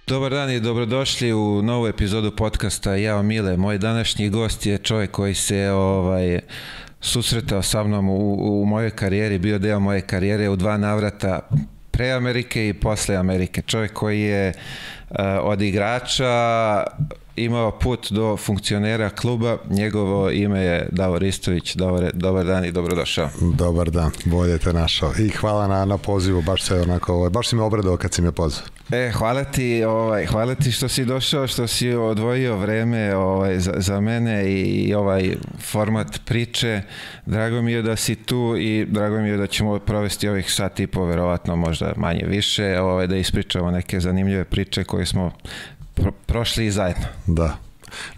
Dobar dan i dobrodošli u novu epizodu podcasta Jao Mile. Moj današnji gost je čovjek koji se susretao sa mnom u mojoj karijeri, bio deo moje karijere u 2 navrata pre Amerike i posle Amerike. Čovjek koji je od igrača imao put do funkcionera kluba. Njegovo ime je Davor Istović. Davore, dobar dan i dobrodošao. Dobar dan, bolje te našao. I hvala na pozivu, baš si me obradao kad si me pozvao. Hvala ti što si došao, što si odvojio vreme za mene i ovaj format priče. Drago mi je da si tu i drago mi je da ćemo provesti ovih sat i po, verovatno možda manje više, da ispričamo neke zanimljive priče koje smo prošli zajedno. Da.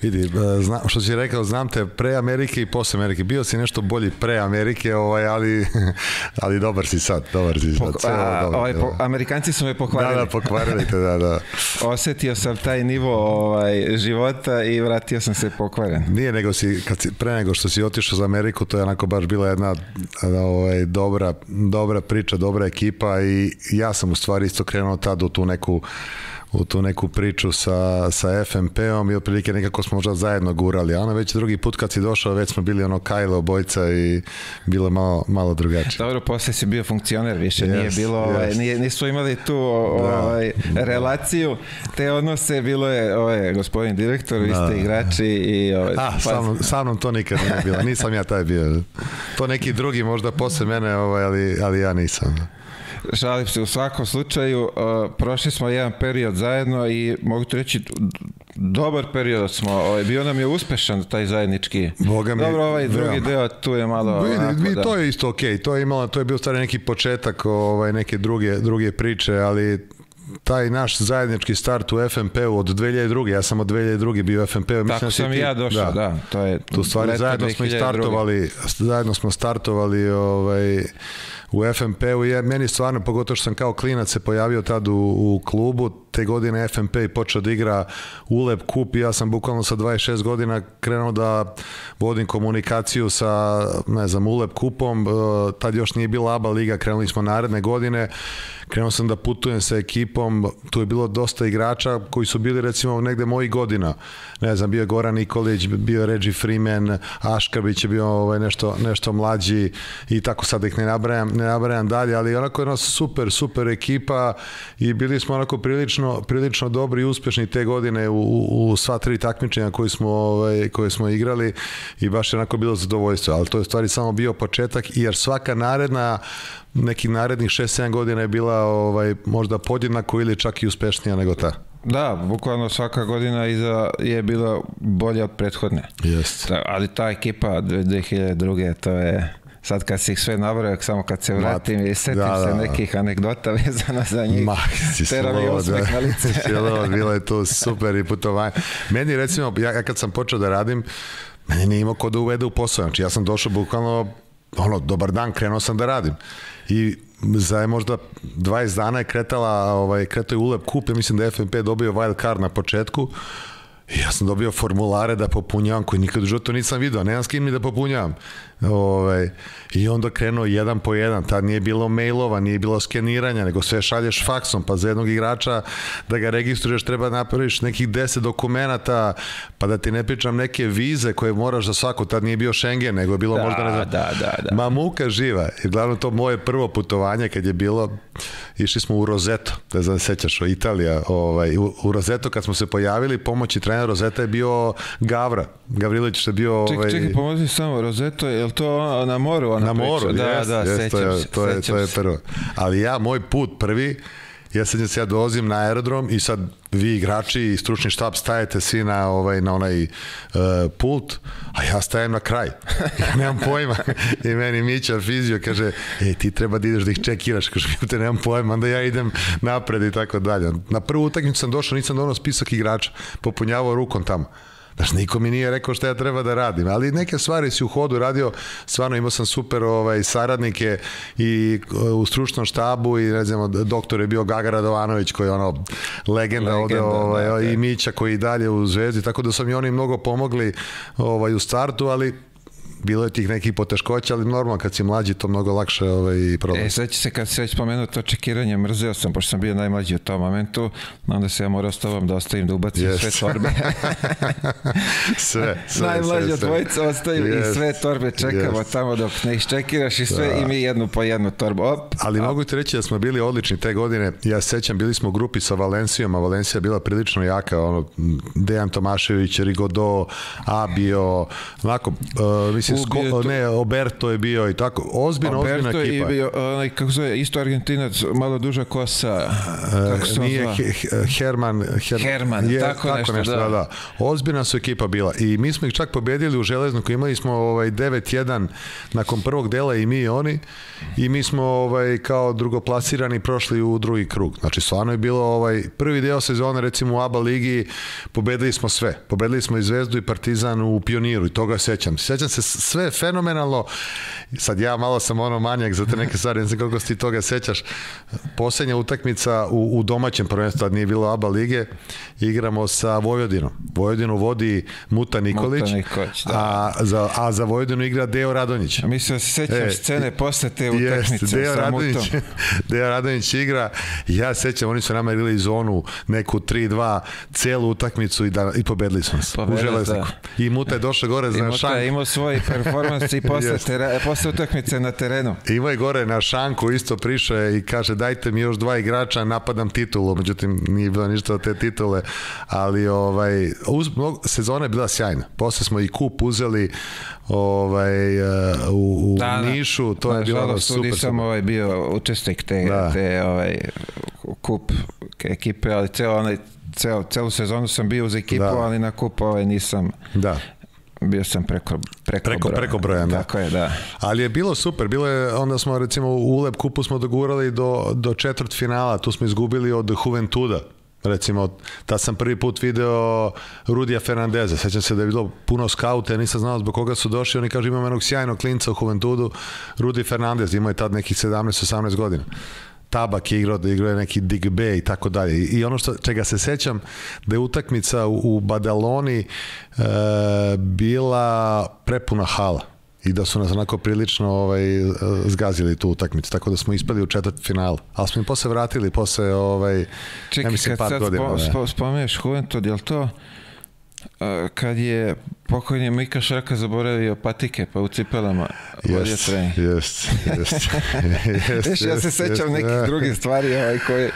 Vidi, što si rekao, znam te pre Amerike i posle Amerike. Bio si nešto bolji pre Amerike, ali dobar si sad. Amerikanci su me pokvarili. Da, pokvarili te, da. Osetio sam taj nivo života i vratio sam se pokvaren. Nije, pre nego što si otišao za Ameriku, to je onako baš bila jedna dobra priča, dobra ekipa i ja sam u stvari isto krenuo tad u tu neku priču sa FNP-om i otprilike nekako smo možda zajedno gurali, a već drugi put kad si došao već smo bili Kajlo obojca i bilo malo drugačije. Dobro, posle si bio funkcioner, više nije bilo, nisu imali tu relaciju, te odnose, bilo je gospodin direktor, vi ste igrači i... Sa mnom to nikad nije bilo, nisam ja taj bio. To neki drugi možda posle mene, ali ja nisam. Šalim se, u svakom slučaju prošli smo jedan period zajedno i mogu ti reći dobar period smo, bio nam je uspešan taj zajednički. Dobro, drugi deo tu je malo... To je isto okej, to je bio stvari neki početak neke druge priče, ali taj naš zajednički start u FNP-u od 2002. Ja sam od 2002. bio u FNP-u. Tako sam i ja došao, da. To je tu stvari zajedno smo startovali u FNP-u i meni stvarno, pogotovo što sam kao klinac se pojavio tad u klubu, te godine FNP i počeo da igra ULEB kup i ja sam bukvalno sa 26 godina krenuo da vodim komunikaciju sa, ULEB kupom, tad još nije bila ABA liga, krenuli smo naredne godine, krenuo sam da putujem sa ekipom, tu je bilo dosta igrača koji su bili recimo negde mojih godina, bio je Goran Nikolić, bio je Reggie Freeman, Aškabić je bio nešto mlađi i tako sad ih ne nabrajam dalje, ali onako jedna super ekipa i bili smo onako prilično dobri i uspešni te godine u sva 3 takmičenja koje smo igrali i baš je onako bilo zadovoljstvo, ali to je stvari samo bio početak jer svaka nekih narednih 6-7 godina je bila možda podjednako ili čak i uspešnija nego ta. Da, bukvalno svaka godina je bila bolja od prethodne. Jeste. Ali ta ekipa 2002. to je... Sad kad si ih sve nabrojao, samo kad se vratim i setim se nekih anegdota vezana za njih, tera mi osmeh na lice. Bilo je to super i putovanje. Meni recimo, ja kad sam počeo da radim, meni nije imao ko da uvede u posao. Znači ja sam došao bukvalno, dobar dan, krenuo sam da radim. I za možda 20 dana je kretao je ULEB kup, ja mislim da je FNP dobio wild card na početku. I ja sam dobio formulare da popunjavam koji nikad u životu nisam vidio, nemam s kim ni da popunjavam. I onda krenuo jedan po jedan, tad nije bilo mailova, nije bilo skeniranja, nego sve šalješ faksom, pa za jednog igrača da ga registruješ treba napraviš nekih 10 dokumenata, pa da ti ne pričam neke vize koje moraš za svako, tad nije bio Schengen, nego je bilo možda ma muka živa. I glavno to moje prvo putovanje kad je bilo, išli smo u Roseto, ne znam sećaš, Italija, u Roseto kad smo se pojavili, pomoćni trener Rozeta je bio Gavrilović što je bio... Čekaj, pomozi samo, Roseto, je li to na moru? Na moru, to je prvo. Ali moj put prvi, ja dolazim na aerodrom i sad vi igrači i stručni štab stajete svi na onaj pult, a ja stajem na kraj. Ja nemam pojma. I meni Mića, fizio, kaže, ti treba da ideš da ih čekiraš. Kaže, te nemam pojma, onda ja idem napred i tako dalje. Na prvu utakmicu sam došao, nisam donao spisak igrača, popunjavao rukom tamo. Znaš, niko mi nije rekao šta ja treba da radim, ali neke stvari si u hodu radio, stvarno imao sam super saradnike i u stručnom štabu i ne znam, doktor je bio Gaga Radovanović koji je legenda ovde i Mića koji je dalje u Zvezdi, tako da su mi oni mnogo pomogli u startu, ali bilo je tih nekih poteškoća, ali normalno kad si mlađi to mnogo lakše prolazi. Sveći se kad se već spomenuo to čekiranje, mrzeo sam, pošto sam bio najmlađi u tom momentu, onda se ja morao s tobom da ostavim da ubacim sve torbe. sve. Najmlađi od dvojica ostaju i sve torbe čekamo tamo dok ne iščekiraš i sve i mi jednu po jednu torbu. Ali mogu ti reći da smo bili odlični te godine. Ja se sećam, bili smo u grupi sa Valencijom, a Valencija je bila prilično jaka, Dejan Tomašević, Rigodo, Abio, onako, mislim, Oberto je bio i tako, ozbiljna ekipa. Oberto je bio, kako zove, isto Argentinac, malo duža kosa, kako se nije Herman, tako nešto, da. Ozbiljna su ekipa bila i mi smo ih čak pobedili u Železniku, imali smo 9-1 nakon prvog dela i mi i oni, i mi smo kao drugoplasirani prošli u drugi krug. Znači, stvarno je bilo prvi deo sezone, recimo u ABA ligi, pobedili smo sve. Pobedili smo i Zvezdu i Partizan u Pioniru i toga sećam. Sećam se sve fenomenalno. Sad ja malo sam manjak za te neke stvari, ne znam koliko si ti toga sećaš. Poslednja utakmica u domaćem prvenstvu, tad nije bilo ABA lige, igramo sa Vojvodinom. Vojvodinu vodi Muta Nikolić, a za Vojvodinu igra Deo Radonjić. Mislim da se sećam scene posle te utakmice sa Mutom. Deo Radonjić igra, ja sećam, oni su nama igrali zonu neku 3-2 celu utakmicu i pobedili smo se u Železniku. I Muta je došao gore na šanku. I Muta je imao svoj performans i posle utakmice na terenu. Imao je gore na šanku, isto prišao i kaže dajte mi još 2 igrača, napadam titulu, međutim nije bilo ništa od te titule, ali sezona je bila sjajna. Posle smo i kup uzeli u Nišu, to je bilo super. Nisam bio učesnik te kup ekipe, ali celu sezonu sam bio uz ekipu, ali na kup nisam. Da. Bio sam preko broja. Tako je, da. Ali je bilo super, onda smo recimo u ULEB kupu smo dogurali do četvrt finala, tu smo izgubili od Juventuda. Recimo, tad sam prvi put video Rudija Fernandeza, sećam se da je bilo puno skauta, nisam znao zbog koga su došli, oni kažu imam jednog sjajnog klinca u Juventudu, Rudi Fernandez, imao je tad nekih 17-18 godina. Tabak je igrao je neki Digbe i tako dalje. I ono čega se sećam, da je utakmica u Badaloni bila prepuna hala i da su nas onako prilično zgazili tu utakmicu, tako da smo ispali u četvrtfinalu. Ali smo im posle vratili, čekaj, kad sad spomeneš Juventud, je li to kad je pokojni Mika Šarka zaboravio patike pa u cipelama vodio trening? Ja se sećam nekih drugih stvari koje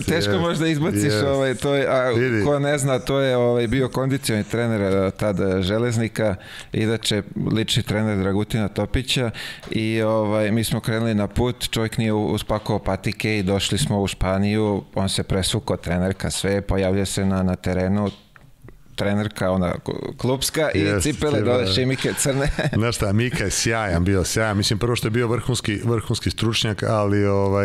teško možda izbaciš, ko ne zna, to je bio kondicioni trener tada Železnika, inače lični trener Dragutina Topića, i mi smo krenuli na put, čovjek nije uspakovao patike i došli smo u Španiju, on se presvukao, trenerka sve, pojavlja se na terenu, trenerka, ona klubska i cipele dole šimike crne. Znaš šta, Mika je sjajan, bio sjajan. Mislim, prvo što je bio vrhunski stručnjak, ali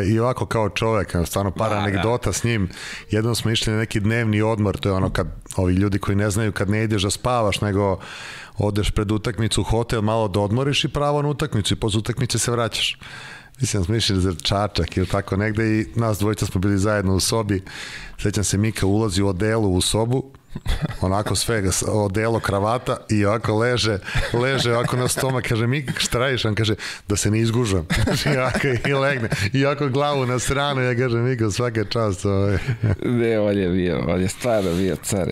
i ovako kao čovek, stvarno par anegdota s njim. Jednom smo išli na neki dnevni odmor, to je ono kad ovi ljudi koji ne znaju kad ne ideš da spavaš, nego odeš pred utakmicu u hotel, malo da odmoriš i pravo na utakmicu i posle utakmice se vraćaš. Mislim, smo išli za Čačak ili tako negde i nas dvojica smo bili zajedno u sobi. Sećam se, Mika ulazi u odelu u sobu, onako sve odelo, kravata i ovako leže ovako na stomak, kaže Mika šta radiš? On kaže da se ne izgužam i legne i ovako glavu na stranu, ja kažem Mika svaka čast. Ne, on je stvarno bio car.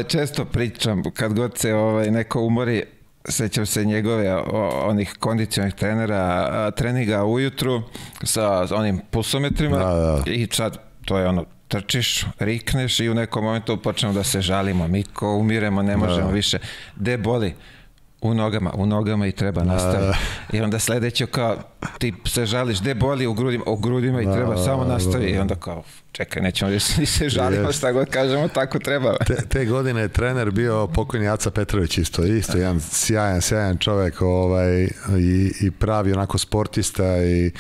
Često pričam kad god se neko umori, sećam se njegove onih kondicionih trenera, treninga ujutru sa onim pulsometrima i sad to je trčiš, rikneš i u nekom momentu počnemo da se žalimo, Miko, umiremo, ne možemo više. Gde boli? U nogama i treba nastaviti. I onda sledeće kao, ti se žališ, gde boli? U grudima i treba samo nastaviti. I onda kao, čekaj, nećemo ni se žalimo, šta god kažemo, tako treba. Te godine je trener bio pokojni Aca Petrović, isto jedan sjajan čovek i pravi onako sportista i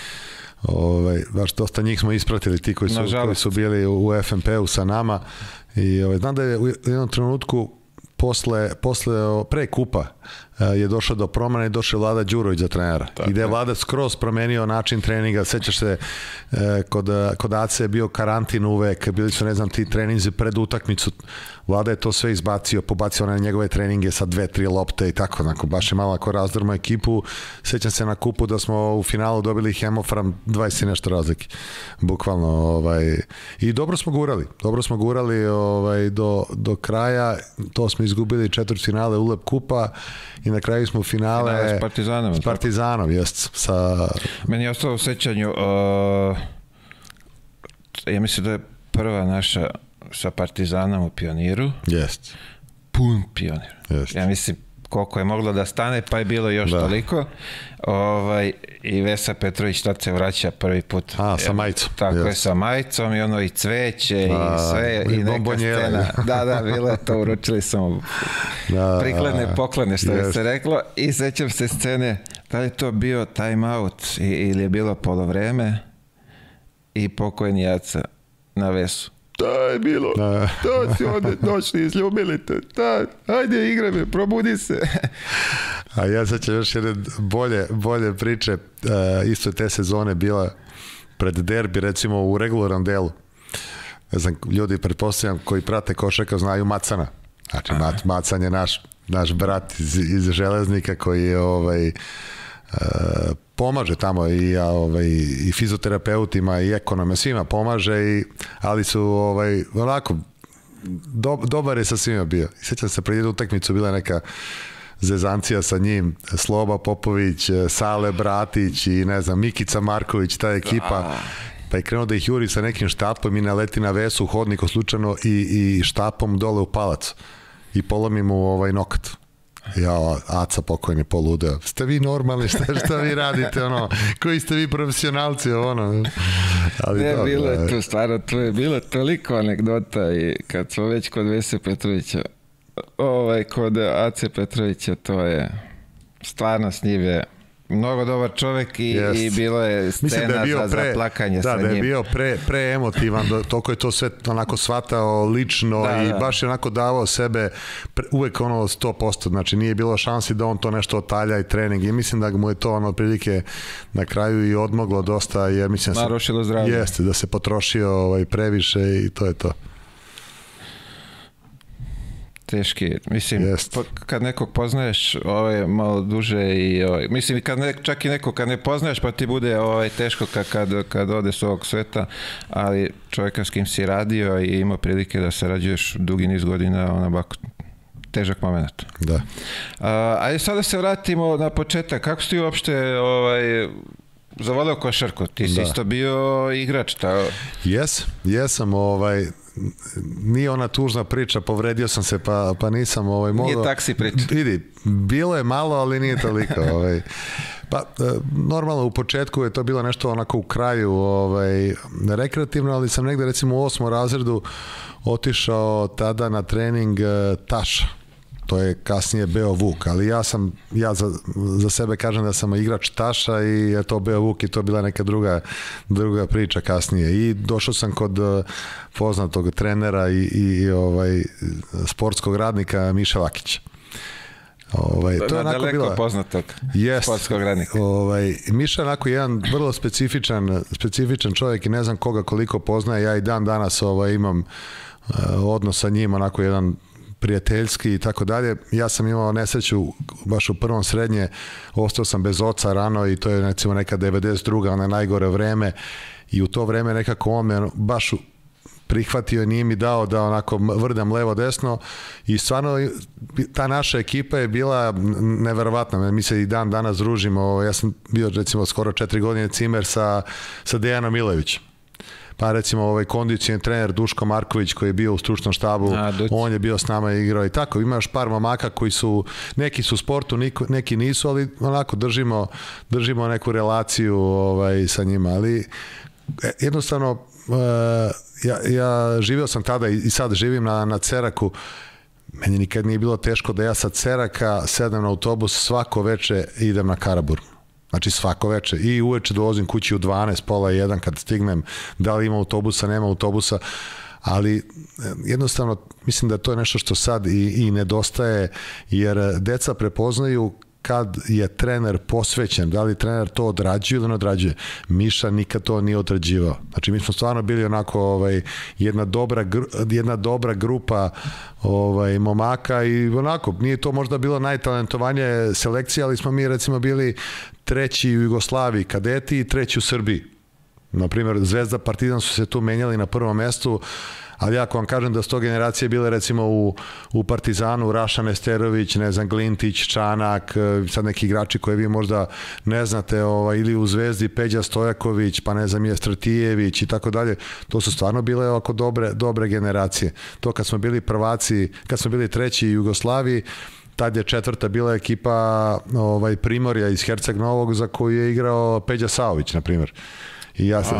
baš dosta njih smo ispratili, ti koji su bili u FNP-u sa nama i znam da je u jednom trenutku pre kupa je došao do promjene i došao je Vlada Đurović za trenera. I gde je Vlada skroz promenio način treninga. Sećaš se, kod AC je bio karantin uvek, bili su, ne znam, ti treninzi pred utakmicu. Vlada je to sve izbacio, pobacio na njegove treninge sa 2-3 lopte i tako, onako, baš je malo ako razdrmo ekipu. Sećam se na kupu da smo u finalu dobili Hemofram 20 i nešto razlike. Bukvalno, i dobro smo gurali do kraja. To smo izgubili četvrtfinale ULEP kupa i na kraju smo finale s Partizanom, jest. Meni je ostalo u sećanju, ja mislim da je prva naša sa Partizanom u Pioniru. Jest. Pun Pionir. Jest. Ja mislim koliko je moglo da stane, pa je bilo još toliko. I Vesa Petrović tad se vraća prvi put. Sa majicom. Tako je, sa majicom i ono i cveće i sve i neka scena. Da, bilo je to, uručili smo prikladne poklone, što je se reklo, i sećam se scene, da li je to bio time out ili je bilo polovreme i pokojni Aca na Vesu. Da je bilo, to si ovdje došli, izljubili te, ajde igraj me, probudi se. A ja sećam još jedne bolje priče, isto te sezone bila pred derbi, recimo u regularnom delu. Ne znam, ljudi, pretpostavljam, koji prate košarku znaju Macana. Znači, Macan je naš brat iz Železnika koji je pomaže tamo i fizioterapeutima i ekonome, svima pomaže, ali su onako dobar je sa svima bio. I sećam se, pred jednu utakmicu bila neka zezancija sa njim, Sloba Popović, Sale Bratić i ne znam, Mikica Marković, ta ekipa, pa je krenuo da ih juri sa nekim štapom i naleti na Vesu u hodniku slučajno i štapom dole u palac i polomi mu nokat. Ja, Aca pokojni poludeo. Ste vi normalni, šta vi radite, koji ste vi profesionalci, bilo je tu, stvarno, tu je bilo toliko anegdota i kad smo već kod Vese Petrovića, kod Ace Petrovića, to je stvarno s njim je mnogo dobar čovek i bilo je scena za plakanje sa njim. Da je bio preemotivan, toliko je to sve onako shvatao lično i baš je onako davao sebe uvek 100%, znači nije bilo šansi da on to nešto otalja i trening i mislim da mu je to otprilike na kraju i odmoglo dosta, jer mislim narušilo zdravlje. Jeste, da se potrošio previše i to je to. Teški, mislim, kad nekog poznaješ malo duže i mislim, čak i nekog kad ne poznaješ pa ti bude teško kad ode s ovog sveta, ali čovjeka s kim si radio i imao prilike da sarađuješ dugi niz godina, težak moment. Da. Ajde sad da se vratimo na početak, kako si ti uopšte zavoleo košarku? Ti si isto bio igrač, tako? Jesam, nije ona tužna priča, povredio sam se pa nisam mogao. Nije taksi priča. Vidi, bilo je malo, ali nije toliko. Pa, normalno u početku je to bilo nešto onako u kraju rekreativno, ali sam negde recimo u 8. razredu otišao tada na trening Taša. To je kasnije Beo Vuk, ali ja za sebe kažem da sam igrač Taša i je to Beo Vuk i to bila neka druga priča kasnije. I došao sam kod poznatog trenera i sportskog radnika Miša Vakića. To je daleko poznatog sportskog radnika. Miša je onako jedan vrlo specifičan čovjek i ne znam koga koliko poznaje. Ja i dan danas imam odnos sa njim, onako jedan prijateljski i tako dalje. Ja sam imao nesreću baš u prvom srednje, ostao sam bez oca rano i to je recimo neka 92. ono najgore vreme i u to vreme nekako on me baš prihvatio i nije mi dao da onako vrdam levo desno i stvarno ta naša ekipa je bila neverovatna. Mi se i dan danas družimo. Ja sam bio recimo skoro 4 godine cimer sa Dejanom Milevićem. Pa recimo kondicijni trener Duško Marković koji je bio u stručnom štabu, on je bio s nama i igrao i tako. Ima još par mamaka koji su, neki su u sportu, neki nisu, ali onako držimo neku relaciju sa njima. Ali jednostavno ja živio sam tada i sad živim na Ceraku. Meni nikad nije bilo teško da ja sa Ceraka sedem na autobus svako veče idem na Karaburmu. Znači svako veče. I uveče dolazim kući u 12, pola 1 kad stignem, da li ima autobusa, nema autobusa. ali jednostavno mislim da to je nešto što sad i nedostaje, jer deca prepoznaju kad je trener posvećen, da li trener to odrađuje ili ne odrađuje. Miša nikad to nije odrađivao. Znači mi smo stvarno bili onako jedna dobra grupa momaka i onako, nije to možda bilo najtalentovanije selekcije, ali smo mi recimo bili 3. u Jugoslaviji kadeti i 3. u Srbiji. Naprimjer, Zvezda, Partizan su se tu menjali na prvom mestu, ali ako vam kažem da 100 generacije bile recimo u Partizanu, Raša Nesterović, ne znam, Glintić, Čanak, sad neki igrači koje vi možda ne znate, ili u Zvezdi Peđa Stojaković, pa ne znam, Stratijević i tako dalje, to su stvarno bile ovako dobre generacije. To kad smo bili prvaci, kad smo bili 3. u Jugoslaviji, tad je 4. bila ekipa Primorja iz Herceg Novog za koju je igrao Peđa Saović, na primjer.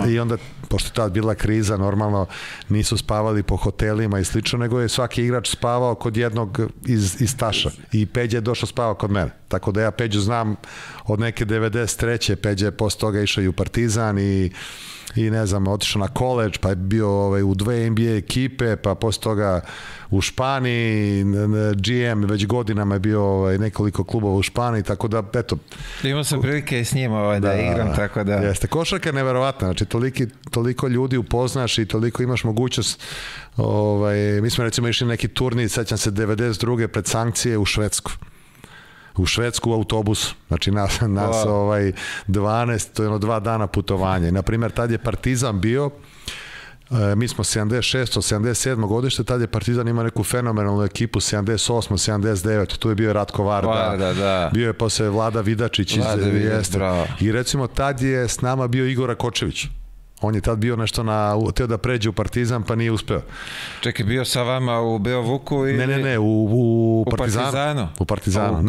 I onda, pošto je tad bila kriza, normalno nisu spavali po hotelima i slično, nego je svaki igrač spavao kod jednog iz Taša i Peđa je došao spavao kod mene. Tako da ja Peđu znam od neke 93. Peđa je posle toga išao i u Partizan i ne znam, otišao na koleđ, pa je bio u 2 NBA ekipe, pa posle toga u Španiji, GM već godinama je bio nekoliko klubova u Španiji, tako da, eto. Imao sam prilike i s njima da igram, tako da. Jeste, košarka je neverovatna, znači toliko ljudi upoznaš i toliko imaš mogućnost. Mi smo recimo išli neki turnir, sećam se 92. pred sankcije u Švedsku u autobusu, znači nas 12, to je 2 dana putovanje. Naprimjer, tad je Partizan bio, mi smo 76. 77. godište, tad je Partizan imao neku fenomenalnu ekipu 78. 79. Tu je bio Ratko Varda, bio je posle Vlada Vidačić i recimo tad je s nama bio Igor Rakočević. On je tad bio nešto teo da pređe u Partizan, pa nije uspeo. Čekaj, bio sa vama u Beovuku ili... Ne, u Partizanu. U Partizanu.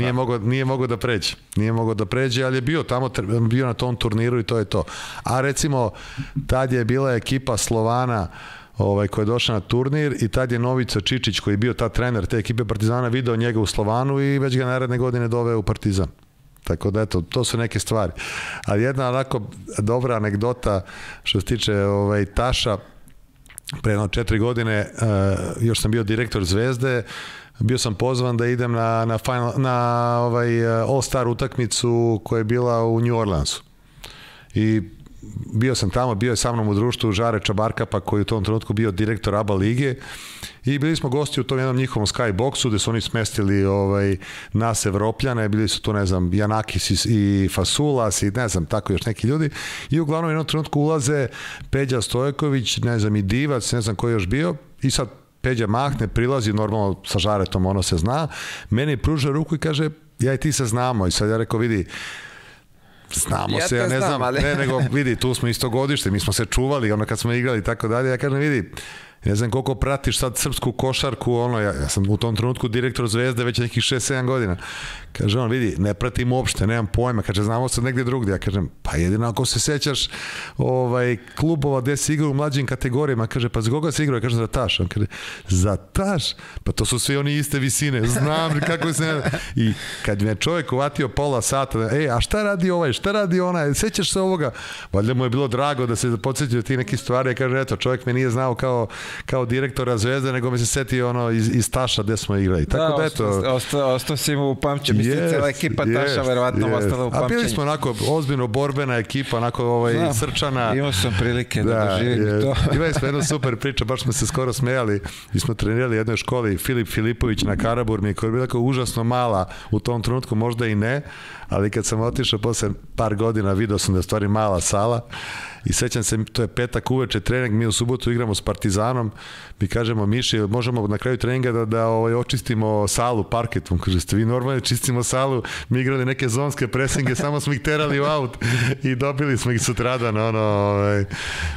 Nije mogao da pređe. Nije mogao da pređe, ali je bio tamo, bio na tom turniru i to je to. A recimo, tad je bila ekipa Slovana koja je došla na turnir i tad je Novica Čičić, koji je bio tad trener te ekipe Partizana, video njega u Slovanu i već ga naredne godine doveo u Partizan. Tako da, eto, to su neke stvari. Ali jedna onako dobra anegdota što se tiče Taša, pre 4 godine, još sam bio direktor Zvezde, bio sam pozvan da idem na All-Star utakmicu koja je bila u New Orleansu. I bio sam tamo, bio je sa mnom u društvu Žare Čabarkapa, koji u tom trenutku bio direktor ABA lige, i bili smo gosti u tom jednom njihovom skyboxu gde su oni smestili nas Evropljane, bili su tu, ne znam, Janakis i Fasulas i ne znam, tako još neki ljudi, i uglavnom u jednom trenutku ulaze Peđa Stojković, ne znam, i Divac, ne znam ko je još bio, i sad Peđa mahne, prilazi, normalno sa Žaretom, ono se zna, meni pruža ruku i kaže, ja i ti se znamo, i sad ja rekao, vidi, znamo se, ja ne znam, ne, nego vidi, tu smo isto godište, mi smo se čuvali, ono kad smo igrali i tako dalje, ja kažem, vidi, ne znam koliko pratiš sad srpsku košarku, ja sam u tom trenutku direktor Zvezde već nekih 6-7 godina. Kaže on, vidi, ne pratim uopšte, nemam pojma, kaže, znamo se negdje drugdje. Ja kažem, pa jedino ako se sećaš klubova gde se igra u mlađim kategorijama, kaže, pa za koga se igra? Kaže, za Taš. On kaže, za Taš? Pa to su svi oni iste visine, znam kako se ne... I kad me čovjek uvatio pola sata, a šta radi ovaj, šta radi onaj, sećaš se ovoga? Valjda mu je bilo drago da se podsjetio ti neki stvari, ja kaže, eto, čovjek me nije znao kao direktora Zvezde, nego me se setio iz Taša gde smo igrali. Tako da, eto... Ostao si mu u pamćenju. Mislim, cijela ekipa Taša verovatno ostala u pamćenju. A bili smo onako ozbiljno borbena ekipa, onako srčana. Imao sam prilike da doživim to. Imali smo jednu super priču, baš smo se skoro smejali. Mi smo trenirali u jednoj školi, Filip Filipović na Karaburmi, koja je bila užasno mala u tom trenutku, možda i ne, ali kad sam otišao posle par godina, video sam da je stvari mala sala. I sećam se, to je petak uveče trening, mi u subotu igramo s Partizanom, mi kažemo, Miši, možemo na kraju treninga da očistimo salu parketom. Kaže, ste vi normalno čistimo salu, mi igrali neke zonske presinge, samo smo ih terali u aut i dobili smo ih sutradan,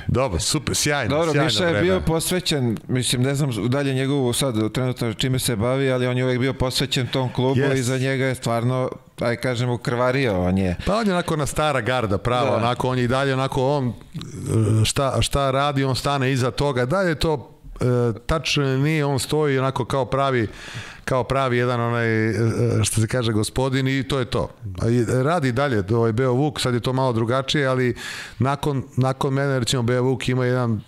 dobro, super, sjajno. Dobro, Miša je bio posvećen, mislim, ne znam dalje njegovu sad trenutno čime se bavi, ali on je uvek bio posvećen tom klubu i za njega je stvarno, aj kažem, ukrvario on je. Pa on je onako na stara garda, pravo, onako, on je i dalje onako, on šta radi, on stane iza toga, dalje to tačno nije, on stoji onako kao pravi jedan onaj, što se kaže, gospodin i to je to. Radi dalje, Beo Vuk, sad je to malo drugačije, ali nakon mene, recimo, Beo Vuk ima jedan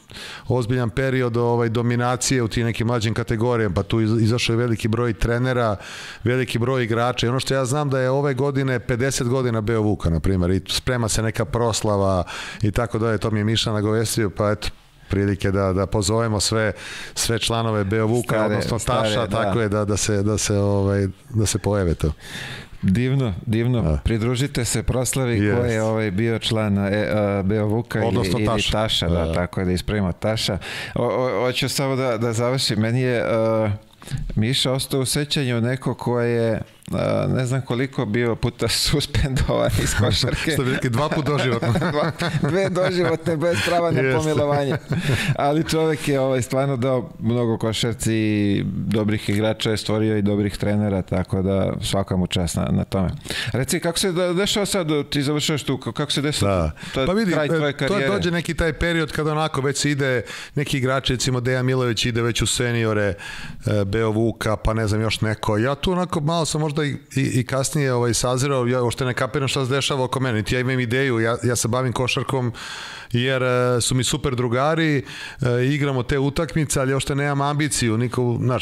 ozbiljan period dominacije u tim nekim mlađim kategorijama, pa tu izašao je veliki broj trenera, veliki broj igrača i ono što ja znam da je ove godine 50 godina Beo Vuka, na primjer, i sprema se neka proslava i tako dalje, to mi je Miša nagovestio, pa eto, prilike da pozovemo sve članove Beo Vuka, odnosno Taša, tako je da se pojave to. Divno. Pridružite se proslavi ko je bio član Beo Vuka ili Taša, da, tako je, da ispravimo Taša. Hoću samo da završim, meni je Miša ostao u sećanju neko ko je ne znam koliko bio puta suspendovan iz košarke. Što bi rekli, 2 puta doživotno. 2 doživotne bez prava na pomilovanje. Ali čovjek je stvarno dao mnogo košarci i dobrih igrača je stvorio i dobrih trenera, tako da svaka mu čast na tome. Reci, kako se dešava sad, ti završaš tu, kako se dešava kraj tvoje karijere? To dođe neki taj period kada onako već se ide, neki igrači, recimo Dejan Milović ide već u seniore, Beo Vuka, pa ne znam još neko. Ja tu onako malo sam možda i kasnije sazirao, ja ošte ne kapiram šta se dešava oko mene, niti ja imam ideju, ja se bavim košarkom jer su mi super drugari, igramo te utakmice, ali ošte nemam ambiciju,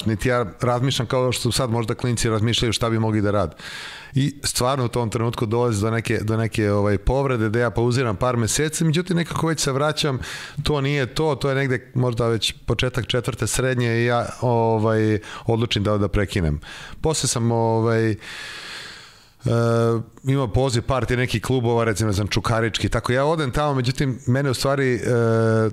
niti ja razmišljam kao što sad možda klinci razmišljaju šta bi mogli da rad. I stvarno u tom trenutku dolazi do neke povrede da ja pauziram par meseci, međutim nekako već se vraćam, to nije to je negde možda već početak 4. srednje i ja odlučim da prekinem. Posle sam imao poziv partije nekih klubova, recimo znam Čukarički, tako ja odem tamo, međutim mene u stvari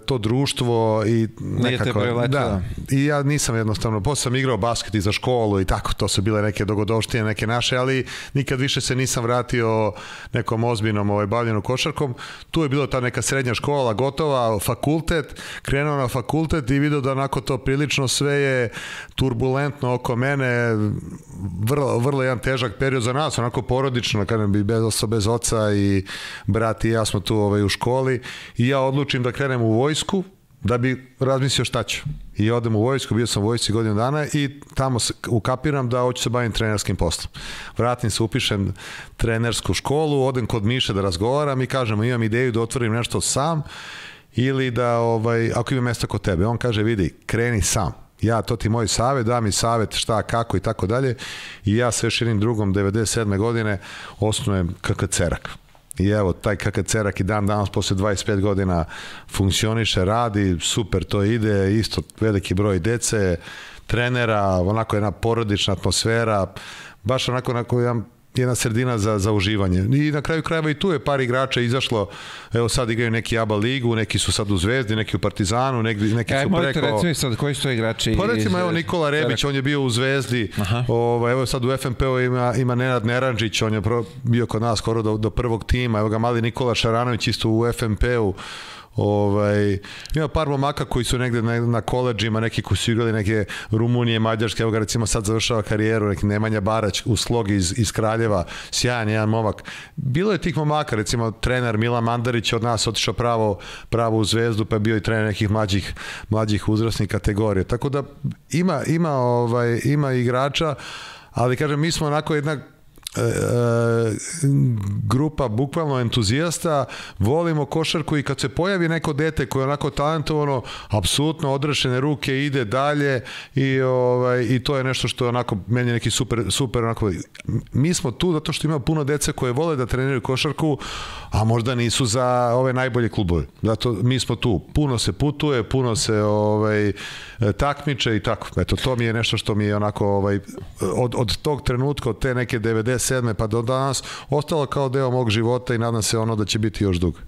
to društvo i nekako, da, i ja nisam jednostavno, posle sam igrao basket i za školu i tako, to su bile neke dogodovštine, neke naše, ali nikad više se nisam vratio nekom ozbiljnom bavljenju košarkom. Tu je bilo ta neka srednja škola gotova, fakultet, krenuo na fakultet i vidio da onako to prilično sve je turbulentno oko mene, vrlo jedan težak period za nas, onako porodično, kada bi bez oca i brat i ja smo tu u školi i ja odlučim da krenem u vojsku da bi razmislio šta ću. I odem u vojsku, bio sam u vojsci godinu dana i tamo ukapiram da hoću se bavim trenerskim poslom. Vratim se, upišem trenersku školu, odem kod Miše da razgovaram i kažem, imam ideju da otvorim nešto sam ili da, ako ima mesta kod tebe. On kaže, vidi, kreni sam. Ja, to ti moj savjet, da mi savjet šta, kako i tako dalje. I ja sa još jednim drugom 97. godine osnujem KK Cerak. I evo, taj KK Cerak i dan danas posle 25 godina funkcioniše, radi, super to ide, isto veliki broj dece, trenera, onako jedna porodična atmosfera, baš onako jedna sredina za uživanje. I na kraju krajeva i tu je par igrača izašlo, evo sad igraju neki ABA ligu, neki su sad u Zvezdi, neki u Partizanu, neki su preko... Možete recimo sad, koji su to igrači? Pa recimo, evo Nikola Rebić, on je bio u Zvezdi, evo sad u FNP-u ima Nenad Neranžić, on je bio kod nas skoro do prvog tima, evo ga mali Nikola Šaranović isto u FNP-u, ima par momaka koji su negde na koleđima, neki koji su igrali neke Rumunije, Mađarske, evo ga recimo sad završava karijeru, neki Nemanja Barać u Slogi iz Kraljeva, sjajan jedan momak. Bilo je tih momaka, recimo trener Milan Mandarić od nas otišao pravo u Zvezdu, pa je bio i trener nekih mlađih uzrasnih kategorija. Tako da ima igrača, ali kažem, mi smo onako jedna grupa bukvalno entuzijasta, volimo košarku i kad se pojavi neko dete koje je onako talentovano, apsolutno odrešene ruke, ide dalje i to je nešto što je onako meni neki super onako. Mi smo tu zato što ima puno dece koje vole da treniraju košarku, a možda nisu za ove najbolje klubove. Zato mi smo tu. Puno se putuje, puno se takmiče i tako. Eto, to mi je nešto što mi je onako od tog trenutka, od te neke 97. pa do danas ostalo kao deo mog života i nadam se da će biti još dugo.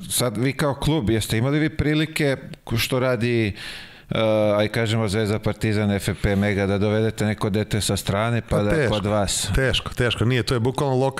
Sad vi kao klub, jeste imali vi prilike što radi aj kažemo Zvezda, Partizan, FNP, Mega, da dovedete neko dete sa strane pa da je kod vas? Teško, nije, to je bukvalno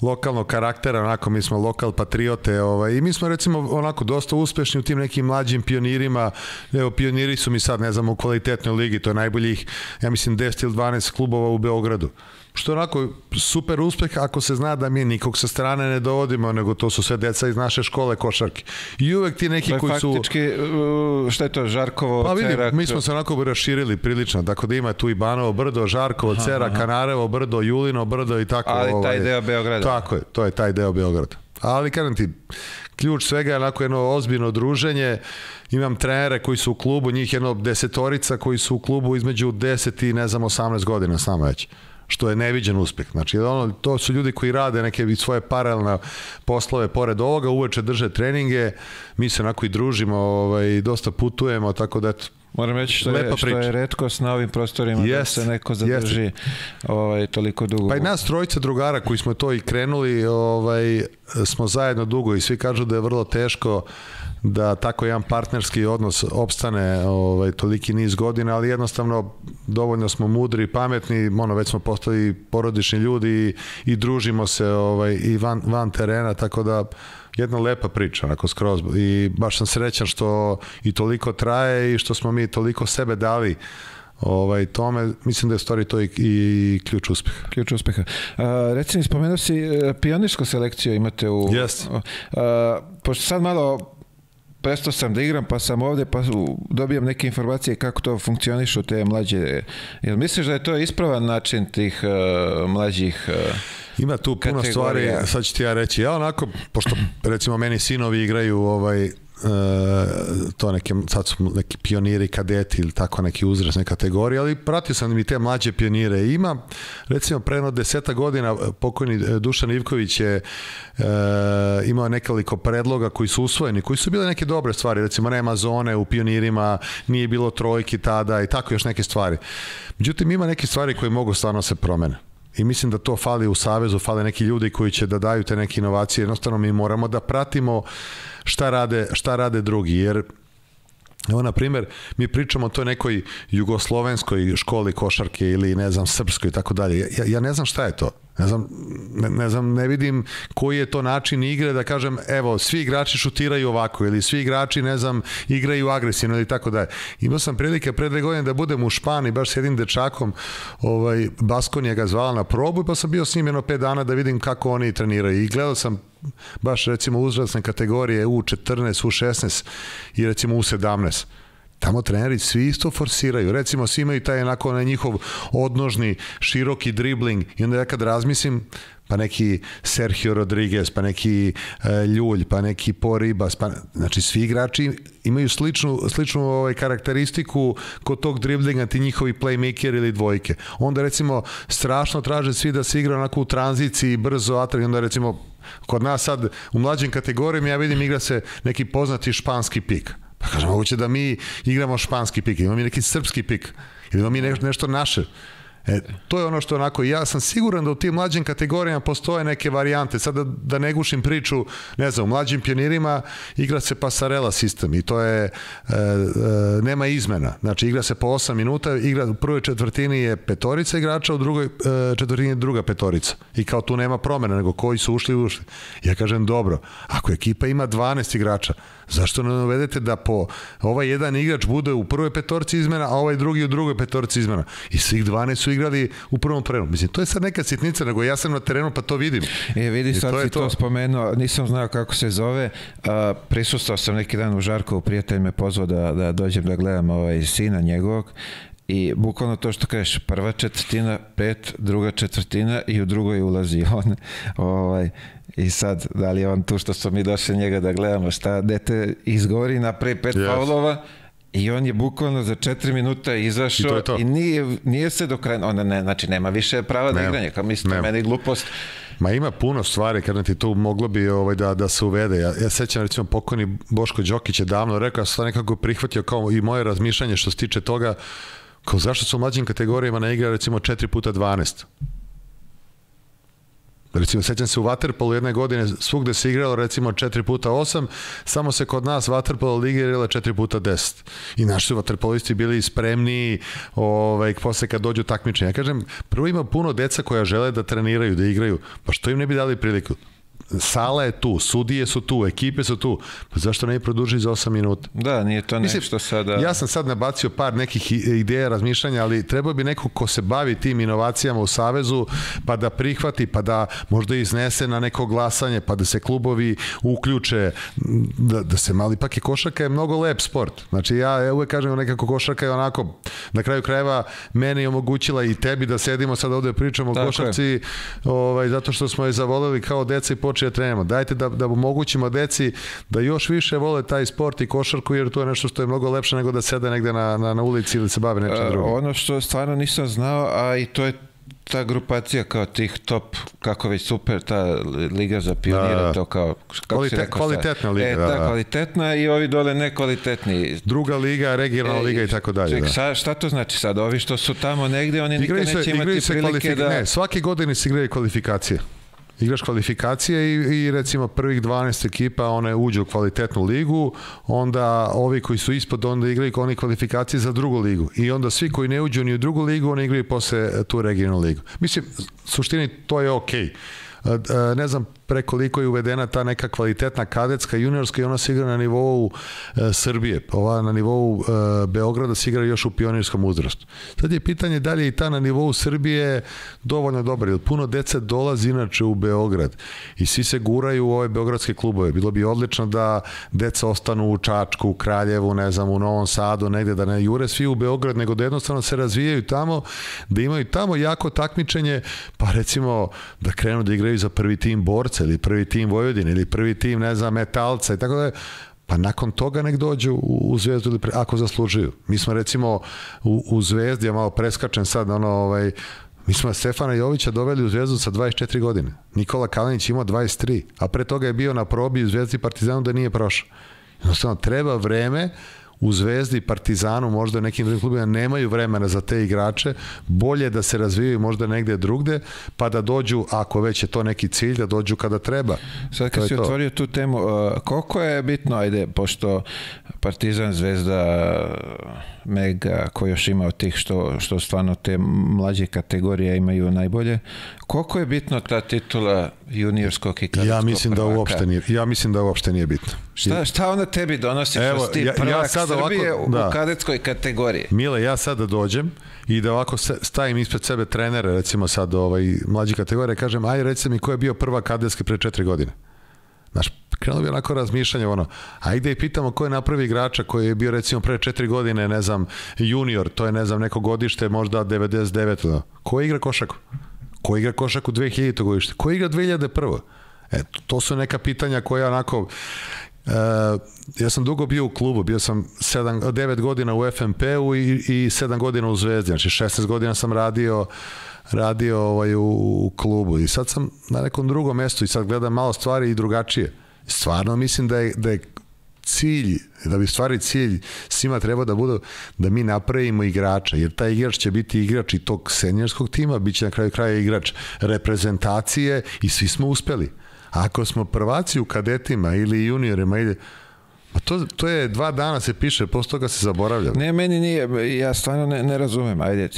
lokalnog karaktera, onako mi smo lokal patriote i mi smo recimo onako dosta uspešni u tim nekim mlađim pionirima. Evo, pioniri su mi sad, ne znam, u kvalitetnoj ligi, to je najboljih, ja mislim 10 ili 12 klubova u Beogradu. što je onako super uspeh ako se zna da mi nikog sa strane ne dovodimo, nego to su sve deca iz naše škole košarke. I uvek ti neki koji su... Faktički, šta je to, Žarkovo, pa vidim, Cerak? Mi smo se onako raširili prilično, tako da ima tu i Banovo brdo, Žarkovo, Cerak, Kanarevo brdo, Julino brdo i tako. Ali taj deo Beograda. Tako je, to je taj deo Beograda. Ali kažem ti, ključ svega je onako jedno ozbiljno druženje. Imam trenere koji su u klubu, njih jedno 10 koji su u klubu između 10 i 18 godina s nama već, što je neviđen uspeh. Znači, to su ljudi koji rade neke svoje paralelne poslove pored ovoga, uveče drže treninge, mi se onako i družimo, dosta putujemo, tako da eto. Moram reći što je retkost na ovim prostorima da se neko zadrži toliko dugo. Pa i nas trojica drugara koji smo to i krenuli, smo zajedno dugo i svi kažu da je vrlo teško da tako jedan partnerski odnos opstane toliki niz godina, ali jednostavno dovoljno smo mudri i pametni, već smo postali porodični ljudi i družimo se i van terena, tako da jedna lepa priča, onako skroz, i baš sam srećan što i toliko traje i što smo mi toliko sebe dali tome, mislim da je stvari to i ključ uspeha. Ključ uspeha. Reci mi, spomenuo si pionirsku selekciju imate u... Yes. Pošto sad malo prestao sam da igram, pa sam ovde, pa dobijam neke informacije kako to funkcionišu te mlađe. Jel misliš da je to ispravan način tih mlađih Ima tu puno stvari, sad ću ti ja reći. Ja onako, pošto recimo meni sinovi igraju to neke, sad su neki pioniri, kadeti ili tako neki uzrasne kategorije, ali pratio sam i te mlađe pionire. Ima, recimo, pre 10 godina pokojni Dušan Ivković je imao nekoliko predloga koji su usvojeni, koji su bile neke dobre stvari, recimo nema zone u pionirima, nije bilo trojki tada i tako još neke stvari. Međutim, ima neke stvari koje mogu stvarno se promene. I mislim da to fali u Savezu, fale neki ljudi koji će da daju te neke inovacije. Jednostavno mi moramo da pratimo šta rade drugi, jer evo, na primjer, mi pričamo o toj nekoj jugoslovenskoj školi košarke ili, ne znam, srpskoj i tako dalje. Ja ne znam šta je to. Ne znam, ne vidim koji je to način igre da kažem, evo, svi igrači šutiraju ovako ili svi igrači, ne znam, igraju agresivno ili tako dalje. Imao sam prilike pre 2 godine da budem u Španiji, baš s jednim dečakom, Baskonija ga zvala na probu, pa sam bio s njim 5 dana da vidim kako oni treniraju i gledao sam baš recimo uzrasne kategorije U14, U16 i recimo U17. Tamo treneri svi isto forsiraju. Recimo, svi imaju taj njihov odnožni, široki dribling i onda ja kad razmislim, pa neki Sergio Rodriguez, pa neki Ljulj, pa neki Poribas, znači svi igrači imaju sličnu karakteristiku kod tog driblinga, ti njihovi playmaker ili dvojke. Onda recimo strašno traže svi da se igra onako u tranziciji, brzo, atrak, onda recimo kod nas sad u mlađim kategorijama ja vidim igra se neki poznati španski pik. Pa kažem, moguće da mi igramo španski pik, imamo mi neki srpski pik, ili imamo mi nešto naše. To je ono što onako, ja sam siguran da u tim mlađim kategorijama postoje neke varijante. Sada da ne gušim priču, ne znam, u mlađim pionirima igra se pasarela sistem i to je, nema izmena. Znači, igra se po 8 minuta, u prvoj četvrtini je 5 igrača, u drugoj četvrtini je druga 5. I kao tu nema promjena, nego koji su ušli. Ja kažem, dobro, ako ekipa ima 12 igrača, zašto ne uvedete da po ovaj jedan igrač bude u prvoj 5 izmena, a ovaj drugi u drugoj 5 izmena? I svih 12 su igrali u prvom prenu. Mislim, to je sad neka sitnica, nego ja sam na terenu pa to vidim. Vidi, sad si to spomenuo, nisam znao kako se zove, prisustao sam neki dan u Žarkovu, prijatelj me pozvao da dođem da gledam sina njegovog i bukvalno to što kažeš, prva četvrtina 5, druga četvrtina i u drugoj ulazi on. I sad, da li je on tu što smo mi došli njega da gledamo šta dete izgovori napravi 5 faulova i on je bukvalno za 4 minuta izašao i nije se do kraja, znači nema više prava da igranje, kao mislim, meni glupost. Ma ima puno stvari, kada ti tu moglo bi da se uvede. Ja sećam, recimo, pokojni Boško Đokić je davno rekao, ja sam nekako prihvatio kao i moje razmišljanje što se tiče toga, kao zašto su u mlađim kategorijama ne igra recimo 4x12. Recimo, sećam se u vaterpolu jedne godine svugde se igralo recimo 4x8, samo se kod nas vaterpolo liga igrala 4x10. I naši su vaterpolisti bili spremni posle kad dođu takmičenja. Ja kažem, prvo ima puno deca koja žele da treniraju, da igraju, pa što im ne bi dali priliku? sala je tu, sudije su tu, ekipe su tu, pa zašto ne produži za 8 minuta? Da, nije to nešto sada... Ja sam sad nabacio par nekih ideja, razmišljanja, ali trebao bi neko ko se bavi tim inovacijama u Savezu, pa da prihvati, pa da možda iznese na neko glasanje, pa da se klubovi uključe, da se mali, ipak je košarka je mnogo lep sport. Znači ja uvek kažem nekako košarka je onako, na kraju krajeva meni omogućila i tebi da sedimo sad ovde pričamo o košarci, zato što smo je zavoleli kao deca i počeli da trenemo. Dajte da omogućimo deci da još više vole taj sport i košarku, jer to je nešto što je mnogo lepše nego da sede negde na ulici ili se bave nečem drugim. Ono što stvarno nisam znao, a i to je ta grupacija kao tih top, kako već super, ta liga za pionira, to kao... Kvalitetna liga, da. Kvalitetna i ovi dole nekvalitetni. Druga liga, regionalna liga i tako dalje. Šta to znači sad? Ovi što su tamo negde, oni nikad neće imati prilike da... Ne, svake godine se igraju kvalifikacije. Igraš kvalifikacije i recimo prvih 12 ekipa one uđu u kvalitetnu ligu, onda ovi koji su ispod onda igraju oni kvalifikacije za drugu ligu i onda svi koji ne uđu ni u drugu ligu oni igraju posle tu regionalnu ligu. Mislim, suštini to je okej. Ne znam prekoliko je uvedena ta neka kvalitetna kadetska, juniorska i ona se igra na nivou Srbije. Ova na nivou Beograda se igra još u pionirskom uzrastu. Sad je pitanje da li je i ta na nivou Srbije dovoljno dobra, jer puno dece dolazi inače u Beograd i svi se guraju u ove beogradske klubove. Bilo bi odlično da deca ostanu u Čačku, u Kraljevu, ne znam, u Novom Sadu, negde da ne jure svi u Beograd, nego da jednostavno se razvijaju tamo, da imaju tamo jako takmičenje, pa recimo da krenu da igraju za prvi tim Borca ili prvi tim Vojvodine ili prvi tim, ne znam, Metalca i tako da, pa nakon toga nek dođu u Zvezdu ili ako zaslužuju. Mi smo recimo u Zvezdi, ja malo preskačem sad, mi smo Stefana Jovića doveli u Zvezdu sa 24 godine. Nikola Kalinić imao 23, a pre toga je bio na probi u Zvezdi i Partizanu da nije prošao. Jednostavno, treba vreme. U Zvezdi, Partizanu, možda nekim drugim klubima nemaju vremena za te igrače, bolje da se razvijaju možda negde drugde, pa da dođu, ako već je to neki cilj, da dođu kada treba. Sad kad si otvorio tu temu, koliko je bitno, ajde, pošto Partizan, Zvezda, Mega, ko još ima od tih što stvarno te mlađe kategorije imaju najbolje, koliko je bitno ta titula juniorskog i kadetskog prvaka? Ja mislim da uopšte nije bitno. Šta ona tebi donosi što si ti prvak Srbije u kadetskoj kategoriji? Mile, ja sada dođem i da ovako stavim ispred sebe trenere, recimo sad mlađe kategorije, kažem, aj reci mi ko je bio prva kadetski pre 4 godine. Znaš, krenuo bi onako razmišljanje, ajde i pitamo ko je napravi igrača koji je bio recimo pre 4 godine, ne znam, junior, to je ne znam neko godište, možda 99. Ko igra košaku? Ko igra košaku 2000. godište? Ko igra 2001. To su neka pitanja koja onako... ja sam dugo bio u klubu, bio sam 9 godina u FNP-u i 7 godina u Zvezdi, znači 16 godina sam radio u klubu i sad sam na nekom drugom mestu i sad gledam malo stvari i drugačije. Stvarno mislim da je cilj, da bi stvari cilj svima treba da bude da mi napravimo igrača, jer taj igrač će biti igrač i tog seniorskog tima, bit će na kraju kraja igrač reprezentacije i svi smo uspeli. Ako smo prvaci u kadetima ili juniorima, to je 2 dana se piše, posle toga se zaboravlja. Ne, meni nije, ja stvarno ne razumem. Ajde,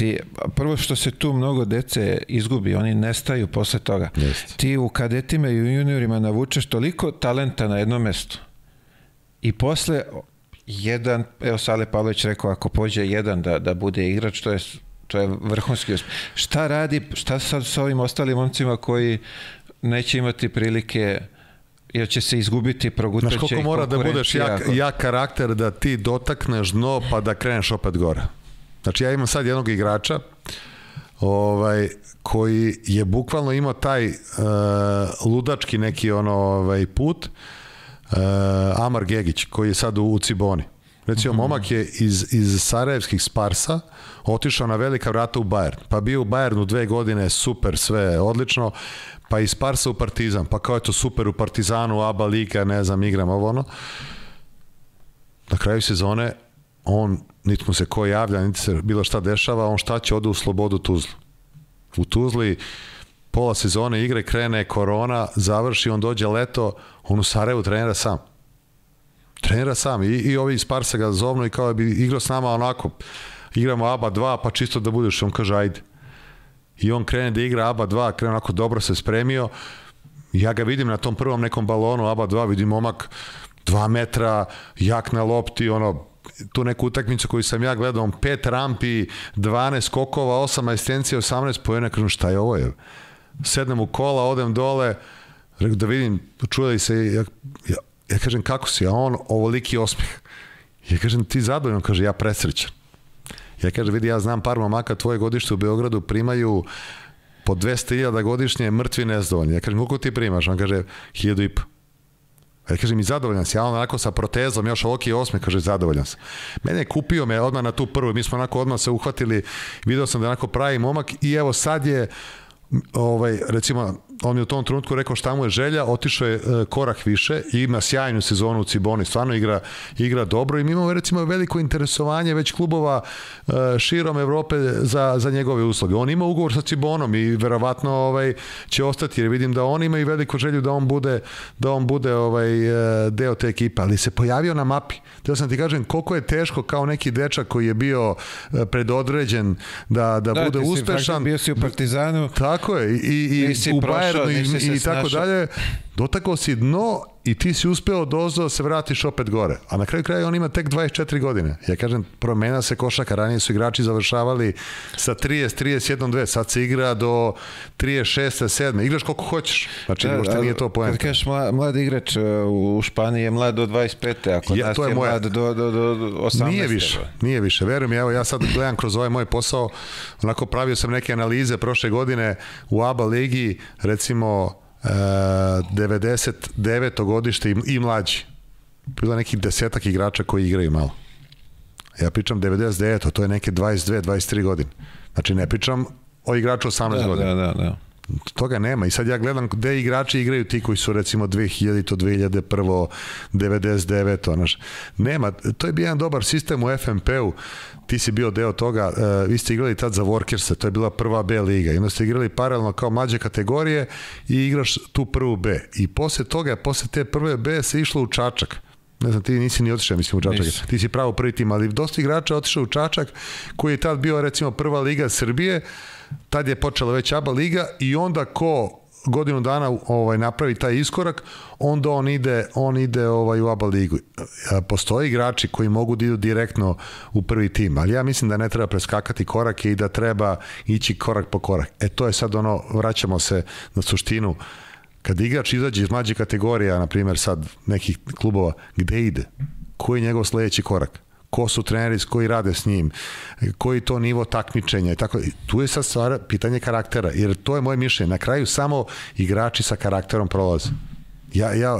prvo što se tu mnogo dece izgubi, oni nestaju posle toga. Ti u kadetima i u juniorima navučeš toliko talenta na jednom mestu i posle jedan, evo Sale Pavlović rekao, ako pođe jedan da bude igrač, to je vrhunski uspeh. Šta sad sa ovim ostalim momcima koji neće imati prilike, jer će se izgubiti, progutaće i konkurencija. Znaš koliko mora da budeš jak karakter da ti dotakneš dno pa da kreneš opet gore. Znači ja imam sad jednog igrača koji je bukvalno imao taj ludački neki put, Amar Gegić, koji je sad u Ciboni. Recimo, momak je iz sarajevskih Sparsa otišao na velika vrata u Bayern. Pa bio u Bayernu 2 godine, super, sve odlično, pa iz Sparsa u Partizan, pa kao je to super u Partizanu, ABA liga, ne znam, igram ovo Na kraju sezone on, niti mu se ko javlja, niti se bilo šta dešava, on šta će, ode u Slobodu Tuzlu. U Tuzli pola sezone igre, krene korona, završi, on dođe leto, on u Sarajevu trenira sam i ovi iz Sparsa ga zovnu i kao bi igrao s nama onako, igramo ABA 2 pa čisto da budeš, on kaže ajde i on krene da igra ABA 2, krene onako dobro se spremio ja ga vidim na tom prvom nekom balonu, ABA 2, vidim momak 2 metra, jak na lopti, tu neku utakmicu koju sam ja gledao, 5 rampi, 12 skokova, 8 asistencija, 18 poena, kažem šta je ovo, sednem u kola, odem dole, da vidim, čuje se, ja kažem kako si, a on ovoliki osmeh. Ja kažem ti zadovoljno, kaže ja presrećan. Ja kažem vidi, ja znam par momaka tvoje godište u Beogradu primaju po 200.000 godišnje, mrtvi nezadovoljni. Ja kažem koliko ti primaš? On kaže 1.500. Ja kažem i zadovoljan si, ja on onako sa protezom, još ovoliki osmeh, kaže zadovoljan sam. Mene je kupio me odmah na tu prvu, mi smo onako odmah se uhvatili, video sam da onako pravi momak i evo sad je recimo, on je u tom trenutku rekao šta mu je želja, otišao je korak više i ima sjajnu sezonu u Ciboni, stvarno igra dobro i mi imamo recimo veliko interesovanje već klubova širom Evrope za njegove usluge. On ima ugovor sa Cibonom i verovatno će ostati jer vidim da on ima i veliku želju da on bude deo te ekipe, ali se pojavio na mapi. Teo sam ti kažem koliko je teško kao neki dečak koji je bio predodređen da bude uspešan. Bio si u Partizanu. Tako je, i u Bayernu i tako dalje, dotakao si dno i ti si uspeo da se vratiš opet gore. A na kraju kraja on ima tek 24 godine. Ja kažem, promena se košaka, ranije su igrači završavali sa 30, 31, 2, sad se igra do 36, 7. Igraš koliko hoćeš. Znači, uopšte nije to poenta. Kad kažeš mlad igrač u Španiji je mlad do 25. Ako nas je mlad do 18. Nije više. Verujem, evo ja sad gledam kroz ovaj moj posao, onako pravio sam neke analize prošle godine u ABA ligi, recimo 99. godište i mlađi. Bilo nekih 10 igrača koji igraju malo. Ja pričam 99. To je neke 22, 23 godine. Znači ne pričam o igraču 18 godina. Da. Toga nema. I sad ja gledam gde igrači igraju ti koji su recimo 2000, 2001, 99. Nema. To je bio jedan dobar sistem u FNP-u. Ti si bio deo toga. Vi ste igrali tad za Workersa. To je bila prva B liga. I onda ste igrali paralelno kao mlađe kategorije i igraš tu prvu B. I posle toga, posle te prve B se išlo u Čačak. Ne znam, ti nisi ni otišao, mislim, u Čačak. Ti si pravo prvi tim, ali dosta igrača otišao u Čačak, koji je tad bio, recimo, prva liga Srbije, tad je počela već ABA liga i onda ko godinu dana napravi taj iskorak, onda on ide u ABA ligu. Postoje igrači koji mogu da idu direktno u prvi tim, ali ja mislim da ne treba preskakati korake i da treba ići korak po korak. To je sad vraćamo se na suštinu. Kad igrač izađe iz mlađe kategorija, na primjer sad nekih klubova, gde ide? Koji je njegov sledeći korak? Ko su treneri koji rade s njim? Koji to nivo takmičenja? Tu je sad stvar pitanje karaktera, jer to je moje mišljenje. Na kraju samo igrači sa karakterom prolaze.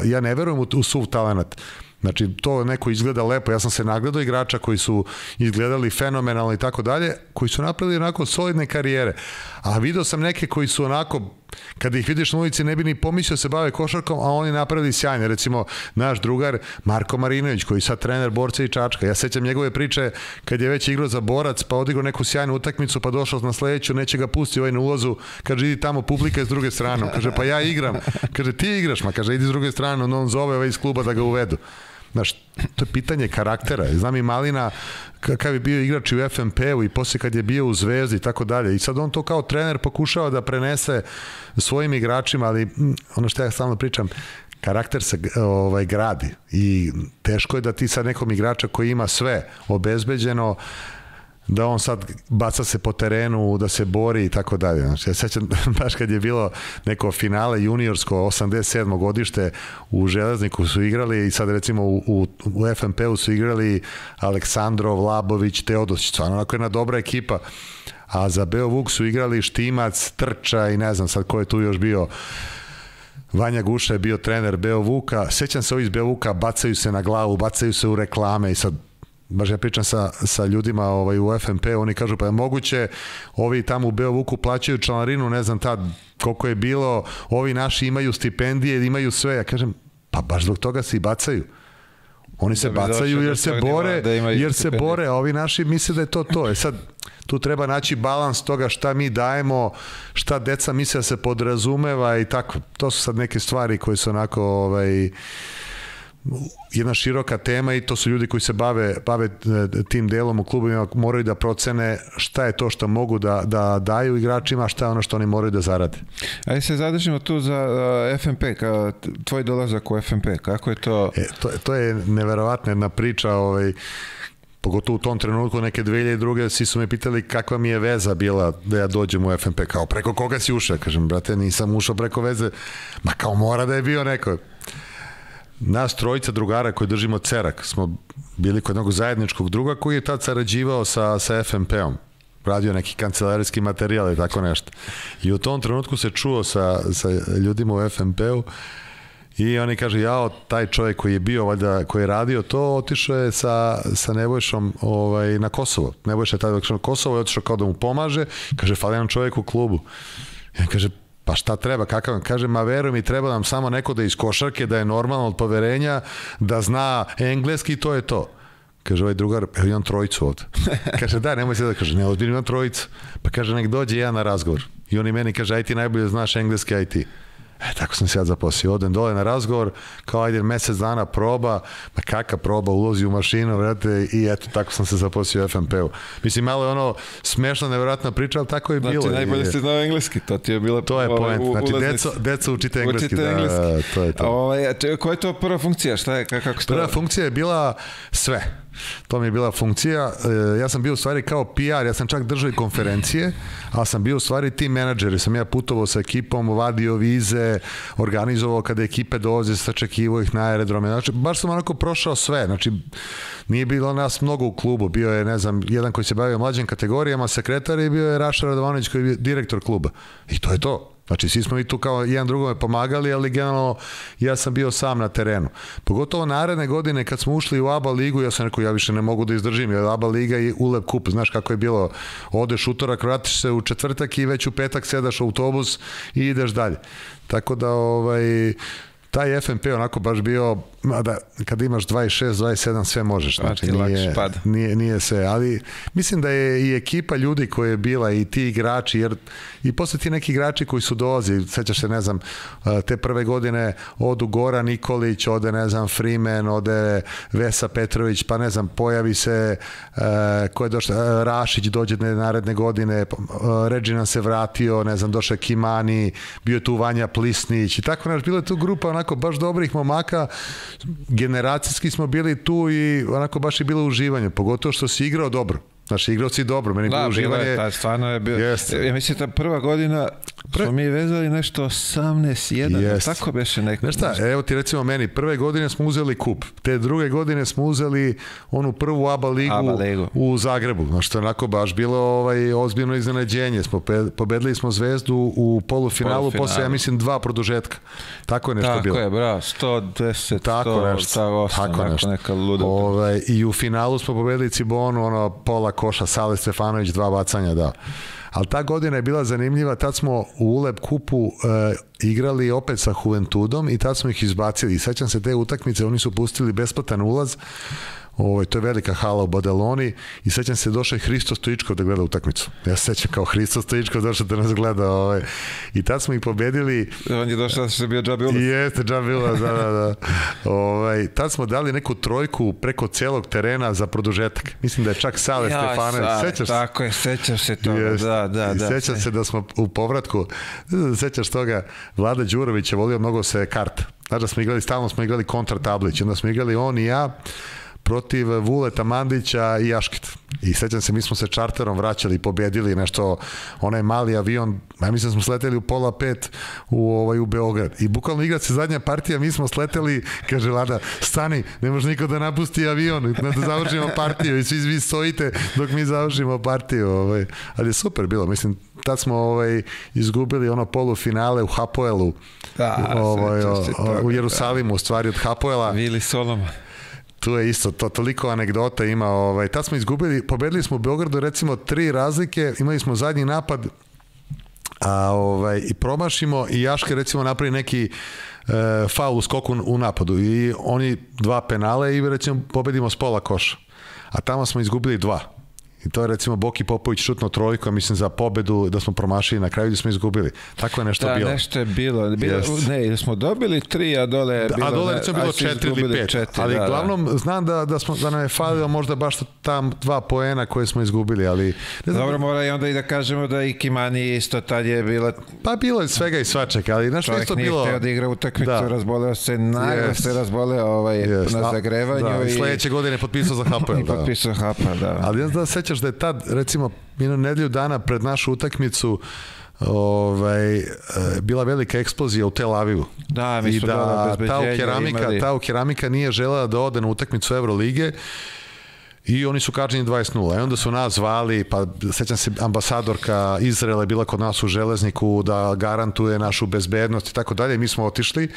Ja ne verujem u suv talenat. Znači, to neko izgleda lepo. Ja sam se nagledao igrača koji su izgledali fenomenalno i tako dalje, koji su napravili onako solidne karijere. A video sam neke koji su onako, kada ih vidiš na ulici, ne bi ni pomislio se bave košarkom, a oni napravili sjajne. Recimo, naš drugar Marko Marinović, koji je sad trener Borca i Čačka. Ja sećam njegove priče kad je već igrao za Borac, pa odigrao neku sjajnu utakmicu, pa došao na sledeću, neće ga pusti na ulazu, kaže, idi tamo, publika je s druge strane. Kaže, pa ja igram. Kaže, ti igraš, ma kaže, idi s druge strane, on zove iz kluba da ga uvedu. Znaš, to je pitanje karaktera. Znam i Malina kakav je bio igrač u FNP-u i posle kad je bio u Zvezdi i tako dalje. I sad on to kao trener pokušava da prenese svojim igračima, ali ono što ja stalno pričam, karakter se gradi i teško je da ti sad nekom igrača koji ima sve obezbeđeno, da on sad baca se po terenu, da se bori i tako dalje. Znači, ja sećam baš kad je bilo neko finale juniorsko 87. godište u Železniku su igrali i sad recimo u FNP-u su igrali Aleksandrov, Labović, Teodosić, stvarno onako jedna dobra ekipa, a za Beovuk su igrali Štimac, Trča i ne znam sad ko je tu još bio. Vanja Guša je bio trener Beovuka. Sećam se ovi iz Beovuka, bacaju se na glavu, bacaju se u reklame i sad baš ja pričam sa ljudima u FNP, oni kažu pa je moguće, ovi tamo u Beovuku plaćaju članarinu, ne znam tad koliko je bilo, ovi naši imaju stipendije, imaju sve, ja kažem pa baš zbog toga se i bacaju. Oni se bacaju jer se bore, a ovi naši misle da je to. Sad, tu treba naći balans toga šta mi dajemo, šta deca misle da se podrazumeva i tako. To su sad neke stvari koje su onako jedna široka tema i to su ljudi koji se bave tim delom u klubima, moraju da procene šta je to što mogu da daju igračima, šta je ono što oni moraju da zarade. Ajde se zadržimo tu za FNP, tvoj dolazak u FNP, kako je to? To je neverovatna jedna priča, pogotovo u tom trenutku, neke 2002. svi su me pitali kakva mi je veza bila da ja dođem u FNP, kao preko koga si ušao? Kažem, brate, nisam ušao preko veze, ma kao mora da je bio neko. Nas trojica drugara koji držimo Cerak smo bili kod jednog zajedničkog druga koji je tad sarađivao sa FNP-om, radio neki kancelarijski materijal i tako nešto. I u tom trenutku se čuo sa ljudima u FNP-u i oni kaže, taj čovjek koji je bio, valjda, koji je radio to, otišao je sa Nebojšom na Kosovo. Nebojša je tada otišao na Kosovo i otišao kao da mu pomaže. Kaže, fali nam čovjek u klubu. I kaže, pa šta treba, kakav vam? Kaže, ma veruj mi, treba nam samo neko da iz košarke, da je normalno od poverenja, da zna engleski i to je to. Kaže, ovaj drugar, imam trojicu ovdje. Kaže, da, nemoj se da, kaže, ne, ovdje imam trojicu. Pa kaže, nek dođe ja na razgovor. I oni meni kaže, aj ti najbolje znaš engleski, aj ti. Tako sam se ja zaposlio, odem dole na razgovor, kao ajde mesec dana proba, ma kakva proba, ulozi u mašinu, vrate, i eto, tako sam se zaposlio u FNP-u. Mislim, malo je ono smešno, nevjerojatna priča, ali tako je bilo. Znači, najbolje ste znao engleski, to ti je bilo... To je point, znači, deco učite engleski. Da, to je to. Koja je to prva funkcija, šta je, kako ste... Prva funkcija je bila sve. To mi je bila funkcija, ja sam bio u stvari kao PR, ja sam čak držao i konferencije, ali sam bio u stvari team menadžer, jer sam ja putovao sa ekipom, vadio vize, organizovao kada ekipe dolaze, sačekivao ih na aerodrome, znači baš sam onako prošao sve, znači nije bilo nas mnogo u klubu, bio je, ne znam, jedan koji se bavio mlađim kategorijama, sekretar, i bio je Raša Radovanović koji je direktor kluba i to je to. Znači, svi smo i tu kao jedan drugome pomagali, ali generalno ja sam bio sam na terenu. Pogotovo naredne godine kad smo ušli u ABA ligu, ja sam rekao, ja više ne mogu da izdržim, jer ABA liga i ULEB kup, znaš kako je bilo, odeš utorak, vratiš se u četvrtak i već u petak sedaš u autobus i ideš dalje. Tako da, taj FNP onako baš bio, da kad imaš 26, 27 sve možeš, znači nije sve, ali mislim da je i ekipa ljudi koja je bila i ti igrači, jer i posle ti neki igrači koji su dolazili, sećaš se, ne znam, te prve godine odu Goran Nikolić, ode, ne znam, Freeman, ode Vesa Petrović, pa ne znam, pojavi se ko je došao, Rašić dođe naredne godine, Regina se vratio, ne znam, došao Kimani, bio je tu Vanja Plisnić i tako, znaš, bila je tu grupa onako baš dobrih momaka, generacijski smo bili tu i onako baš je bilo uživanje, pogotovo što si igrao dobro. Znači, igrao si dobro, meni bilo uživanje. Da, stvarno je bilo. Ja mislim da prva godina smo mi vezali nešto 18-1, tako beše neko. Znaš šta, evo ti recimo meni, prve godine smo uzeli kup, te druge godine smo uzeli onu prvu ABA ligu u Zagrebu, znači to je onako baš bilo ozbiljno iznenađenje. Pobedili smo Zvezdu u polufinalu, posle, ja mislim, 2 produžetka. Tako je nešto bilo. Tako je, bravo, 110, 108, neka luda. I u finalu smo pobedili Cibonu, pola koša, Sale Stefanović, 2 bacanja, da. Ali ta godina je bila zanimljiva, tad smo u ULEB kupu igrali opet sa Juventudom i tad smo ih izbacili. I sećam se te utakmice, oni su pustili besplatan ulaz, to je velika hala u Badaloni, i sećam se, došao je Hristo Stojičkov da gleda utakmicu. Ja se sećam kao Hristo Stojičkov došao da nas gleda. I tad smo ih pobedili. On je došao da se bio džabi ulaz. Jeste, džabi ulaz, da. Tad smo dali neku trojku preko celog terena za produžetak. Mislim da je čak Sale Stefanović. Sećaš se? Tako je, sećam se toga, da. Sećam se da smo u povratku, sećaš toga, Vlada Đurović je volio mnogo se karta. Znači da smo igrali, stalno smo igrali kontra tablić. Onda smo igrali on i ja protiv Vuleta Mandića i Jaškita. I sećam se, mi smo se čarterom vraćali i pobjedili nešto, onaj mali avion, ja mislim da smo sleteli u 4:30 u Beograd. I bukvalno igra se zadnja partija, mi smo sleteli, kaže Vlada, stani, ne može niko da napusti avion, da završimo partiju i svi vi stojite dok mi završimo partiju. Ali je super bilo, mislim, tad smo izgubili polufinale u Hapoelu, u Jerusalimu, u stvari od Hapoela. Vili Solomon. Tu je isto, toliko anegdota ima. Tad smo izgubili, pobedili smo u Beogradu recimo 3 razlike, imali smo zadnji napad i promašimo i Jaške recimo napravi neki faul u skoku u napadu i oni 2 penale i recimo pobedimo s pola koša. A tamo smo izgubili 2. I to je recimo Boki Popović šutno trojku, mislim za pobedu da smo promašili na kraju gdje smo izgubili. Tako je nešto bilo. Da, nešto je bilo. Ne, ili smo dobili 3, a dole je bilo... A dole je bilo 4 ili 5. Ali glavnom znam da nam je falilo možda baš tam 2 poena koje smo izgubili, ali... Dobro, mora i onda i da kažemo da i Kimani isto tad je bila... Pa bilo je svega i svačega, ali nešto isto bilo... Čovjek nije hteo da igra utakmicu, razboleo se, naglo se razboleo na zagrevanju. I sledeće godine potpisao za HPL. Potpisao HPL, da. Ali ja da sećaš da je tad, recimo, nedelju dana pred našu utakmicu bila velika eksplozija u Tel Avivu. Da, mi smo dole bezbeđenja ta keramika nije želela da ode na utakmicu Evrolige i oni su kažnjeni 20-0. I onda su nas zvali, pa sećam se, ambasadorka Izraela je bila kod nas u Železniku da garantuje našu bezbednost i tako dalje. Mi smo otišli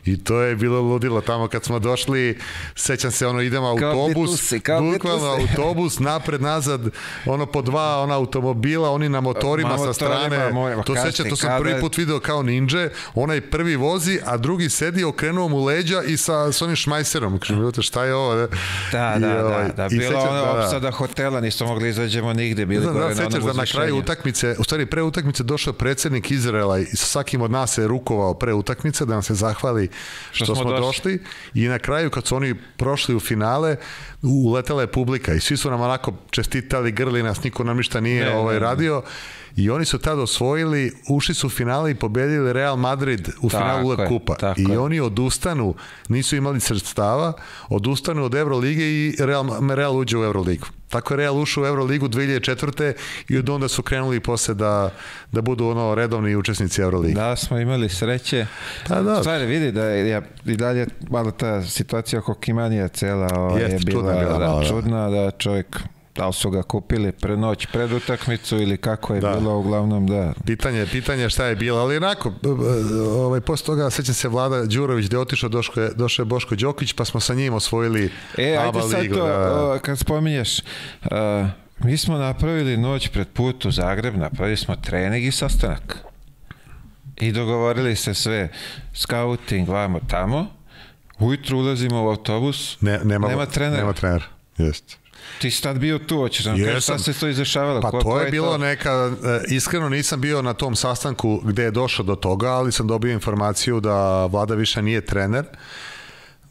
i to je bilo ludilo tamo kad smo došli, sećam se, idemo autobus, bukvalno autobus, napred, nazad, po 2 automobila, oni na motorima sa strane, to sam prvi put video kao ninja, onaj prvi vozi, a drugi sedi, okrenuo mu leđa i sa onim šmajserom, šta je ovo? Da, bilo opsada hotela, nismo mogli izađemo nigde, bili gore na onom uzvišenju. Da na kraju utakmice, u stvari pre utakmice došao predsjednik Izraela i sa svakim od nas se rukovao pre utakmice da nam se zahvali što smo došli i na kraju kad su oni prošli u finale uletela je publika i svi su nam onako čestitali, grli nas, niko nam ništa nije radio i oni su tada osvojili, ušli su u finale i pobedili Real Madrid u finalu UEFA kupa i oni odustanu, nisu imali sredstava, odustanu od Evrolige i Real uđe u Euroligu. Tako je Real ušao u Euroligu 2004. i od onda su krenuli posle da budu redovni učesnici Euroligi. Da, smo imali sreće. Stvari, vidi da je i dalje malo ta situacija oko Kimanija cela je bila čudna, da čovjek, da li su ga kupili noć pred utakmicu ili kako je bilo, uglavnom da. Pitanje šta je bilo, ali onako, posle toga sećam se Vlada Đurović gde je otišao, došao je Boško Đokić, pa smo sa njim osvojili ABA ligu. Ajde sad to, kad spominješ, mi smo napravili noć pred put u Zagreb, napravili smo trening i sastanak. I dogovorili se sve, scouting, vamo tamo, ujutru ulazimo u autobus, nema trenera. Nema trenera, jeste. Ti si tad bio tu, hoćeš nam kaži šta se to izrašavalo? Pa to je bilo neka, iskreno nisam bio na tom sastanku gde je došlo do toga, ali sam dobio informaciju da Vlada više nije trener,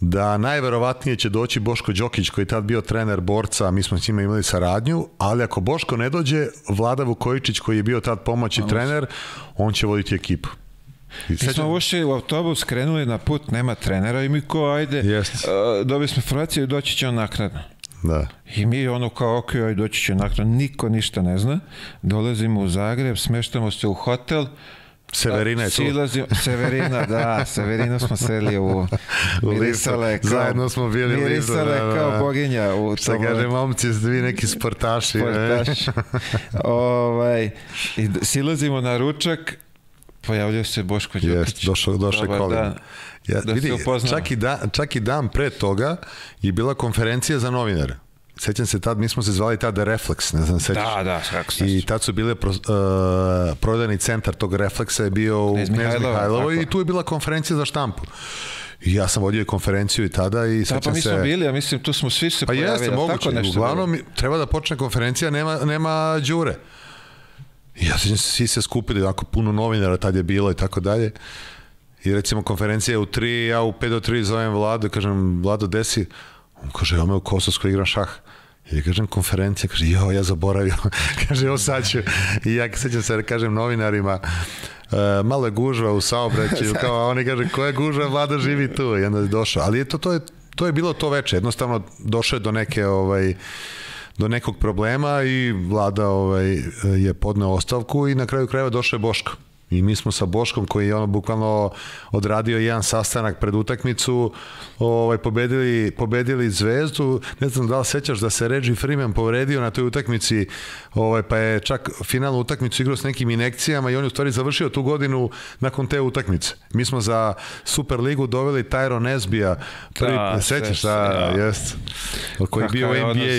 da najverovatnije će doći Boško Đokić koji je tad bio trener Borca, mi smo s njima imali saradnju, ali ako Boško ne dođe, Vlada Vukojičić koji je bio tad pomoćni trener, on će voditi ekipu. Mi smo ušli u autobus, krenuli na put, nema trenera i mi ajde, dobili smo informaciju i doći će on naknadno. Da. I mi kao ok, doći će nakon, niko ništa ne zna, dolazimo u Zagreb, smeštamo se u hotel, Severina je tu. Severinu smo seli u mirisale, zajedno smo bili mirisale kao boginja. Šta kaže, momci, vi neki sportaši. I silazimo na ručak, pojavljaju se Boško Đokić. Došao je Kolin. Vidi, čak i dan pre toga je bila konferencija za novinare. Sećam se tad, mi smo se zvali tada Reflex, ne znam, sećaš? Da, kako se I tad su bile prodajni centar tog Reflexa je bio u Knez Mihajlovo i tu je bila konferencija za štampu. I ja sam vodio konferenciju i tada i sećam se... Pa mi smo bili, ja mislim, tu smo svi se pojavili. Pa jeste, moguće. Uglavnom, treba da počne konferencija, nema Đure. I ja sećam se, svi se skupili, ako puno novinara tad je bilo i tako dalje. I recimo konferencija je u 3, ja u 5 do 3 zovem Vladu, kažem, Vlado, gde si? On kaže, ja me u Kosovskoj igram šah. I kažem, konferencija, kaže, ja zaboravio. Kaže, sad ću. I ja sećam se, kažem novinarima, malo je gužva u saobraćaju, kao, a oni kaže, koja je gužva, Vlada živi tu. I onda je došao. Ali to je bilo to veče. Jednostavno, došao je do neke... do nekog problema i Vlada je podneo ostavku i na kraju krajeva došao je Boško. I mi smo sa Boškom koji je bukvalno odradio jedan sastanak pred utakmicu, pobedili Zvezdu. Ne znam da li sećaš da se Reggie Freeman povredio na toj utakmici, pa je čak finalnu utakmicu igrao s nekim injekcijama i on je u stvari završio tu godinu nakon te utakmice. Mi smo za Superligu doveli Tyron Nesbija, sećaš, jest, koji je bio u NBA.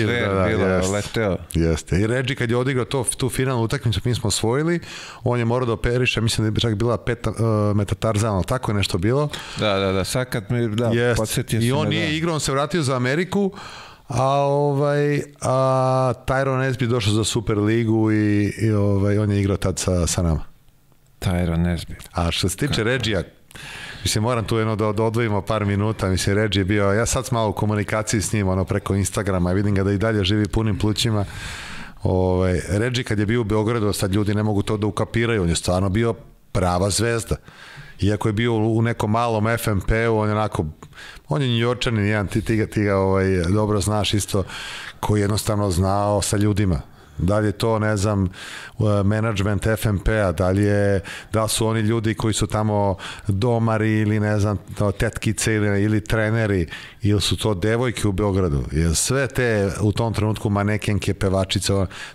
Jeste. I Reggie kad je odigrao tu finalnu utakmicu, mi smo osvojili, on je morao da operiše, mislim da je čak bila metatarzalno, tako je nešto bilo. Da, sad kad mi podsjetio sam. I on nije igrao, on se vratio za Ameriku, a Tyrone Nesbitt došao za Super ligu i on je igrao tad sa nama. Tyrone Nesbitt. A što se tiče Regija, mislim, moram tu jedno da odvojimo par minuta, mislim, Reggie je bio, ja sad sam malo u komunikaciji s njim, preko Instagrama, vidim ga da i dalje živi punim plućima. Reggie kad je bio u Beogradu, sad ljudi ne mogu to da ukapiraju, on je stvarno bio prava zvezda. Iako je bio u nekom malom FNP-u, on je njujorčanin, jedan, ti ga dobro znaš isto, koji jednostavno znao sa ljudima. Da li je to, ne znam, management FNP-a, da su oni ljudi koji su tamo domari ili, ne znam, tetkice ili treneri, ili su to devojke u Beogradu. Jer sve te, u tom trenutku, manekenke, pevačice,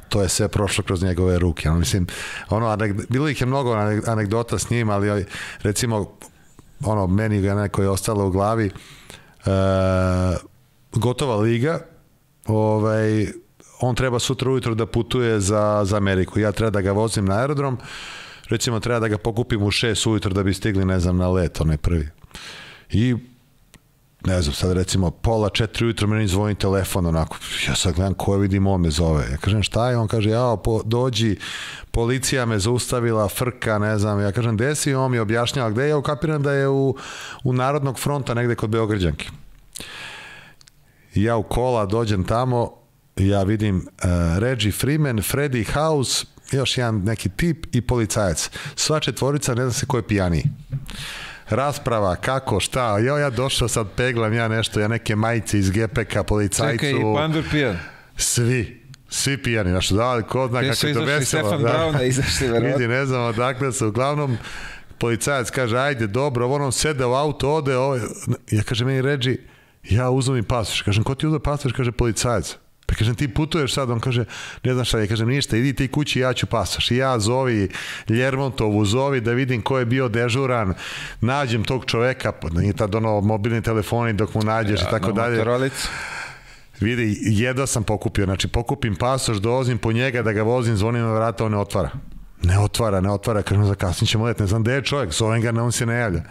to je sve prošlo kroz njegove ruke. Mislim, bilo ih je mnogo anegdota s njim, ali recimo, meni ga neko je ostalo u glavi, gotova liga, on treba sutra ujutro da putuje za Ameriku. Ja treba da ga vozim na aerodrom, recimo treba da ga pokupim u 6 ujutro da bi stigli, ne znam, na let, onaj prvi. I, ne znam, sad recimo pola 4 ujutro meni zvoni telefon, onako, ja sad gledam ko je, vidim, on me zove. Ja kažem, šta je? On kaže, dođi, policija me zaustavila, frka, ne znam. Ja kažem, gde si? On mi objašnjava gde je, ja ukapiram da je u Narodnog fronta negde kod Beograđanke. I ja u kola dođem tamo, ja vidim Reggie Freeman, Freddie House, još jedan neki tip i policajac. Sva četvorica, ne znam se ko je pijaniji. Rasprava, kako, šta, ja došao sad, peglam ja nešto, ja neke majice iz GPK, policajcu. Čekaj, i Pandur pijan? Svi pijani, znaš, da, ko zna kako je to veselo. Stefan Brauna izašli, verovatno. Vidi, ne znam odakle se, uglavnom, policajac kaže, ajde, dobro, on sede u auto, ode, ja kažem, meni Reggie, ja uzmem i pasoš, kažem, ko ti uzme pasoš, kaže, policajac. Pa kažem, ti putuješ sad, on kaže, ne znam šta, ja kažem, ništa, idi ti kući, ja ću pasoš. I ja zovi Ljermontovu, zovi da vidim ko je bio dežuran, nađem tog čoveka, nije tad mobilni telefoni dok mu nađeš i tako dalje. Vidi, jedva sam pokupio, znači pokupim pasoš, dolazim po njega da ga vozim, zvonim na vrata, on ne otvara. Ne otvara, kažem, zakasnit ćemo let, ne znam gde je čovjek, zovem ga, on se ne javlja.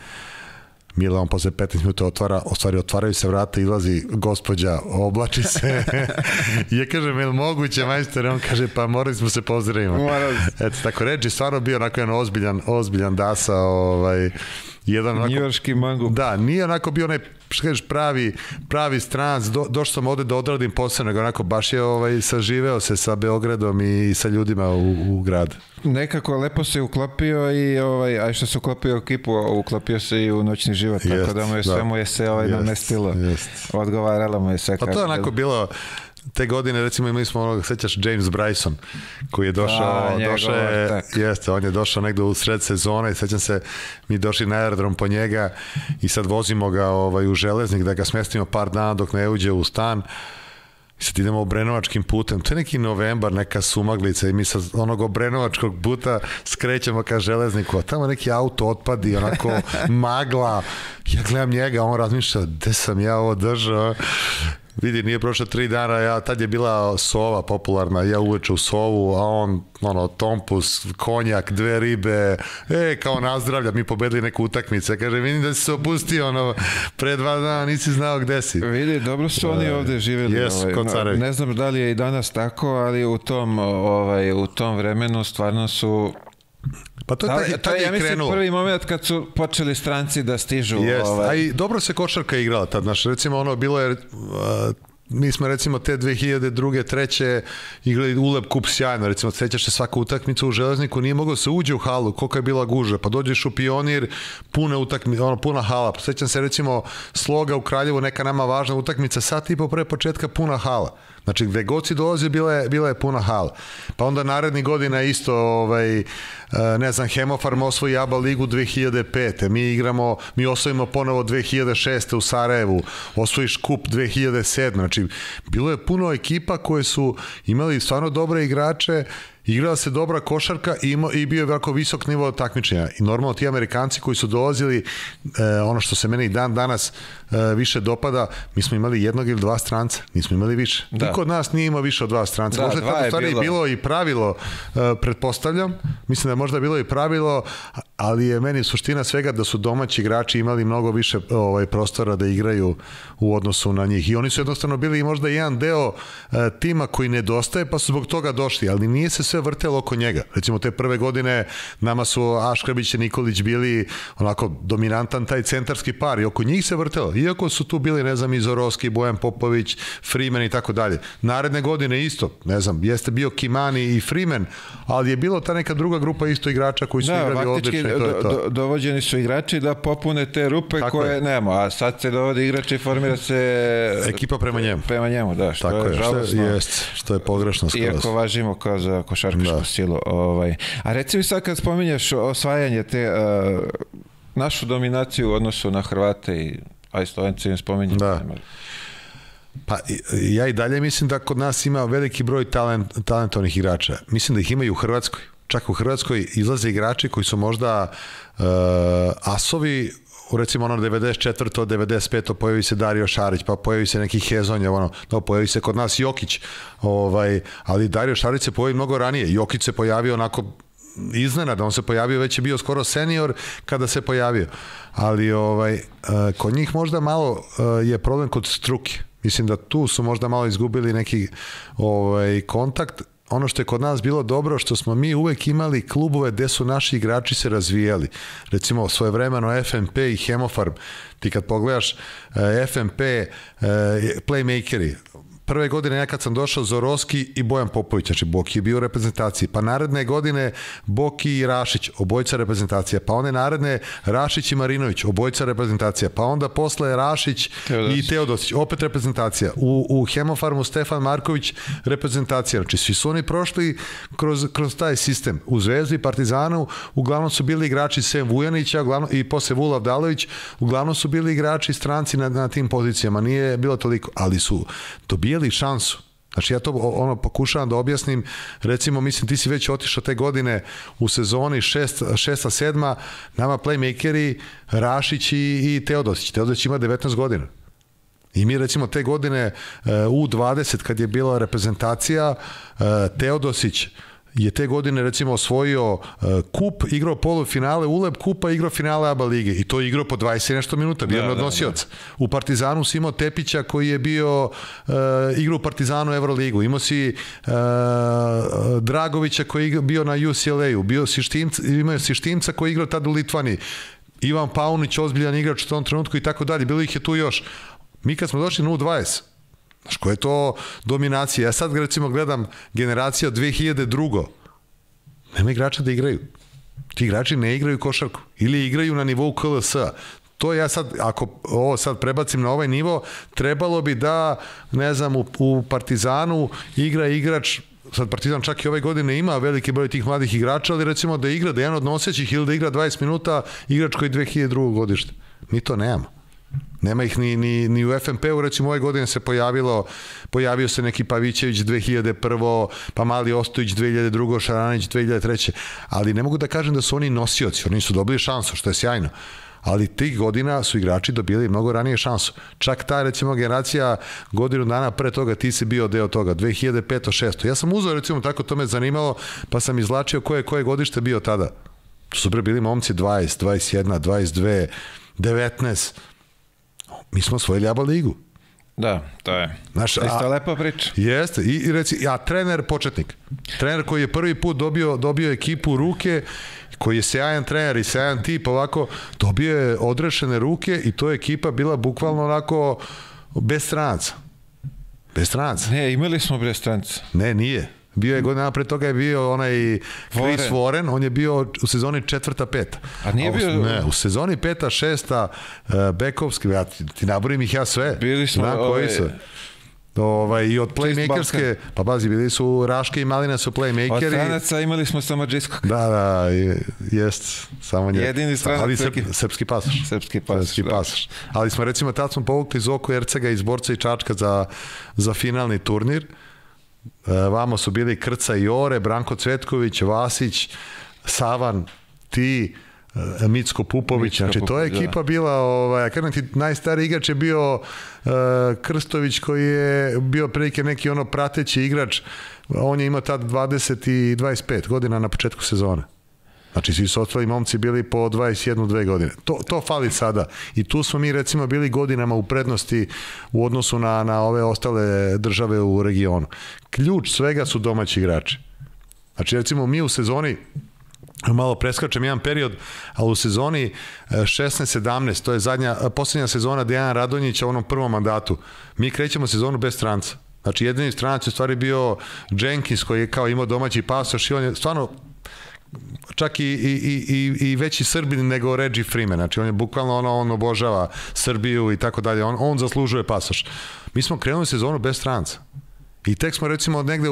Mila, on posle 15 minuta otvaraju se vrata, izlazi gospođa, oblači se. Ja kažem, je li moguće, majstore? On kaže, pa morali smo se pozdraviti. Eto, tako, Reggie stvarno bio onako jedan ozbiljan dasa, njujorški mangup. Da, nije onako bio onaj, što kažeš, pravi stranac, došao sam ovde da odradim posao, nego onako baš je saživeo se sa Beogradom i sa ljudima u grad. Nekako lepo se uklopio i a što se uklopio u ekipu, uklopio se i u noćni život, tako da mu je se namestilo. Odgovaralo mu je sve. Pa to je onako bilo, te godine, recimo, imali smo sećaš James Bryson, koji je došao, on je došao negde u sred sezone i sećam se, mi došli na aerodrom po njega i sad vozimo ga u Železnik da ga smestimo par dana dok ne uđe u stan. I sad idemo obrenovačkim putem, to je neki novembar, neka sumaglica i mi sa onog obrenovačkog puta skrećemo ka Železniku, a tamo neki auto otpadi, onako magla, ja gledam njega, on razmišlja, gde sam ja ovo držao? Vidi, nije prošlo 3 dana, tad je bila sova popularna, ja uveče u sovu, a on, tompus, konjak, 2 ribe, kao nazdravlja, mi pobedili neku utakmicu, kaže, vidim da si se opustio, pre 2 dana nisi znao gde si. Vidi, dobro su oni ovde živjeli, ne znam da li je i danas tako, ali u tom vremenu stvarno su... Pa to je ja mislim prvi moment kad su počeli stranci da stižu. A i dobro se košarka igrala tad, recimo bilo je, mi smo recimo te 2002. 2003. igrali Uleb kup sjajno, recimo sećaš se svaka utakmica u Železniku, nije moglo se uđe u halu, kolika je bila gužva, pa dođeš u Pionir, puna hala, sećam se recimo Sloga u Kraljevu, neka nama važna utakmica, sat i po pre početka puna hala. Znači, gde god si dolazi, bila je puna hala. Pa onda narednih godina isto, ne znam, Hemofarm osvoji ABA ligu 2005. Mi osvojimo ponovo 2006. u Sarajevu, osvojiš kup 2007. Znači, bilo je puno ekipa koje su imali stvarno dobre igrače, igrala se dobra košarka i bio je jako visok nivo takmičenja. I normalno ti Amerikanci koji su dolazili, ono što se meni i dan danas više dopada, mi smo imali 1 ili 2 stranca, nismo imali više. Niko od nas nije imao više od 2 stranca. Možda je tada stvari bilo i pravilo, pretpostavljam, mislim da je možda bilo i pravilo, ali je meni suština svega da su domaći igrači imali mnogo više prostora da igraju u odnosu na njih. I oni su jednostavno bili možda jedan deo tima koji nedostaje, pa su zbog toga došli, ali nije se sve vrtelo oko njega. Recimo, te prve godine nama su Aškrabić i Nikolić bili onako dominantan taj centarski par i oko njih se vrtelo. Iako su tu bili, ne znam, i Zorovski, Bojan Popović, Freeman i tako dalje. Naredne godine isto, ne znam, jeste bio Kimani i Freeman, ali je bilo ta neka druga grupa isto igrača koji su igrali odlično. Dovođeni su igrači da popune te rupe tako koje nema, a sad se dovode igrači i formira se ekipa prema njemu. Prema njemu, da, što tako je žalostno. Što je pogrešno skroz. Iako važimo kao za košarkašku silu. A reci mi sad kad spominješ osvajanje te našu dominaciju u odnosu na Hrvate a i Slovenci im spominjem. Da. Pa ja i dalje mislim da kod nas ima veliki broj talentovnih igrača. Mislim da ih ima i u Hrvatskoj. Čak u Hrvatskoj izlaze igrači koji su možda asovi, recimo ono 94. 95. pojavi se Dario Šarić, pa pojavi se neki Hezonja, pojavi se kod nas Jokić, ali Dario Šarić se pojavi mnogo ranije. Jokić se pojavio onako iznenada, on se pojavio, već je bio skoro senior kada se pojavio. Ali kod njih možda malo je problem kod struke. Mislim da tu su možda malo izgubili neki kontakt. Ono što je kod nas bilo dobro, što smo mi uvek imali klubove gde su naši igrači se razvijali. Recimo, svojevremeno FNP i Hemofarm. Ti kad pogledaš FNP, playmakeri, prve godine ja kad sam došao Zorovski i Bojan Popović, znači Boki je bio u reprezentaciji, pa naredne godine Boki i Rašić, obojica reprezentacija, pa one naredne Rašić i Marinović, obojica reprezentacija, pa onda posle Rašić i Teodosić, opet reprezentacija. U Hemofarmu Stefan Marković reprezentacija, znači svi su oni prošli kroz taj sistem. U Zvezdi i Partizanu uglavnom su bili igrači Sem Vujanića i posle Vula Vdalović, uglavnom su bili igrači stranci na tim pozicijama, nije bilo toliko, ali su dobijali šansu. Znači ja to pokušavam da objasnim, recimo mislim ti si već otišao te godine u sezoni 6-7, nama playmakeri Rašić i Teodosić. Teodosić ima 19 godina. I mi recimo te godine U20 kad je bila reprezentacija, Teodosić je te godine recimo osvojio kup, igrao polufinale ULEB kupa, igrao finale ABA lige i to je igrao po 20 nešto minuta, bio je odnosioc. U Partizanu si imao Tepića koji je bio igrao u Partizanu Euroligu, imao si Dragovića koji je bio na UCLA-u, imao si Štimca koji je igrao tada u Litvani, Ivan Paunić, ozbiljan igrač u tom trenutku i tako dalje, bilo ih je tu još. Mi kad smo došli na U20, znaš, koja je to dominacija? Ja sad recimo gledam generacija od 2002. Nema igrača da igraju. Ti igrači ne igraju košarku. Ili igraju na nivou KLS-a. To ja sad, ako ovo sad prebacim na ovaj nivo, trebalo bi da, ne znam, u Partizanu igra igrač, sad Partizan čak i ove godine ima veliki broj tih mladih igrača, ali recimo da igra, da jedan od nosećih ili da igra 20 minuta igrač koji je 2002. godište. Mi to nemamo. Nema ih ni u FNP-u, recimo ove godine se pojavio se neki Pavićević 2001. pa Mali Ostojić 2002. Šaranić 2003. Ali ne mogu da kažem da su oni nosioci, oni su dobili šansu, što je sjajno. Ali tih godina su igrači dobili mnogo ranije šansu. Čak ta recimo generacija godinu dana pre toga ti si bio deo toga, 2005-2006. Ja sam uzeo recimo tako, to me zanimalo, pa sam izvlačio koje godište bio tada. To su bili momci 20, 21, 22, 19. Mi smo osvojili ABA ligu. Da, to je. Isto lepa priča. Jeste. I reci, trener početnik. Trener koji je prvi put dobio ekipu u ruke, koji je sjajan trener i sjajan tip, ovako, dobio je odrešene ruke i to je ekipa bila bukvalno onako bez stranaca. Bez stranaca. Ne, imali smo bez stranaca. Ne, nije. Bio je godina pre toga je bio onaj Chris Warren, on je bio u sezoni 4-5. A nije bio... Ne, u sezoni 5-6 bekovski, ti naborim ih ja sve. Bili smo... I od playmakerske, pa bazi, bili su Raške i Malina su playmakeri. Od stranaca imali smo samo Džiskog. Da, jest, samo nje. Jedini stranac. Ali srpski pasoš. Srpski pasoš. Ali smo recimo, tad smo povukli Zoku Ercega iz Borca i Čačka za finalni turnir. Vamo su bili Krca i Ore, Branko Cvetković, Vasić, Savan, ti, Micko Pupović, znači to je ekipa bila, kažem ti, najstariji igrač je bio Krstović koji je bio prilike neki prateći igrač, on je imao tad 20 i 25 godina na početku sezone. Znači, svi su ostali momci bili po 21-2 godine. To fali sada. I tu smo mi, recimo, bili godinama u prednosti u odnosu na ove ostale države u regionu. Ključ svega su domaći igrači. Znači, recimo, mi u sezoni, malo preskačem jedan period, ali u sezoni 16-17, to je posljednja sezona Dejana Radonjića u onom prvom mandatu, mi krećemo sezonu bez stranca. Znači, jedini stranac je u stvari bio Jenkins, koji je kao imao domaći pasoš i on je stvarno čak i veći Srbin nego Reggie Freeman. Znači, on je bukvalno on obožava Srbiju i tako dalje. On zaslužuje pasoš. Mi smo krenuli sezonu bez stranca. I tek smo recimo negde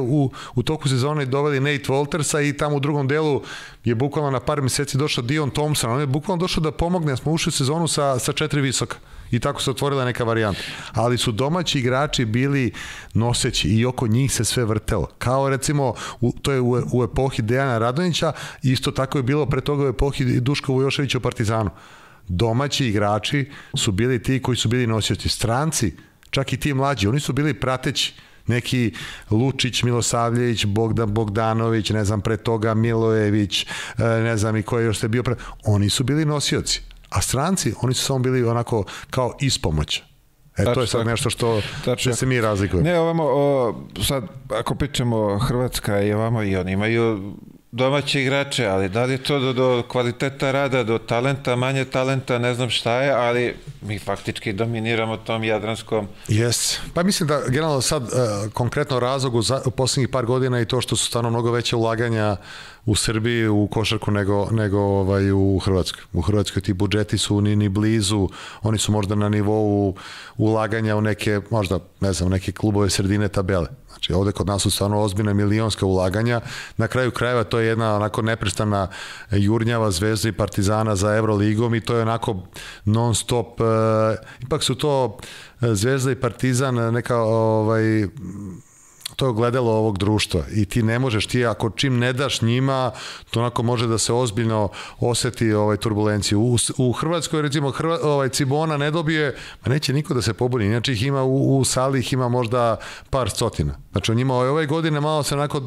u toku sezone doveli Nate Waltersa i tamo u drugom delu je bukvalno na par meseci došao Dion Thompson. On je bukvalno došao da pomogne, jer smo ušli u sezonu sa 4 visoka. I tako se otvorila neka varijanta. Ali su domaći igrači bili noseći i oko njih se sve vrtelo. Kao recimo, to je u epohi Dejana Radonjića, isto tako je bilo pre toga u epohi Duška Vujoševića u Partizanu. Domaći igrači su bili ti koji su bili nosioci. Stranci, čak i ti mlađi, oni su bili prateći. Neki Lučić, Milosavljević, Bogdan Bogdanović, ne znam, pre toga Milojević, ne znam i ko je još se bio pre... Oni su bili nosioci. A stranci, oni su samo bili onako kao ispomoć. To je sad nešto što se mi razlikujemo. Ne, ovamo, sad, ako pričamo Hrvatska i ovamo, i oni imaju domaće igrače, ali da li je to do kvaliteta rada, do talenta, manje talenta, ne znam šta je, ali mi faktički dominiramo tom jadranskom. Jes, pa mislim da generalno sad konkretno razlog u posljednjih par godina i to što su stvarno mnogo veće ulaganja u Srbiji u košarku nego u Hrvatskoj. U Hrvatskoj ti budžeti su ni blizu, oni su možda na nivou ulaganja u neke, možda, ne znam, neke klubove sredine tabele. Znači, ovde kod nas su stvarno ozbiljna milionska ulaganja. Na kraju krajeva to je jedna onako neprestana jurnjava Zvezda i Partizana za Evroligom i to je onako non stop, ipak su to Zvezda i Partizan neka to je ogledalo ovog društva i ti ne možeš, ti ako čim ne daš njima, to onako može da se ozbiljno oseti turbulenciju. U Hrvatskoj, recimo, Cibona ne dobije, ma neće niko da se pobuni, inače ih ima u sali, ih ima možda par stotina. Znači, on njima ove godine malo se onako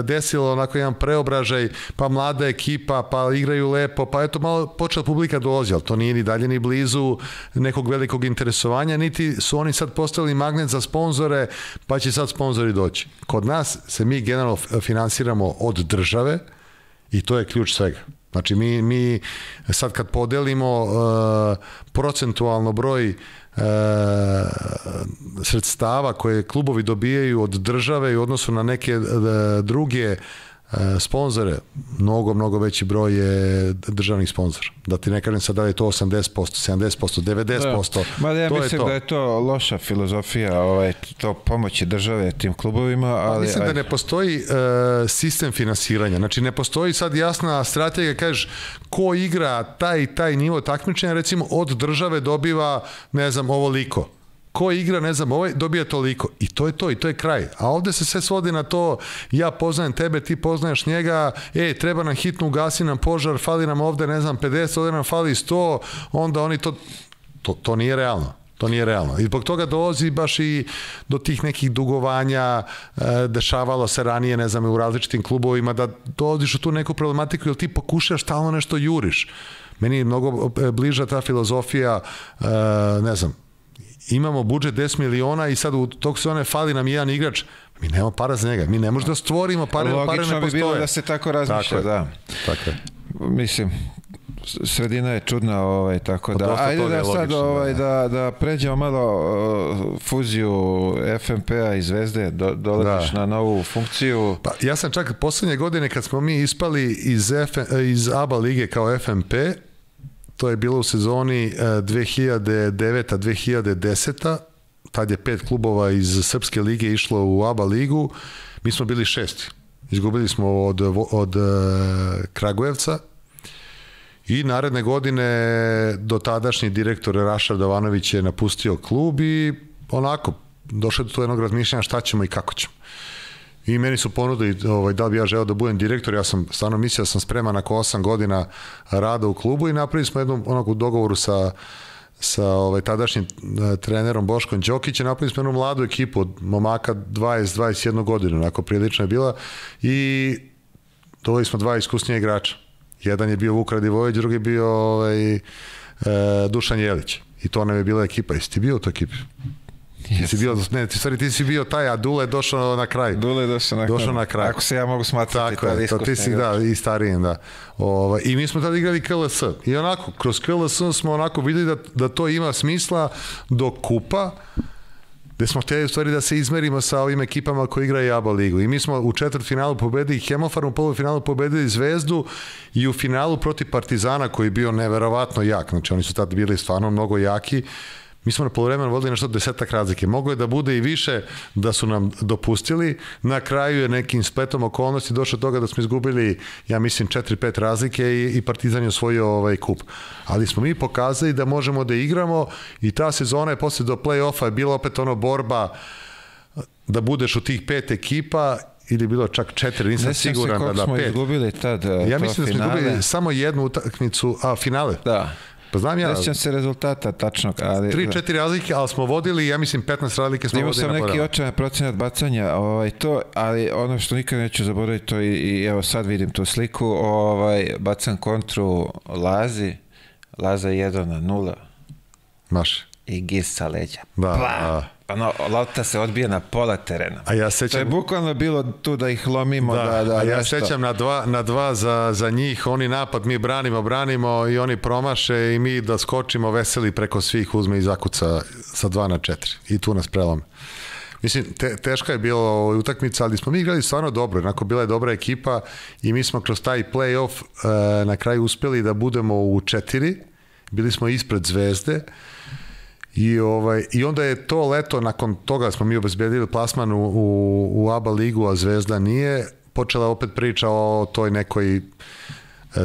desilo onako jedan preobražaj, pa mlada ekipa, pa igraju lepo, pa eto malo počela publika dolazi, ali to nije ni dalje ni blizu nekog velikog interesovanja, niti su oni sad postavili magnet za sponzore, pa će sad sponzori doći. Kod nas se mi generalno finansiramo od države i to je ključ svega. Znači, mi sad kad podelimo procentualno broj sredstava koje klubovi dobijaju od države i u odnosu na neke druge sponzore, mnogo veći broj je državnih sponzora. Da ti ne kažem sad da je to 80%, 70%, 90%. Ma ja mislim da je to loša filozofija, to pomoći države tim klubovima, ali... Mislim da ne postoji sistem finansiranja. Znači, ne postoji sad jasna strategija, kažeš, ko igra taj nivo takmičenja, recimo, od države dobiva, ne znam, ovoliko. Ko igra, ne znam, dobija toliko. I to je to, i to je kraj. A ovde se sve svodi na to, ja poznajem tebe, ti poznaješ njega, treba nam hitno, ugasi nam požar, fali nam ovde, ne znam, 50, ovde nam fali 100, onda oni to nije realno. To nije realno. I zbog toga dolazi baš i do tih nekih dugovanja, dešavalo se ranije, ne znam, u različitim klubovima, da dolaziš u tu neku problematiku, jer ti pokušaš stalno nešto juriš. Meni je mnogo bliža ta filozofija, ne znam, imamo budžet 10 miliona i sad u tog sezone fali nam jedan igrač, mi nemamo para za njega, mi ne možemo da stvorimo pare, pare ne postoje. Logično bi bilo da se tako razmišlja, da. Tako je. Mislim, sredina je čudna, tako da. Ajde da sad da pređemo malo fuziju FNP-a i Zvezde, dolaziš na novu funkciju. Pa ja sam čak poslednje godine kad smo mi ispali iz ABA lige kao FNP, to je bilo u sezoni 2009-2010. Tad je 5 klubova iz Srpske lige išlo u ABA ligu. Mi smo bili 6. Izgubili smo od Kragujevca i naredne godine dotadašnji direktor Raša Dovanović je napustio klub i onako došlo do jednog razmišljanja šta ćemo i kako ćemo. I meni su ponudili da li bi ja želeo da budem direktor, ja sam stvarno mislio da sam spreman nakon 8 godina rada u klubu i napravili smo jednu onako dogovoru sa tadašnjim trenerom Boškom Đokićem, napravili smo jednu mladu ekipu od momaka 20-21 godinu, onako prilično je bila i doveli smo 2 iskusnija igrača. Jedan je bio Vuk Radivojević, drugi je bio Dušan Jelić. I to nam je bila ekipa. Jesi ti bio u toj ekipi? Ti si bio taj, a Dule je došao na kraj. Dule je došao na kraj. Ako se ja mogu smatrati. Tako je, ti si i starijem, da. I mi smo tada igrali KLS. I onako, kroz KLS smo onako videli da to ima smisla do kupa, gde smo htjeli u stvari da se izmerimo sa ovim ekipama koji igraju ABA ligu. I mi smo u četvrtfinalu pobedili Hemofarm, u polufinalu pobedili Zvezdu i u finalu protiv Partizana koji je bio neverovatno jak. Znači oni su tada bili stvarno mnogo jaki. Mi smo na poluvremenu vodili nešto 10 razlike. Moglo je da bude i više da su nam dopustili. Na kraju je nekim spletom okolnosti došlo do toga da smo izgubili, ja mislim, 4-5 razlike i Partizan je osvojio kup. Ali smo mi pokazali da možemo da igramo i ta sezona je posle do play-offa je bila opet borba da budeš u tih 5 ekipa ili bilo čak 4, nisam siguran da 5. Ne smo izgubili tad ja mislim da smo izgubili samo jednu utakmicu, finale. Da. Pa znam ja. Nećem se rezultata tačnog, ali 3-4 razlike, ali smo vodili, ja mislim 15 razlike smo vodili na poravno. Imao sam neki očajan procenat bacanja, ali ono što nikad neću zaboraviti, to i evo sad vidim tu sliku, bacam kontru Laza 1-0. Maš. I gis sa leđa. Da. Lopta se odbija na pola terena. A ja sećam, to je bukvalno bilo tu da ih lomimo. A ja sećam na dva za njih, oni napad, mi branimo i oni promaše i mi da skočimo veseli preko svih, uzme i zakuca sa 2-4 i tu nas prelome. Mislim, teška je bila utakmica, ali smo mi igrali stvarno dobro, onako bila je dobra ekipa i mi smo kroz taj play-off na kraju uspeli da budemo u 4, bili smo ispred Zvezde. I onda je to leto, nakon toga smo mi obezbedili plasman u ABA ligu, a Zvezda nije, počela opet priča o toj nekoj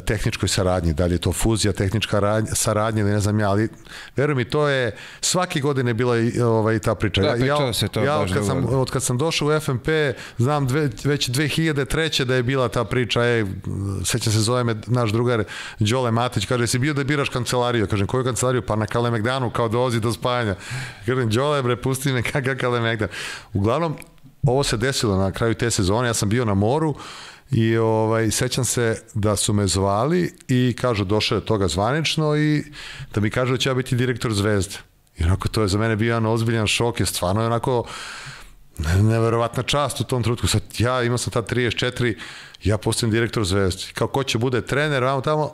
tehničkoj saradnji, da li je to fuzija, tehnička saradnja ili ne znam ja, ali veruj mi, to je svake godine bila i ta priča. Da, pričalo se to baš dugo. Od kad sam došao u FNP, znam već 2003. da je bila ta priča, sećam se, zove me naš drugar Đole Matić, kaže, si bio da biraš kancelariju? Kažem, koju kancelariju? Pa na Kalemegdanu, kao dolazi do spajanja. Kažem, Đole, bre, pusti me kakav Kalemegdan. Uglavnom, ovo se desilo na kraju te sezone, ja sam bio na moru, i sećam se da su me zvali i kažu, došao je toga zvanično i da mi kažu da će ja biti direktor Zvezde. I onako to je za mene bio jedan ozbiljan šok, je stvarno je onako neverovatna čast u tom trenutku. Sad ja imao sam tad 34, ja postajem direktor Zvezde. Kao ko će bude trener, vamo tamo,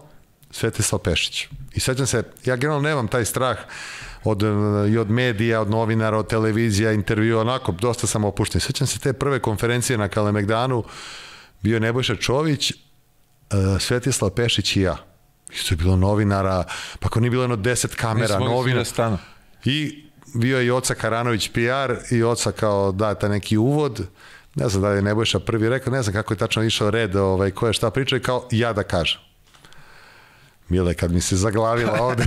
Svetislav Pešić. I sećam se, ja generalno nemam taj strah i od medija, od novinara, od televizija, intervjua, onako, dosta sam opušten. Sećam se te prve konferencije na Kalemegdanu, bio je Nebojša Čović, Svetislav Pešić i ja. Isto je bilo novinara, pa ako nije bilo 10 kamera, novinara. I bio je i Oca Karanović PR i Oca kao data neki uvod. Ne znam da li je Nebojša prvi rekao, ne znam kako je tačno išao red, ko je šta pričao i kao ja da kažem. Mile, kad mi se zaglavila ovde,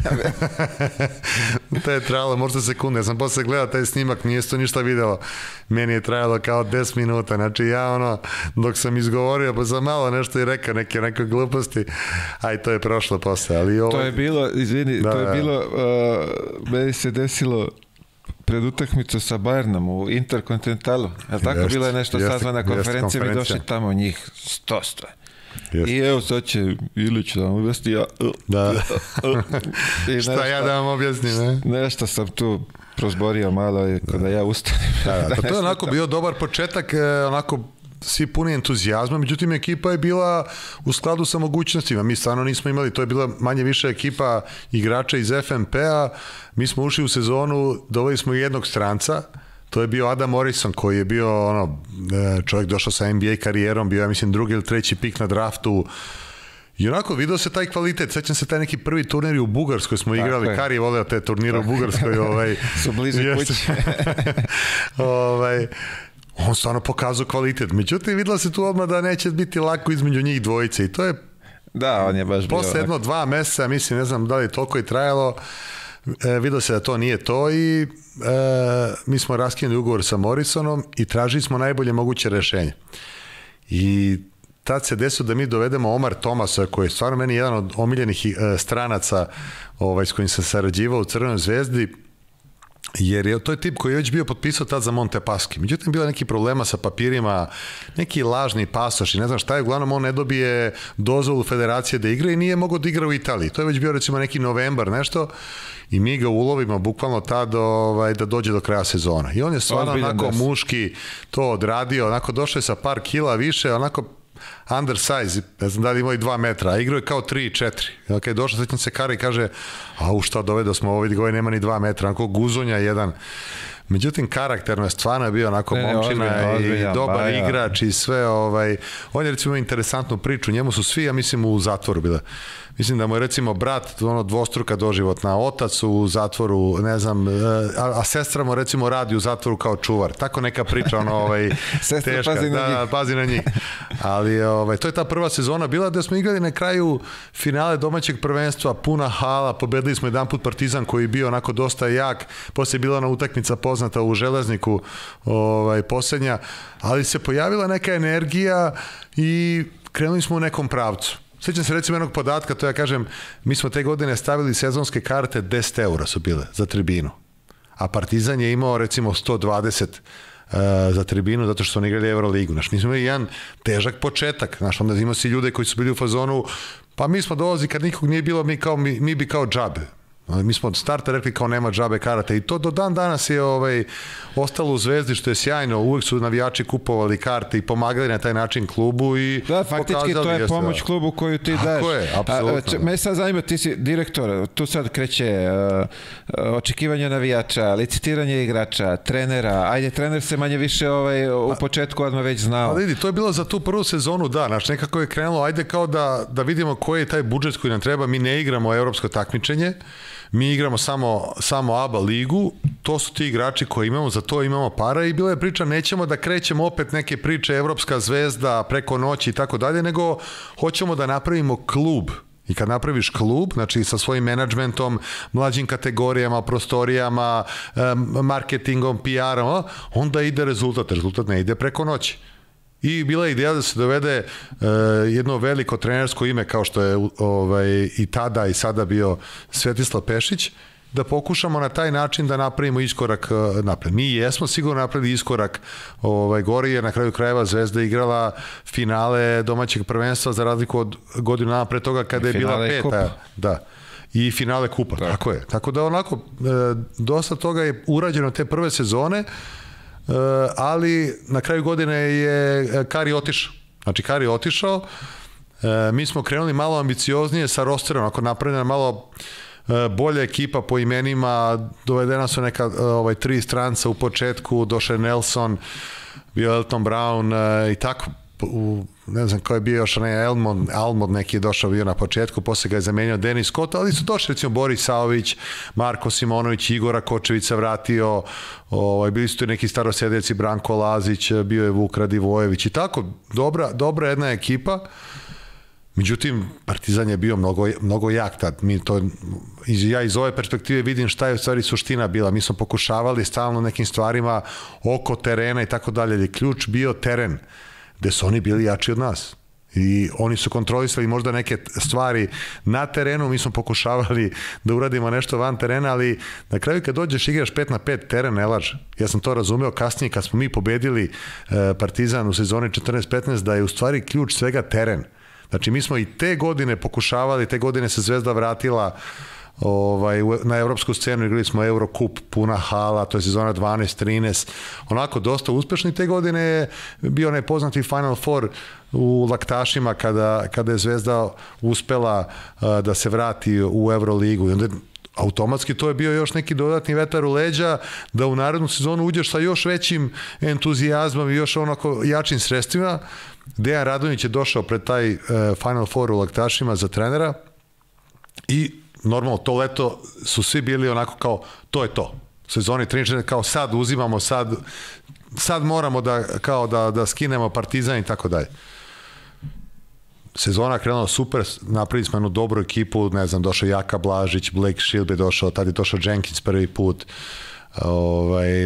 to je trajalo možda sekunde, ja sam posle gledao taj snimak, nije to ništa video, meni je trajalo kao 10 minuta, znači ja dok sam izgovorio, pa sam malo nešto i rekao, neke gluposti, a i to je prošlo posle, ali ovo... To je bilo, izvini, to je bilo, meni se desilo pred utakmicu sa Bayernom u Interkontinentalu, je li tako? Bilo je nešto sazvana konferencija, mi došli tamo njih 100. I evo sad će Ilić da vam objasni, ja... Da. Šta ja da vam objasnim, ne? Nešto sam tu prozborio malo kada ja ustanem. To je onako bio dobar početak, onako svi puni entuzijazma, međutim ekipa je bila u skladu sa mogućnostima, mi stvarno nismo imali, to je bila manje više ekipa igrača iz FNP-a, mi smo ušli u sezonu, doveli smo jednog stranca, to je bio Adam Morrison koji je bio čovjek došao sa NBA karijerom, bio ja mislim drugi ili treći pik na draftu i onako vidio se taj kvalitet, sećam se taj neki prvi turnir u Bugarskoj smo igrali, Kari je voleo te turnire u Bugarskoj. Su blizu kuće. On stvarno pokazao kvalitet, međutim videlo se tu odmah da neće biti lako između njih dvojice i to je... Da, on je baš bio... Posle 2 meseca, mislim, ne znam da li je toliko i trajalo, vidio se da to nije to i mi smo raskinuli ugovor sa Morrisonom i tražili smo najbolje moguće rešenje. I tad se desilo da mi dovedemo Omar Tomasa, koji je stvarno meni jedan od omiljenih stranaca s kojim sam sarađivao u Crvenoj zvezdi. jer to je tip koji je već bio potpisao tad za Montepaschi. Međutim, bilo neki problema sa papirima, neki lažni pasoš i ne znam šta je, uglavnom on ne dobije dozvolu federacije da igra i nije mogao da igra u Italiji. To je već bio recimo neki novembar, nešto, i mi ga ulovimo bukvalno tad da dođe do kraja sezona. I on je stvarno onako muški to odradio, onako došao je sa par kila više, onako undersize, ne znam da li imao i 2 metra, a igrao je kao 3 i 4. Okay, došao sećam se Kara i kaže, a šta dovedo smo ovo, vidi ga, nema ni 2 metra, onako guzonja jedan. Međutim, karakterno je stvarno bio onako momčina i dobar igrač i sve. On je recimo interesantnu priču, njemu su svi, ja mislim, u zatvoru bile. Mislim da mu je recimo brat dvostruka doživotna, otac u zatvoru, ne znam, a sestra mu recimo radi u zatvoru kao čuvar. Tako neka priča, teška. Pazi na njih. Ali to je ta prva sezona bila da smo igrali na kraju finale domaćeg prvenstva, puna hala, pobedili smo jedan put Partizan koji je bio onako dosta jak, poslije je bila ona utakmica poznata u Železniku, posljednja, ali se pojavila neka energija i krenuli smo u nekom pravcu. Sjećam se recimo jednog podatka, to ja kažem, mi smo te godine stavili sezonske karte, 10 eura su bile za tribinu, a Partizan je imao recimo 120 za tribinu zato što su oni igrali Euroligu. Mi smo imali jedan težak početak, onda imao si ljude koji su bili u fazonu, pa mi smo dolazi kad nikog nije bilo, mi bi kao džabe. Mi smo od starta rekli kao nema džabe karate i to do dan danas je ostalo u Zvezdi, što je sjajno. Uvek su navijači kupovali karte i pomagali na taj način klubu i da, faktički to je pomoć klubu koju ti daš. Tako je, apsolutno. Me sad zanima, ti si direktor, tu sad kreće očekivanje navijača, licitiranje igrača, trenera, ajde, trener se manje više u početku odmah već znao. Ali vidi, to je bilo za tu prvu sezonu, da, nekako je krenulo, ajde kao da vidimo koji je taj budžet koji nam treba, mi ne igramo evropsko takmičenje, mi igramo samo ABA ligu, to su ti igrači koji imamo, za to imamo para i bila je priča, nećemo da krećemo opet neke priče Evropska zvezda preko noći i tako dalje, nego hoćemo da napravimo klub. I kad napraviš klub, znači sa svojim menadžmentom, mlađim kategorijama, prostorijama, marketingom, PR-om, onda ide rezultat. Rezultat ne ide preko noći. I bila je ideja da se dovede jedno veliko trenersko ime kao što je i tada i sada bio Svetislav Pešić, da pokušamo na taj način da napravimo iskorak napred. Mi jesmo sigurno napravili iskorak gori, jer na kraju krajeva Zvezda igrala finale domaćeg prvenstva za razliku od godinu dana pre toga kada je bila peta. Da. I finale kupa, tako je. Tako da onako, dosta toga je urađeno te prve sezone, ali na kraju godine je Kari otišao. Znači, Kari otišao, mi smo krenuli malo ambicioznije sa rosterom, ako napravljena malo bolja ekipa po imenima, dovedena su neka 3 stranca u početku, došao je Nelson, bio Elton Brown i tako, ne znam ko je bio još, Almond neki je došao bio na početku, posle ga je zamenio Denis Scott, ali su došli recimo Boris Saović, Marko Simonović, Igora Kočevića vratio, bili su tu neki starosjedeci, Branko Lazić, bio je Vuk Radivojević i tako, dobra jedna ekipa. Međutim, Partizan je bio mnogo jak tad. Ja iz ove perspektive vidim šta je u stvari suština bila. Mi smo pokušavali stalno nekim stvarima oko terena i tako dalje. Je ključ bio teren, gde su oni bili jači od nas. I oni su kontrolisali možda neke stvari na terenu, mi smo pokušavali da uradimo nešto van terena, ali na kraju kad dođeš igraš 5-5, teren ne laže. Ja sam to razumeo kasnije kad smo mi pobedili Partizan u sezoni 14-15, da je u stvari ključ svega teren. Znači, mi smo i te godine pokušavali, te godine se Zvezda vratila na evropsku scenu, igrali smo Eurocup, puna hala, to je sezona 12-13, onako dosta uspešni. Te godine je bio onaj poznati Final Four u Laktašima kada je Zvezda uspela da se vrati u Euroligu i onda automatski to je bio još neki dodatni vetar u leđa da u narednu sezonu uđeš sa još većim entuzijazmom i još onako jačim sredstvima. Dejan Radonjić je došao pred taj Final Four u Laktašima za trenera i normalno to leto su svi bili onako kao to je to. Sezoni 13 kao sad uzimamo, sad moramo da skinemo Partizan i tako dalje. Sezona krenula super, napravili smo jednu dobru ekipu, ne znam, došao Jaka Blažić, Blake Shield je došao, tad je došao Jenkins prvi put,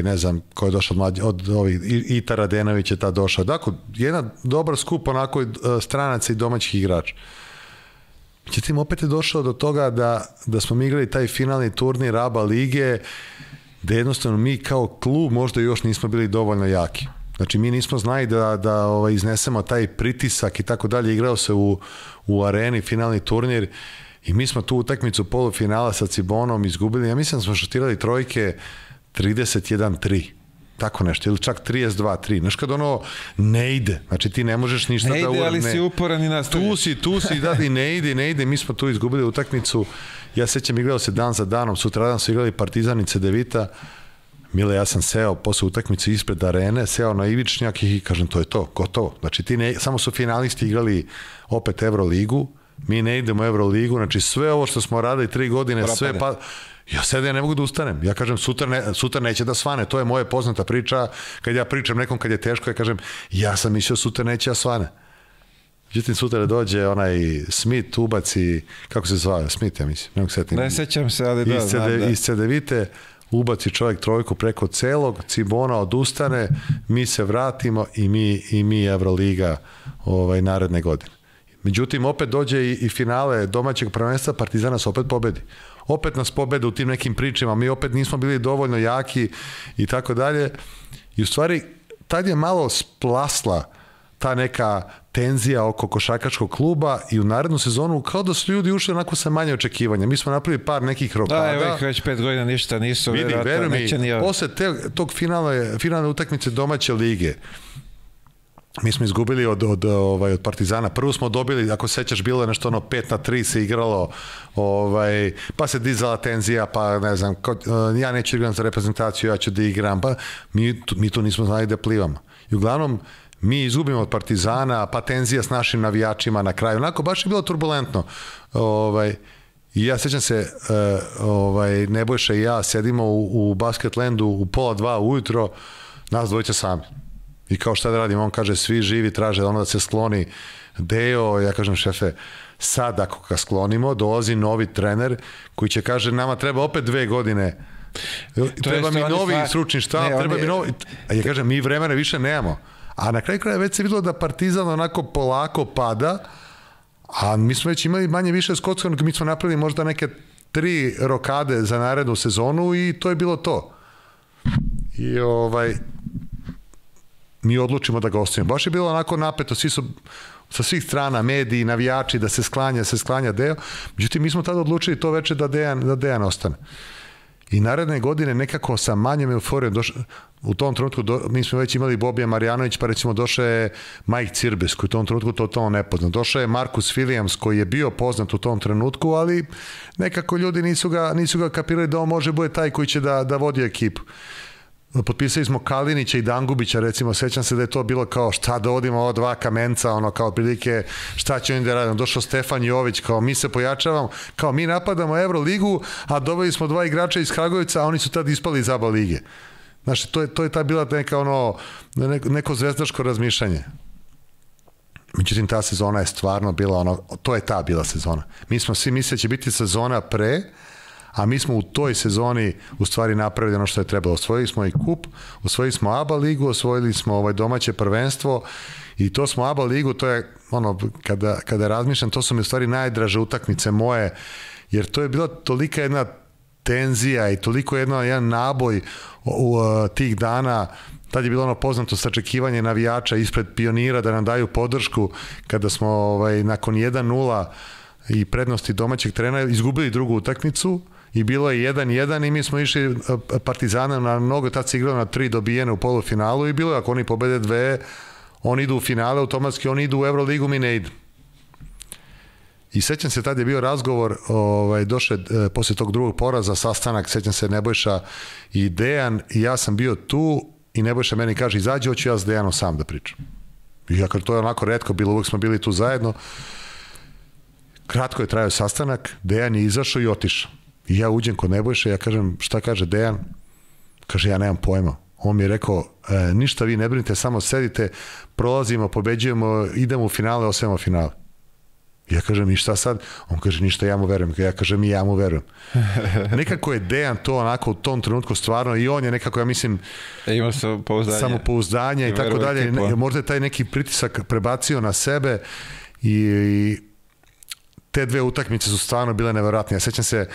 ne znam ko je došao od ovih, Ita Radenović je tad došao. Dakle, jedan dobar skup onako stranaca i domaćih igrača. Međutim, opet je došao do toga da smo mi igrali taj finalni turnir ABA lige da jednostavno mi kao klub možda još nismo bili dovoljno jaki. Znači mi nismo znali da iznesemo taj pritisak i tako dalje. Igrao se u areni finalni turnir i mi smo tu utakmicu polufinala sa Cibonom izgubili. Ja mislim da smo šutirali trojke 31-3. Tako nešto, ili čak 32-3. Znaš kad ono ne ide, znači ti ne možeš ništa ne ide, ali si uporan i nastaviš. Tu si, da i ne ide. Mi smo tu izgubili utakmicu. Ja sećam, igrao se dan za danom, sutradan su igrali Partizan i Cedevita. Mile, ja sam seo posle utakmice ispred arene, seo na ivičnjak i kažem, to je to, gotovo. Znači samo su finalisti igrali opet Euroligu, mi ne idemo u Euroligu, znači sve ovo što smo radili 3 godine, propade. Sve pa... Ja sada ne mogu da ustanem. Ja kažem, sutra neće da svane. To je moja poznata priča. Kad ja pričam nekom kad je teško, ja kažem, ja sam mislio sutra neće da svane. Međutim, sutra dođe onaj Smith, ubaci, kako se zvao? Smith, ja mislim. Ne sećam se, ali da, znam da. Iz Cedevite ubaci čovjek trojku preko celog, Cibona odustane, mi se vratimo i mi Euroliga naredne godine. Međutim, opet dođe i finale domaćeg prvenstva, Partizana se opet pobedi. Opet nas pobede u tim nekim pričama, mi opet nismo bili dovoljno jaki i tako dalje. I u stvari, tad je malo splasla ta neka tenzija oko košarkaškog kluba i u narednu sezonu kao da su ljudi ušli onako sa manje očekivanja. Mi smo napravili par nekih rokada. Da, evo ih već 5 godina ništa nisu. Vidi, veruj mi, posle tog finalne utakmice domaće lige, mi smo izgubili od Partizana. Prvo smo dobili, ako sećaš, bilo je nešto 5-3 se igralo, pa se dizala tenzija, pa ne znam, ja neću igram za reprezentaciju, ja ću da igram, pa mi tu nismo znali da plivamo. I uglavnom, mi izgubimo od Partizana, pa tenzija s našim navijačima na kraju. Onako, baš je bilo turbulentno. I ja sećam se, Nebojša i ja sedimo u Basketlandu u 1:30 ujutro, nas dvojica sami. I kao šta da radim, on kaže, svi živi traže ono da se skloni Deo, ja kažem, šefe, sad ako ga sklonimo, dolazi novi trener koji će kaže, nama treba opet 2 godine, treba mi novi stručni štab, treba mi novi, a ja kažem, mi vremena više nemamo. A na kraju kraja već se videlo da Partizan onako polako pada, a mi smo već imali manje više skockanog, mi smo napravili možda neke 3 rokade za narednu sezonu i to je bilo to. I mi odlučimo da ga ostavimo. Baš je bilo onako napeto, svi su sa svih strana, mediji, navijači, da se sklanja Deo. Međutim, mi smo tada odlučili to veče da Dejan ostane. I naredne godine nekako sa manjom euforijom, u tom trenutku mi smo već imali Bobija Marjanović, pa recimo došao je Mike Cirbes, koji u tom trenutku totalno nepoznat. Došao je Marcus Williams, koji je bio poznat u tom trenutku, ali nekako ljudi nisu ga kapirali da on može bude taj koji će da vodi ekipu. Potpisali smo Kalinića i Dangubića, recimo, sećam se da je to bilo kao šta da odimo ova 2 kamenca, kao prilike šta će oni da radimo. Došao Stefan Jović, kao mi se pojačavamo, kao mi napadamo Euroligu, a doveli smo 2 igrača iz Kragujevca, a oni su tad ispali iz ABA lige. Znači, to je ta bila neka neko zvezdaško razmišljanje. Međutim, ta sezona je stvarno bila to je ta bila sezona. Mi smo svi mislili da će biti sezona pre, a mi smo u toj sezoni u stvari napravili ono što je trebalo. Osvojili smo i kup, osvojili smo ABA ligu, osvojili smo domaće prvenstvo i to smo ABA ligu, to je kada razmišljam, to su mi u stvari najdraže utakmice moje, jer to je bila tolika jedna tenzija i toliko jedan naboj u tih dana. Tad je bilo poznato sačekivanje navijača ispred Pionira da nam daju podršku kada smo nakon 1-0 i prednosti domaćeg trenera izgubili drugu utakmicu i bilo je 1-1 i mi smo išli Partizanom na mnogo, tad se igralo na 3 dobijene u polufinalu i bilo je ako oni pobede 2, oni idu u finale, automatski oni idu u Euroligu, mi ne idu. I sećam se, tad je bio razgovor, došao posle tog drugog poraza, sastanak, sećam se Nebojša i Dejan i ja sam bio tu i Nebojša meni kaže, izađi, hoću ja s Dejanom sam da pričam. I ja, to je onako retko bilo, uvijek smo bili tu zajedno. Kratko je trajao sastanak, Dejan je izašao i otišao. I ja uđem kod Nebojše, ja kažem, šta kaže Dejan? Kaže, ja nemam pojma. On mi je rekao, ništa vi ne brinite, samo sedite, prolazimo, pobeđujemo, idemo u finale, osvajamo finale. Ja kažem, i šta sad? On kaže, ništa, ja mu verujem. Ja kažem, i ja mu verujem. Nekako je Dejan to onako u tom trenutku stvarno, i on je nekako, ja mislim, imao samopouzdanje i tako dalje. Možda je taj neki pritisak prebacio na sebe i te dve utakmice su stvarno bile neverovatne. Ja sećam se,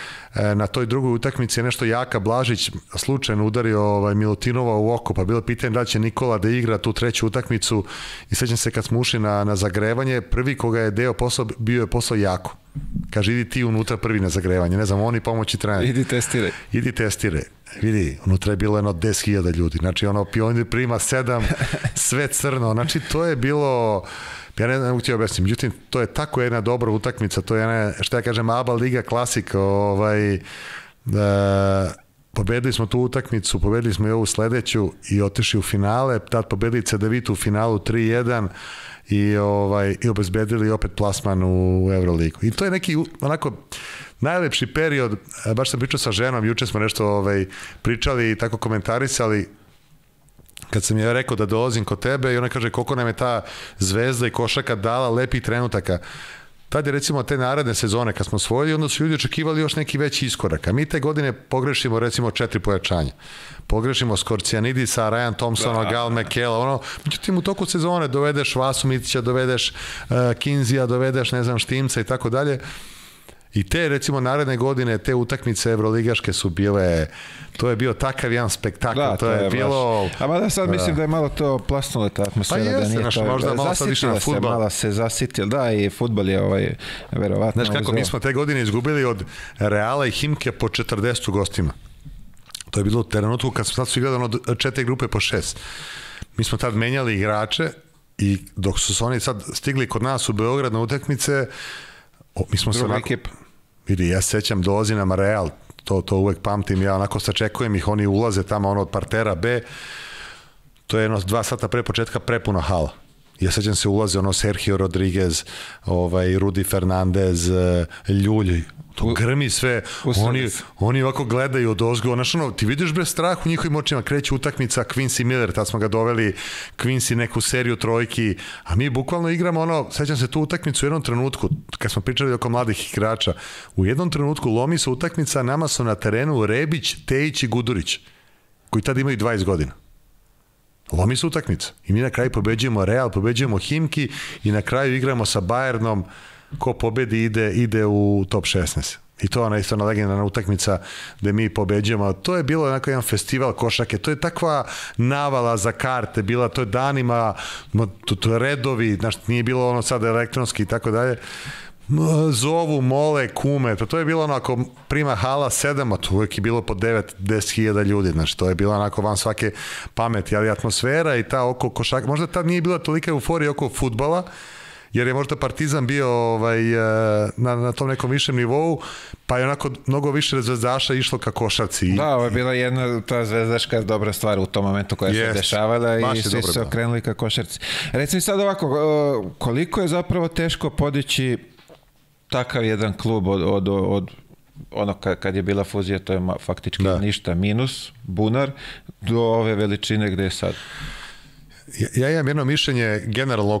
na toj drugoj utakmici je nešto Jaka Blažić slučajno udario Milutinova u oko, pa bilo pitanje da će Nikola da igra tu treću utakmicu i sećam se kad smo ušli na zagrevanje, prvi koga je deo posao bio je posao Jako. Kaže, idi ti unutra prvi na zagrevanje, ne znam, oni pomoći trener. Idi testiraj. Vidi, unutra je bilo 10.000 ljudi, znači Pionir prima 7, sve crno, znači to je bilo... Ja ne znam ti objasnim, međutim, to je tako jedna dobra utakmica, to je jedna, šta ja kažem, ABA Liga klasik, pobedili smo tu utakmicu, pobedili smo i ovu sledeću i otišli u finale, tad pobedili Cedevitu u finalu 3-1 i obezbedili opet plasman u Euroligu. I to je neki, onako, najlepši period, baš sam pričao sa ženom, juče smo nešto pričali i tako komentarisali, kad sam je rekao da dolazim kod tebe i ona kaže koliko nam je ta zvezda i košaka dala lepih trenutaka. Tad je recimo te naredne sezone kad smo osvojili, onda su ljudi očekivali još neki veći iskorak. A mi te godine pogrešimo recimo 4 pojačanja. Pogrešimo Skorcijanidisa, Ryan Thompsona, Gal McKella, međutim u toku sezone dovedeš Vasu Mitića, dovedeš Kinzija, dovedeš ne znam Štimca i tako dalje. I te, recimo, naredne godine, te utakmice evroligaške su bile, to je bio takav jedan spektakl, to je bilo... A mada sad mislim da je malo to plasnula ta atmosfera, da nije to... Možda malo sad više na fudbal. Malo se zasitilo, da, i fudbal je verovatno... Znaš kako, mi smo te godine izgubili od Reala i Himke po 40 gostima. To je bilo u trenutku kad smo sad su igrali od 4 grupe po 6. Mi smo tad menjali igrače i dok su oni sad stigli kod nas u Beograd na utakmice, mi smo se onako... Vidi, ja sećam, dolazi nam Real, to uvek pamtim, ja onako sačekujem ih, oni ulaze tamo od partera B, to je 2 sata pre početka prepuna hala. Ja sećam se ulaze Sergio Rodriguez, Rudi Fernandez, Ljulj, to grmi sve, oni ovako gledaju od ozgo, ti vidiš bez strah u njihovim očima, kreće utakmica Quincy Miller, tad smo ga doveli, Quincy neku seriju trojki, a mi bukvalno igramo sećam se tu utakmicu u jednom trenutku, kad smo pričali oko mladih igrača, u jednom trenutku lomi se utakmica, nama su na terenu Rebić, Tejić i Gudurić, koji tad imaju 20 godina. Lomi se utakmica i mi na kraju pobeđujemo Real, pobeđujemo Himki i na kraju igramo sa Bayernom, ko pobedi ide u top 16. I to je ona isto legendarna utakmica gde mi pobeđujemo. To je bilo onako jedan festival košake, to je takva navala za karte, bila to je danima, to je redovi, nije bilo sad elektronski i tako dalje. Zovu, mole, kume, to je bilo onako prima hala 7, a to uvijek je bilo po 9-10.000 ljudi, znači to je bilo onako van svake pameti, ali atmosfera i ta oko košaka, možda tad nije bila tolika euforija oko fudbala, jer je možda Partizan bio na tom nekom višem nivou, pa je onako mnogo više zvezdaša išlo ka košarci. Da, ovo je bila jedna ta zvezdaška dobra stvar u tom momentu koja se dešavala i svi su se okrenuli ka košarci. Recimo sad ovako, koliko je zapravo teško podići takav jedan klub od ono kad je bila fuzija, to je faktički ništa, minus, bunar, do ove veličine gde je sad. Ja imam jedno mišljenje generalno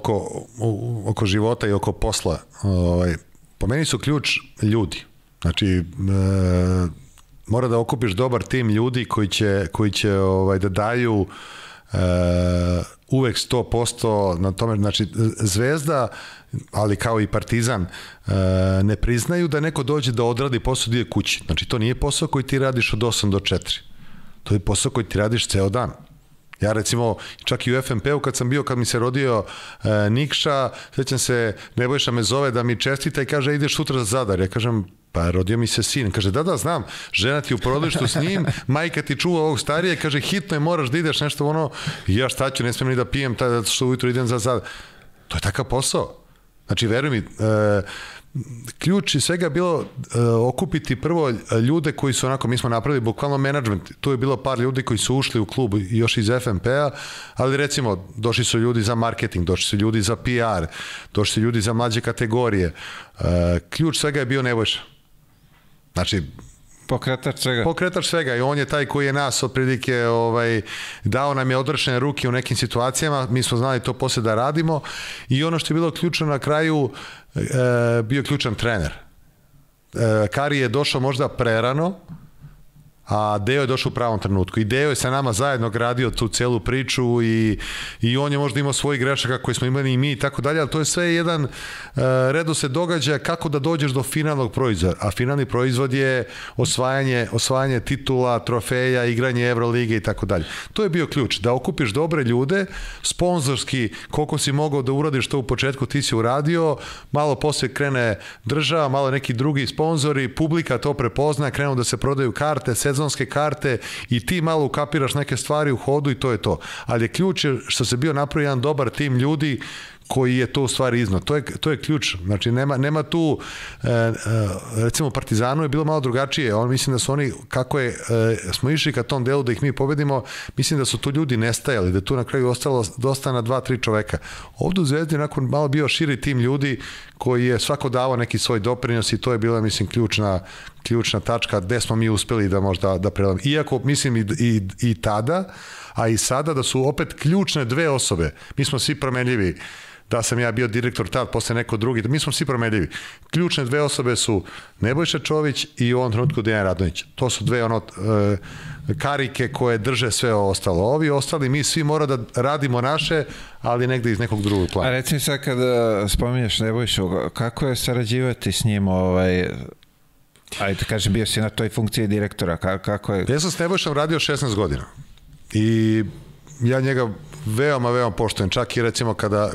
oko života i oko posla. Po meni su ključ ljudi. Znači, mora da okupiš dobar tim ljudi koji će da daju uvek 100% na tome. Znači, Zvezda, ali kao i Partizan, ne priznaju da neko dođe da odradi posao dio kući. Znači, to nije posao koji ti radiš od 8 do 4. To je posao koji ti radiš ceo dan. Ja recimo, čak i u FNP-u kad mi se rodio Nikša, sećam se, Nebojša me zove da mi čestita i kaže, ideš sutra za Zadar. Ja kažem, pa rodio mi se sin. Kaže, da, znam, žena ti u porodilištu s njim, majka ti čuva ovog starije, kaže, hitno je, moraš da ideš nešto ja šta ću, ne smijem ni da pijem, što ujutro idem za Zadar. To je takav posao. Znači, veruj mi, ključ i svega bilo okupiti prvo ljude koji su onako, mi smo napravili bukvalno menadžment, tu je bilo par ljudi koji su ušli u klub još iz FNP-a, ali recimo došli su ljudi za marketing, došli su ljudi za PR, došli su ljudi za mlađe kategorije. Ključ svega je bio Nebojša. Znači, pokretač svega i on je taj koji je nas otprilike dao nam je odrešene ruke u nekim situacijama, mi smo znali to posle da radimo i ono što je bilo ključno na kraju bio ključan trener. Kari je došao možda prerano, a Deo je došao u pravom trenutku i Deo je sa nama zajedno gradio tu celu priču i on je možda imao svojih grešaka koje smo imali i mi i tako dalje, ali to je sve jedan redosled događaja kako da dođeš do finalnog proizvoda, a finalni proizvod je osvajanje titula, trofeja, igranje Evrolige i tako dalje. To je bio ključ, da okupiš dobre ljude, sponzorski, koliko si mogao da uradiš to u početku, ti si uradio, malo posle krene država, malo neki drugi sponzori, publika to prepozna, krenu da se prodaju karte, sezonske karte i ti malo ukapiraš neke stvari u hodu i to je to. Ali je ključ što se bio napravio jedan dobar tim ljudi koji je to u stvari iznad. To je ključ. Znači, nema tu, recimo Partizanu je bilo malo drugačije. Mislim da su oni, kako smo išli ka tom delu da ih mi pobedimo, mislim da su tu ljudi nestajali, da tu na kraju ostalo dosta na 2-3 čoveka. Ovdje u Zvezdi nakon malo bio širi tim ljudi koji je svako davao neki svoj doprinos i to je bila, mislim, ključna tačka gde smo mi uspeli da možda da prelamo. Iako, mislim, i tada, a i sada da su opet ključne dve osobe. Mi smo svi promenljivi. Da sam ja bio direktor tad, posle neko drugi, mi smo svi promenljivi. Ključne dve osobe su Nebojša Čović i u ovom trenutku Dejan Radonjić. To su dve karike koje drže sve ostalo. Ovi ostali, mi svi mora da radimo naše, ali negde iz nekog drugog plana. A recimo sad kada spominješ Nebojšu, kako je sarađivati s njim, ajde kažem, bio si na toj funkciji direktora, kako je? Ja sam s Nebojšom radio 16 godina i ja njega veoma poštujem, čak i recimo kada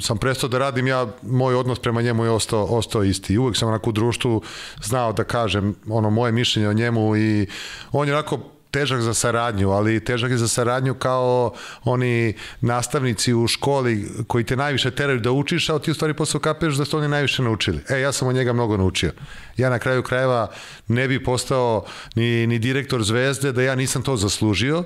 sam prestao da radim, moj odnos prema njemu je ostao isti. Uvek sam onako u društvu znao da kažem moje mišljenje o njemu i on je onako težak za saradnju, ali težak je za saradnju kao oni nastavnici u školi koji te najviše teraju da učiš, a ti u stvari posle kapiraš da su oni najviše naučili. Ja sam od njega mnogo naučio. Ja na kraju krajeva ne bi postao ni direktor Zvezde da ja nisam to zaslužio,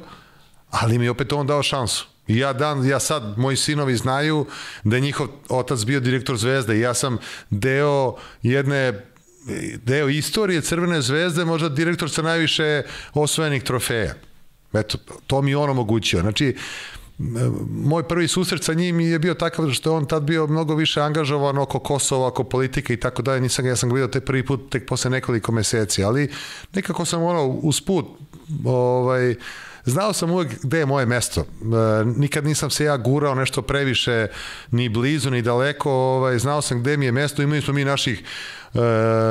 ali mi je opet on dao šansu. I ja sad, moji sinovi znaju da je njihov otac bio direktor Zvezde i ja sam deo istorije Crvene Zvezde, možda direktor sa najviše osvojenih trofeja. Eto, to mi je on omogućio. Znači, moj prvi susret sa njim je bio takav što je on tad bio mnogo više angažovan oko Kosova, oko politike i tako dalje. Ja sam ga vidio prvi put tek posle nekoliko meseci, ali nekako sam usput znao sam uvek gde je moje mesto. Nikad nisam se ja gurao nešto previše ni blizu, ni daleko. Znao sam gde mi je mesto. Imali smo mi naših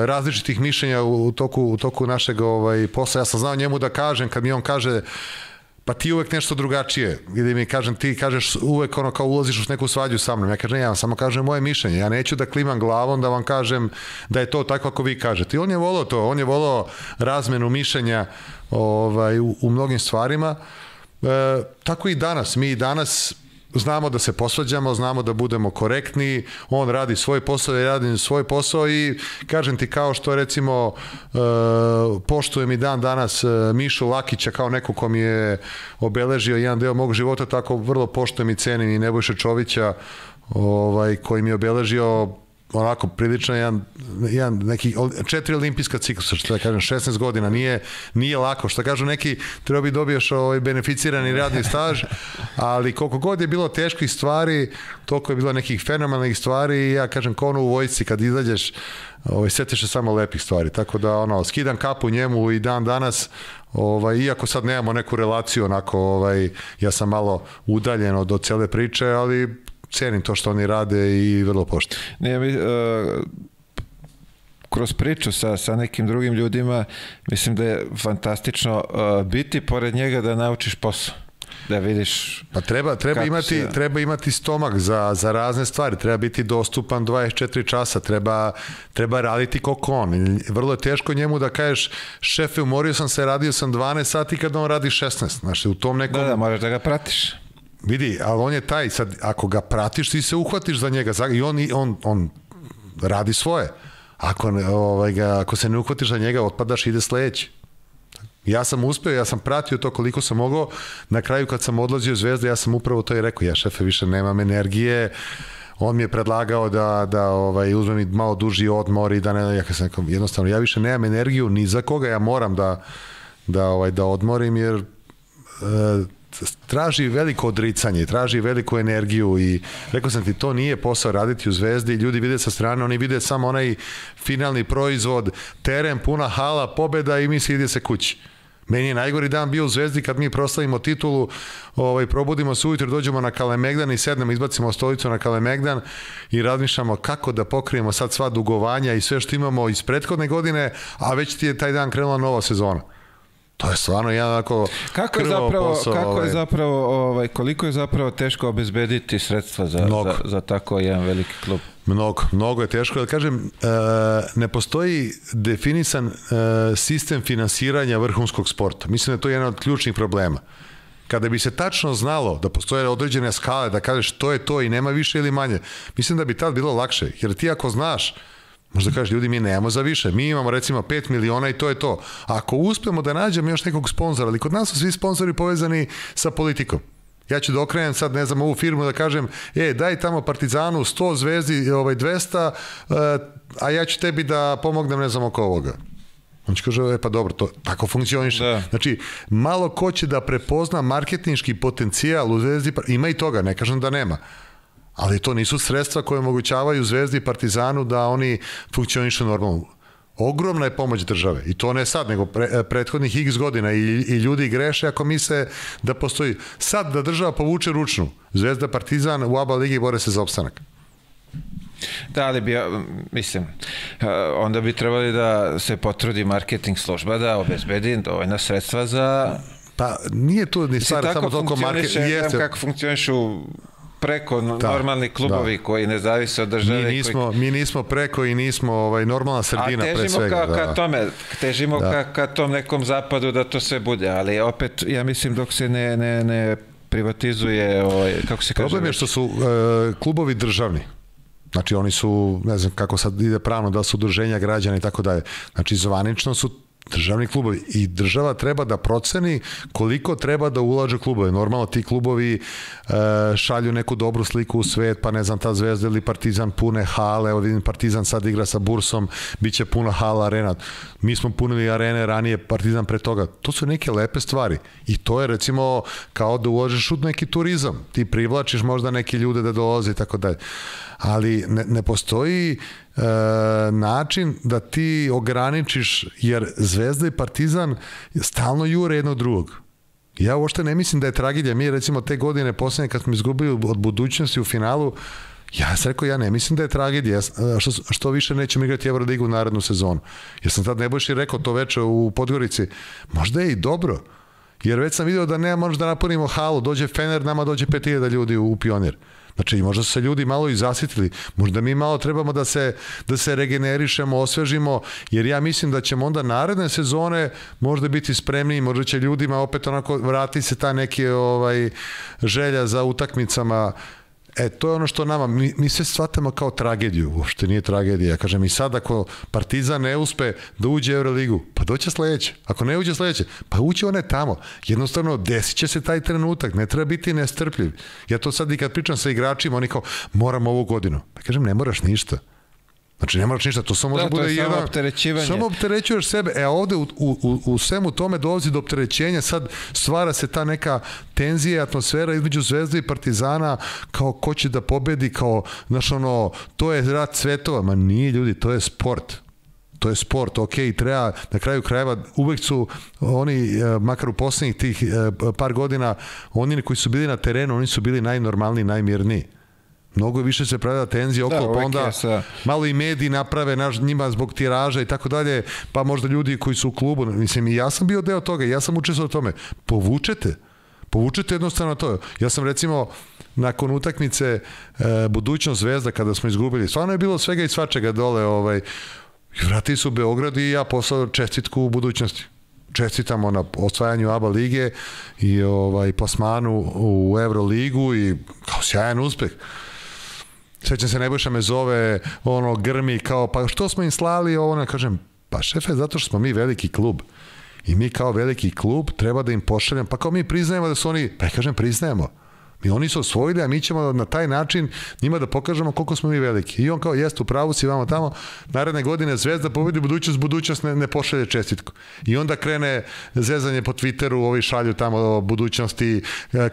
različitih mišljenja u toku našeg posla. Ja sam znao njemu da kažem, kad mi on kaže pa ti uvek nešto drugačije. Ili mi kažem, ti kažeš uvek kao ulaziš u neku svađu sa mnom. Ja kažem, ja samo kažem moje mišljenje. Ja neću da klimam glavom da vam kažem da je to tako kako vi kažete. I on je volao to. On je volao razmenu mišljenja u mnogim stvarima. Tako i danas. Mi danas znamo da se posvađamo, znamo da budemo korektni, on radi svoj posao, ja radim svoj posao i kažem ti kao što recimo poštujem i dan danas Mišu Lakića kao neko ko mi je obeležio jedan deo mog života, tako vrlo poštujem i cenim i Nebojša Čovića koji mi je obeležio onako prilično jedan neki 4 olimpijska ciklusa, što da kažem, 16 godina, nije lako, što kažu neki, treba bi dobiješ beneficirani radni staž, ali koliko god je bilo teških stvari, toliko je bilo nekih fenomenalnih stvari i ja kažem, kao u vojsci kad izađeš, setiš se samo lepih stvari, tako da skidam kapu njemu i dan danas, iako sad nemamo neku relaciju, onako, ja sam malo udaljen od cele priče, ali cenim to što oni rade i vrlo poštujem. Kroz priču sa nekim drugim ljudima, mislim da je fantastično biti pored njega da naučiš posao. Da vidiš... Pa treba imati stomak za razne stvari, treba biti dostupan 24 časa, treba raditi kako on. Vrlo je teško njemu da kažeš, šefe, umorio sam se, radio sam 12 sati kad on radi 16. Znači, u tom nekom... Da, moraš da ga pratiš. Vidi, ali on je taj, sad, ako ga pratiš, ti se uhvatiš za njega i on radi svoje. Ako se ne uhvatiš za njega, otpadaš i ide sledeći. Ja sam uspeo, ja sam pratio to koliko sam mogao. Na kraju kad sam odlazio u Zvezdu, ja sam upravo to i rekao, ja šefe više nemam energije. On mi je predlagao da uzmem i malo duži odmor i da ne, jednostavno, ja više nemam energiju ni za koga, ja moram da odmorim jer traži veliko odricanje, traži veliku energiju i rekao sam ti, to nije posao raditi u Zvezdi, ljudi vide sa strane, oni vide samo onaj finalni proizvod, teren, puna hala, pobeda i misli ide se kući. Meni je najgori dan bio u Zvezdi kad mi proslavimo titulu, probudimo se ujutro, dođemo na Kalemegdan i sednemo, izbacimo stolicu na Kalemegdan i razmišljamo kako da pokrijemo sad sva dugovanja i sve što imamo iz prethodne godine, a već ti je taj dan krenula nova sezona. To je stvarno jedan onako krvavo posao. Koliko je zapravo teško obezbediti sredstva za tako jedan veliki klub? Mnogo je teško. Da kažem, ne postoji definisan sistem finansiranja vrhunskog sporta. Mislim da je to jedan od ključnih problema. Kada bi se tačno znalo da postoje određene skale, da kažeš to je to i nema više ili manje, mislim da bi tad bilo lakše. Jer ti ako znaš, možda kažeš, ljudi, mi nemamo za više. Mi imamo recimo 5 miliona i to je to. Ako uspemo da nađemo još nekog sponzora, ali kod nas su svi sponzori povezani sa politikom. Ja ću da okrenem sad, ne znam, ovu firmu da kažem, daj tamo Partizanu 100, Zvezdi 200, a ja ću tebi da pomognem, ne znam, oko ovoga. On će kaže, pa dobro, to tako funkcioniše. Da. Znači, malo ko će da prepozna marketinški potencijal u Zvezdi, ima i toga, ne kažem da nema. Ali to nisu sredstva koje omogućavaju Zvezdi i Partizanu da oni funkcionišu normalno. Ogromna je pomoć države i to ne sad, nego prethodnih x godina i ljudi greše ako misle da postoji. Sad da država povuče ručnu, Zvezda, Partizan u ABA ligi bore se za opstanak. Da, ali mislim, onda bi trebali da se potrudi marketing služba da obezbedi dovoljna sredstva za... Pa nije tu ni stvar samo toliko marketing. Kako funkcionišu preko normalni klubovi koji ne zavise od države. Mi nismo preko i nismo normalna sredina pre svega. Težimo ka tom nekom zapadu da to sve bude, ali opet ja mislim dok se ne privatizuje, kako se kaže... Problem je što su klubovi državni. Znači oni su, ne znam kako sad ide pravno, da su udruženja građana i tako dalje. Znači zvanično su državni klubovi i država treba da proceni koliko treba da ulaže klubove. Normalno ti klubovi šalju neku dobru sliku u svet, pa ne znam, ta Zvezda ili Partizan pune hale, evo vidim Partizan sad igra sa Bursom, bit će puna hala, arena. Mi smo punili arene ranije, Partizan pre toga. To su neke lepe stvari i to je recimo kao da uložiš u neki turizam. Ti privlačiš možda neke ljude da dolaze i tako dalje. Ali ne postoji način da ti ograničiš, jer Zvezda i Partizan stalno jure jednog drugog. Ja uopšte ne mislim da je tragedija. Mi recimo te godine poslednje kad smo izgubili od Budućnosti u finalu, ja sam rekao, ja ne mislim da je tragedija, što više nećemo igrati Euroligu u narednu sezonu. Jer sam tad Nebojši rekao to veče u Podgorici, možda je i dobro, jer već sam vidio da nema možda da napunimo halu, dođe Fener, nama dođe 5000 ljudi u Pionir. Znači, možda su se ljudi malo i zasitili, možda mi malo trebamo da se regenerišemo, osvežimo, jer ja mislim da ćemo onda naredne sezone možda biti spremniji, možda će ljudima opet onako vrati se ta neke želja za utakmicama. To je ono što nama, mi sve shvatamo kao tragediju, uopšte nije tragedija. Kažem, i sad ako Partizan ne uspe da uđe u Euroligu, pa doće sledeće. Ako ne uđe sledeće, pa uće one tamo. Jednostavno, desit će se taj trenutak, ne treba biti nestrpljiv. Ja to sad i kad pričam sa igračima, oni kao, moram ovu godinu. Pa kažem, ne moraš ništa. Znači, ne moraš ništa, to samo može bude jedan... samo opterećivanje. Samo opterećuješ sebe. Ovde u svemu tome dolazi do opterećenja, sad stvara se ta neka tenzija, atmosfera između Zvezde i Partizana, kao ko će da pobedi, kao, znaš, to je rat svetova. Ma nije, ljudi, to je sport. To je sport, ok, treba, na kraju krajeva, uvek su oni, makar u poslednjih tih par godina, oni koji su bili na terenu, oni su bili najnormalniji, najmirniji. Mnogo više se pravila tenzija okolo, pa onda malo i mediji naprave njima zbog tiraža i tako dalje, pa možda ljudi koji su u klubu, mislim, i ja sam bio deo toga, ja sam učestvovao u tome. Povučete jednostavno to. Ja sam recimo nakon utakmice Budućnost Zvezda kada smo izgubili, stvarno je bilo svega i svačega dole, vratili su u Beograd i ja poslao čestitku u Budućnosti. Čestitamo na osvajanju ABA lige i plasmanu u Euroligu i kao sjajan uspeh. Sećam se, Nebojša me zove, grmi kao, pa što smo im slali ovo, kažem, pa šefe, zato što smo mi veliki klub i mi kao veliki klub treba da im pošaljem, pa kao mi priznajemo da su oni, pa ja kažem, priznajemo, I oni su osvojili, a mi ćemo na taj način njima da pokažemo koliko smo mi veliki. I on kao, jeste, u pravu si, vamo tamo, naredne godine Zvezda pobedi budućnost ne pošalje čestitku. I onda krene zezanje po Twitteru, ovi šalju tamo budućnosti,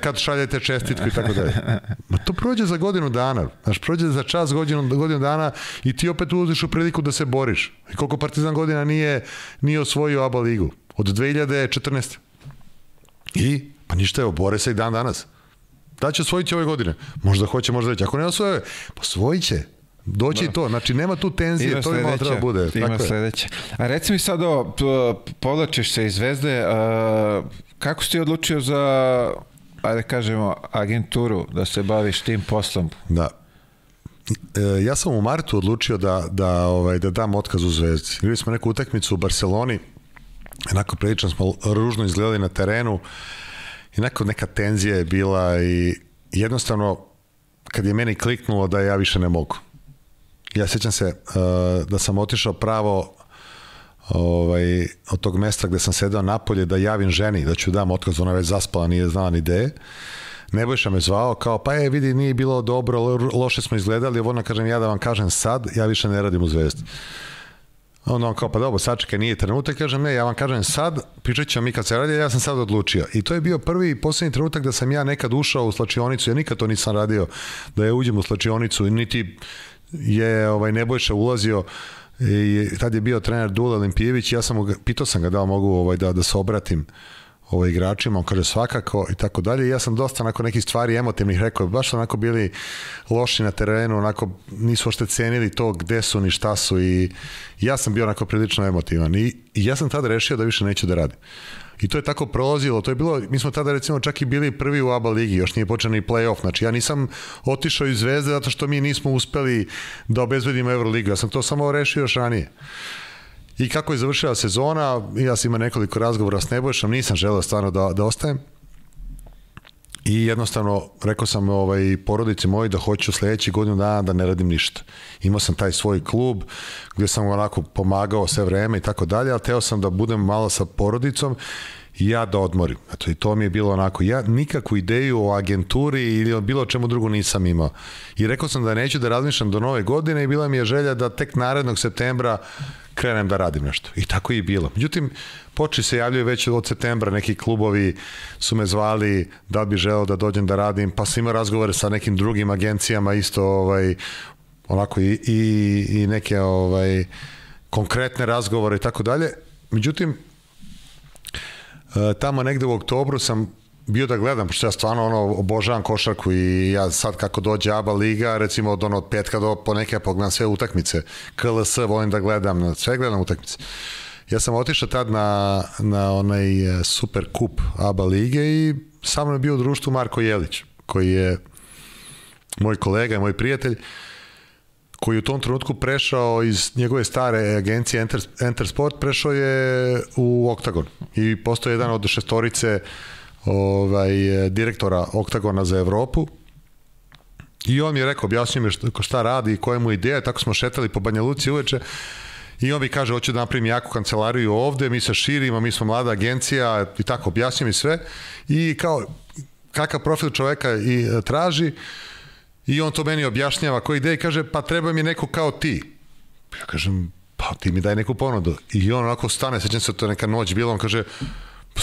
kad šaljete čestitku i tako dalje. Ma to prođe za godinu dana, znaš, prođe za čas godinu dana i ti opet ulaziš u priliku da se boriš. I koliko Partizan godina nije osvojio ABA ligu? Od 2014. I, pa ništa, evo, bore se i dan danas. Da će osvojiti ove godine. Možda hoće, možda neće. Ako ne osvoje, osvojit će. Doći i to. Znači, nema tu tenzije. Ima to bi malo treba bude. Ima sledeće. A reci mi sad povlačiš se iz Zvezde. Kako si ti odlučio za, ajde kažemo, agenturu, da se baviš tim poslom? Da. Ja sam u martu odlučio da dam otkaz u Zvezdi. Igrali smo neku utakmicu u Barceloni. Onako prilično smo ružno izgledali na terenu. I neka tenzija je bila i jednostavno kad je meni kliknulo da ja više ne mogu. Ja sjećam se da sam otišao pravo od tog mesta gde sam sedao napolje da javim ženi da ću dam otkaz, ona već zaspala, nije znala ni ideje. Nebojša me zvao kao, pa vidi, nije bilo dobro, loše smo izgledali, ona kažem, ja da vam kažem sad, ja više ne radim u Zvezdi. Onda on kao, pa dobro, sačekaj, nije trenutak, kažem, ne, ja vam kažem sad, pričat ćemo mi kad se radi, ja sam sad odlučio. I to je bio prvi i posljednji trenutak da sam ja nekad ušao u slačionicu, ja nikad to nisam radio, da ja uđem u slačionicu, niti je Nebojša ulazio, i tad je bio trener Dule Olimpijević, ja sam pitao sam ga da mogu da se obratim igračima, on kaže svakako i tako dalje. Ja sam dosta onako nekih stvari emotivnih rekao, baš onako bili loši na terenu, onako nisu ošte cenili to gde su ni šta su i ja sam bio onako prilično emotivan i ja sam tada rešio da više neću da radim. I to je tako prolazilo, to je bilo, mi smo tada recimo čak i bili prvi u ABA ligi, još nije počeo ni play-off, znači ja nisam otišao iz Zvezde zato što mi nismo uspeli da obezbedimo Euroligu, ja sam to samo rešio još ranije. I kako je završila sezona, ja sam imao nekoliko razgovora s Nebojšom, nisam želeo stvarno da ostajem. I jednostavno rekao sam porodici moji da hoću sledeći godinu dana da ne radim ništa. Imao sam taj svoj klub gde sam onako pomagao sve vreme i tako dalje, ali teo sam da budem malo sa porodicom i ja da odmorim. Eto, i to mi je bilo onako, ja nikakvu ideju o agenturi ili o bilo čemu drugo nisam imao. I rekao sam da neću da razmišljam do nove godine i bila mi je želja da tek narednog septembra krenem da radim nešto. I tako je i bilo. Međutim, počeli se javljaju već od septembra, neki klubovi su me zvali da bi želeo da dođem da radim, pa sam imao razgovore sa nekim drugim agencijama isto onako i neke konkretne razgovore i tako dalje. Međutim, tamo negde u oktobru sam bio da gledam, pošto ja stvarno obožavam košarku i ja sad kako dođe ABA liga, recimo od petka do poneke pogledam sve utakmice, KLS volim da gledam, sve gledam utakmice. Ja sam otišao tad na onaj super kup ABA lige i sa mnom je bio u društvu Marko Jelić, koji je moj kolega i moj prijatelj, koji u tom trenutku prešao iz njegove stare agencije Enter Sport, prešao je u Oktagon i postao jedan od šestorice direktora Oktagona za Evropu i on mi je rekao, objasnio mi šta radi i koja mu ideja, tako smo šetali po Banja Luci uveče i on mi kaže, hoću da napravim jaku kancelariju ovde, mi se širimo, mi smo mlada agencija i tako, objasnio mi sve i kao kakav profil čoveka i traži i on to meni objašnjava koja ideja i kaže, pa treba mi neko kao ti. Ja kažem, pa ti mi daj neku ponudu. I on onako stane, sećam se, to je neka noć bila, on kaže,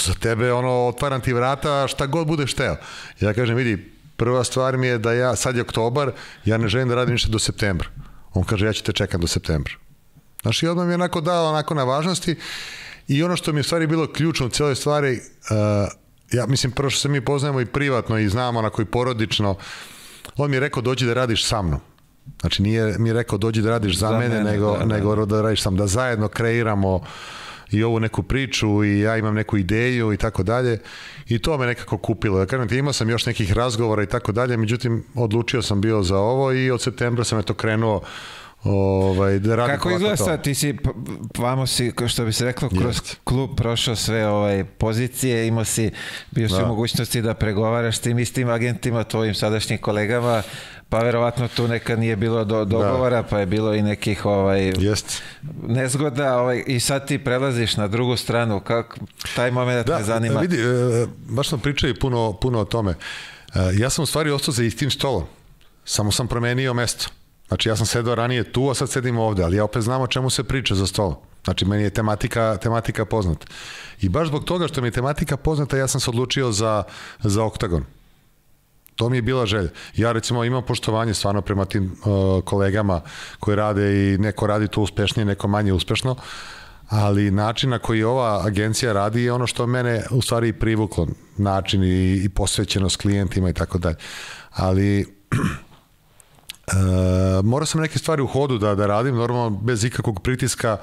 za tebe otvaram ti vrata šta god budeš teo. Ja kažem, vidi, prva stvar mi je da ja, sad je oktobar, ja ne želim da radim ništa do septembra. On kaže, ja ću te čekam do septembra. Znaš, i odmah mi je onako dao onako na važnosti i ono što mi je stvari bilo ključno u cijeloj stvari, ja mislim, prvo što se mi poznajemo i privatno i znamo onako i porodično, on mi je rekao, dođi da radiš sa mnom. Znači, nije mi je rekao, dođi da radiš za mene, nego da radiš sam, da zajedno kreiramo i ovu neku priču i ja imam neku ideju i tako dalje i to me nekako kupilo. Ja kažem ti, imao sam još nekih razgovora i tako dalje, međutim odlučio sam bio za ovo i od septembra sam to krenuo da radim. Kako izgleda sad? Ti si, vamo si, što bi se reklo, kroz klub prošao sve pozicije, bio si u mogućnosti da pregovaraš s tim istim agentima, tvojim sadašnjim kolegama, pa verovatno tu nekad nije bilo dogovora, pa je bilo i nekih nezgoda i sad ti prelaziš na drugu stranu, taj moment me zanima. Vidi, baš smo pričali puno o tome. Ja sam u stvari ostao za istim stolom, samo sam promenio mesto. Znači ja sam sedao ranije tu, a sad sedim ovde, ali ja opet znam o čemu se priča za stolom. Znači meni je tematika poznata. I baš zbog toga što mi je tematika poznata, ja sam se odlučio za Oktagon. To mi je bila želja. Ja recimo imam poštovanje stvarno prema tim kolegama koji rade i neko radi to uspešnije, neko manje uspešno, ali način na koji ova agencija radi je ono što mene u stvari privuklo, način i posvećenost klijentima i tako dalje. Ali morao sam neke stvari u hodu da radim, normalno bez ikakvog pritiska,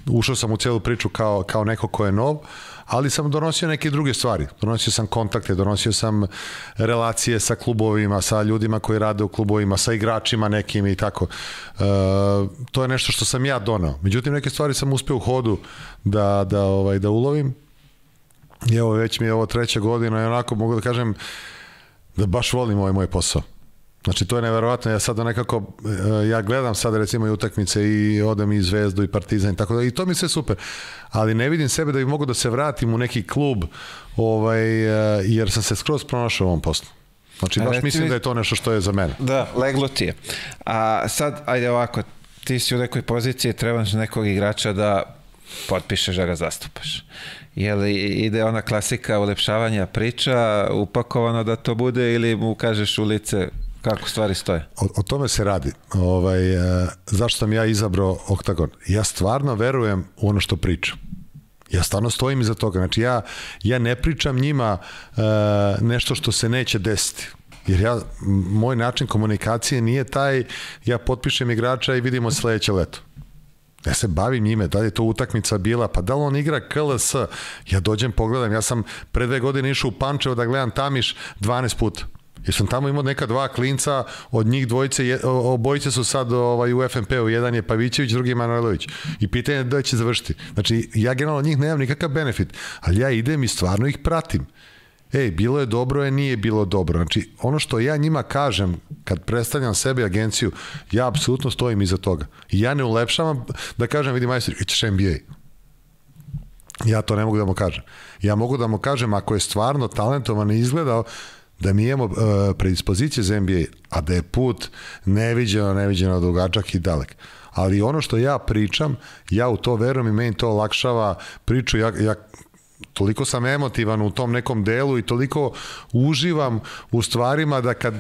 ušao sam u celu priču kao neko ko je nov, ali sam donosio neke druge stvari. Donosio sam kontakte, donosio sam relacije sa klubovima, sa ljudima koji rade u klubovima, sa igračima nekim i tako. To je nešto što sam ja donao. Međutim, neke stvari sam uspeo u hodu da ulovim. I evo, već mi je ovo 3. godina i onako mogu da kažem da baš volim ovaj moj posao. Znači, to je neverovatno, ja sada nekako, ja gledam sada recimo i utakmice i odem i Zvezdu i Partizan i tako da, i to mi sve super, ali ne vidim sebe da bi mogu da se vratim u neki klub, jer sam se skroz pronašao u ovom poslu. Znači, baš mislim da je to nešto što je za mene. Da, leglo ti je. A sad, ajde ovako, ti si u nekoj poziciji, trebaš nekog igrača da potpišeš da ga zastupaš. Jel ide ona klasika ulepšavanja priča, upakovano da to bude, ili mu kažeš u lice kako stvari stoje? O tome se radi. Zašto sam ja izabrao Oktagon? Ja stvarno verujem u ono što pričam. Ja stvarno stojim iza toga. Znači ja ne pričam njima nešto što se neće desiti. Jer moj način komunikacije nije taj, ja potpišem igrača i vidimo sledeće leto. Ja se bavim njime, da li je to utakmica bila, pa da li on igra KLS, ja dođem, pogledam, ja sam pre 2 godine išao u Pančevo da gledam Tamiš 12 puta. Jer sam tamo imao neka 2 klinca, od njih obojice su sad u FNP-u, jedan je Pavićević, drugi je Manojlović. I pitanje je da će završiti. Znači, ja generalno od njih nemam nikakav benefit, ali ja idem i stvarno ih pratim. Bilo je dobro, nije bilo dobro. Znači, ono što ja njima kažem, kad predstavljam sebe agenciju, ja apsolutno stojim iza toga. I ja ne ulepšavam da kažem, vidi majstor, ćeš NBA. Ja to ne mogu da mu kažem. Ja mogu da mu kažem, ako je stvarno talentovan i izgledao, da mi imamo predispozicije za NBA, a da je put neviđeno dugačak i dalek. Ali ono što ja pričam, ja u to verujem i meni to olakšava priču. Ja toliko sam emotivan u tom nekom delu i toliko uživam u stvarima da kad,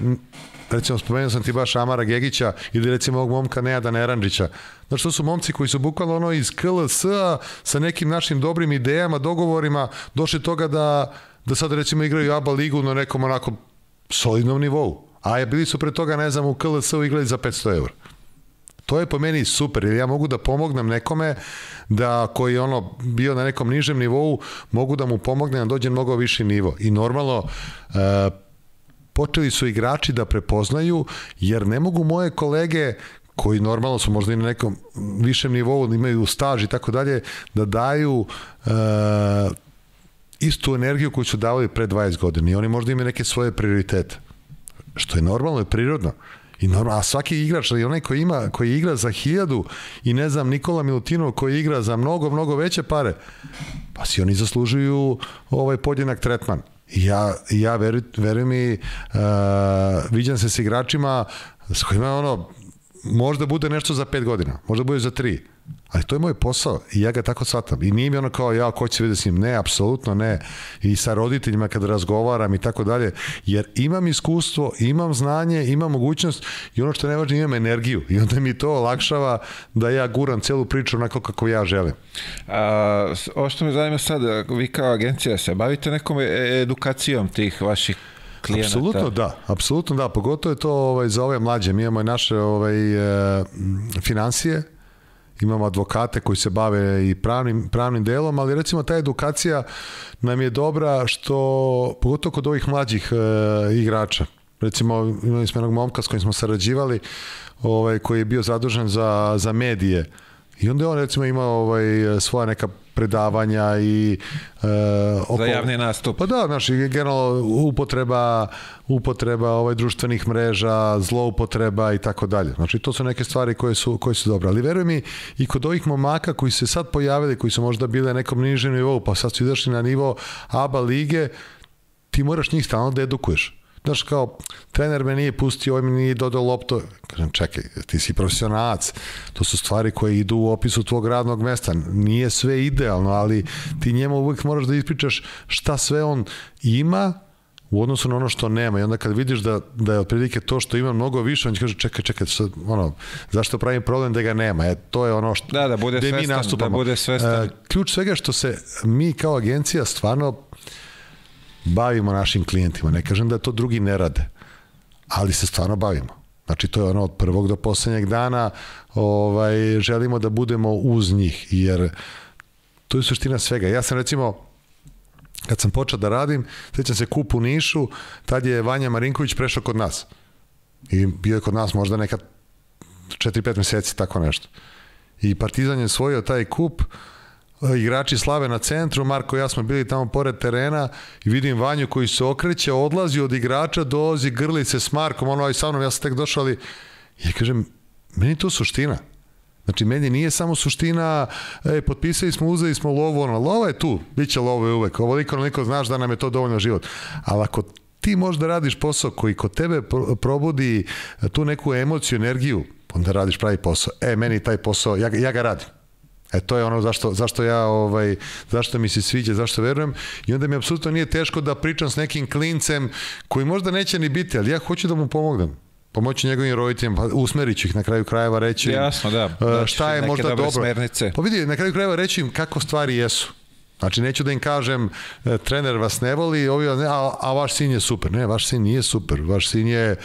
recimo spomenuo sam ti baš Amara Gegića ili recimo ovog momka Nejada Neranđića, znači to su momci koji su bukvalno iz KLS-a sa nekim našim dobrim idejama, dogovorima došli toga da sad recimo igraju ABA ligu na nekom onako solidnom nivou, a bili su pre toga, ne znam, u KLS-u igrali za 500 €. To je po meni super, jer ja mogu da pomognem nekome da koji je bio na nekom nižem nivou, mogu da mu pomognem da dođe mnogo viši nivo. I normalno počeli su igrači da prepoznaju, jer ne mogu moje kolege koji normalno su možda i na nekom višem nivou, imaju staž i tako dalje, da daju istu energiju koju su davali pre 20 godina. I oni možda imaju neke svoje prioritete. Što je normalno i prirodno. A svaki igrač, ali onaj koji igra za 1000 i ne znam, Nikola Milutinov koji igra za mnogo veće pare, pa si oni zaslužuju podjednak tretman. Ja verujem mi, viđam se s igračima s kojima možda bude nešto za 5 godina, možda bude za 3, ali to je moj posao i ja ga tako shvatam. I nije mi kao ko će vidjeti s njim, ne, apsolutno ne. I sa roditeljima kad razgovaram i tako dalje, jer imam iskustvo, imam znanje, imam mogućnost i ono što je najvažnije, imam energiju i onda mi to olakšava da ja guram celu priču onako kako ja želim. Ovo što me zanima sad, vi kao agencija se bavite nekom edukacijom tih vaših klijenata? Apsolutno da, pogotovo je to za ove mlađe. Mi imamo i naše finansije, imamo advokate koji se bave i pravnim delom, ali recimo ta edukacija nam je dobra što, pogotovo kod ovih mlađih igrača, recimo imali smo jednog momka s kojim smo sarađivali, koji je bio zadužen za medije i onda je on recimo imao svoja neka predavanja i za javni nastup. Pa da, znači generalno upotreba društvenih mreža, zloupotreba i tako dalje. Znači to su neke stvari koje su dobre. Ali veruj mi, i kod ovih momaka koji se sad pojavili, koji su možda bili na nekom nižem nivou, pa sad su izašli na nivo ABA lige, ti moraš njih stalno da edukuješ. znaš kao, trener me nije pustio, ovaj mi nije dodao loptu. Kažem, čekaj, ti si profesionalac, to su stvari koje idu u opisu tvog radnog mesta, nije sve idealno, ali ti njemu uvijek moraš da ispričaš šta sve on ima u odnosu na ono što nema, i onda kad vidiš da je otprilike to što ima mnogo više, on će kaže, čekaj, zašto pravim problem da ga nema, to je ono što da bude svestan, mi nastupamo. Da bude svestan. Ključ svega što se mi kao agencija stvarno bavimo našim klijentima, ne kažem da to drugi ne rade, ali se stvarno bavimo. Znači, to je ono od prvog do poslednjeg dana, želimo da budemo uz njih, jer to je suština svega. Ja sam recimo, kad sam počeo da radim, sećam se kup u Nišu, tad je Vanja Marinković prešao kod nas. I bio je kod nas možda neka 4-5 meseci, tako nešto. I Partizan je osvojio taj kup, igrači slave na centru, Marko i ja smo bili tamo pored terena i vidim Vanju koji se okreće, odlazi od igrača, dolazi, grli se s Markom, ono sa mnom, ja sam tek došao, ali ja kažem, meni to suština. Znači, meni nije samo suština, potpisali smo, uzeli smo lovu, lova je tu, bit će lova uvek, ovoliko znaš da nam je to dovoljno život. Ali ako ti možeš da radiš posao koji kod tebe probudi tu neku emociju, energiju, onda radiš pravi posao. Meni taj posao, ja ga radim. To je ono zašto mi se sviđa, zašto verujem, i onda mi apsolutno nije teško da pričam s nekim klincem koji možda neće ni biti, ali ja hoću da mu pomognem. Pomoći njegovim roditeljima, usmerit ću ih na kraju krajeva, reći im šta je možda dobro. Smernice. Pa vidi, na kraju krajeva reći im kako stvari jesu. Znači, neću da im kažem trener vas ne voli, a vaš sin je super. Ne, vaš sin nije super. Vaš sin je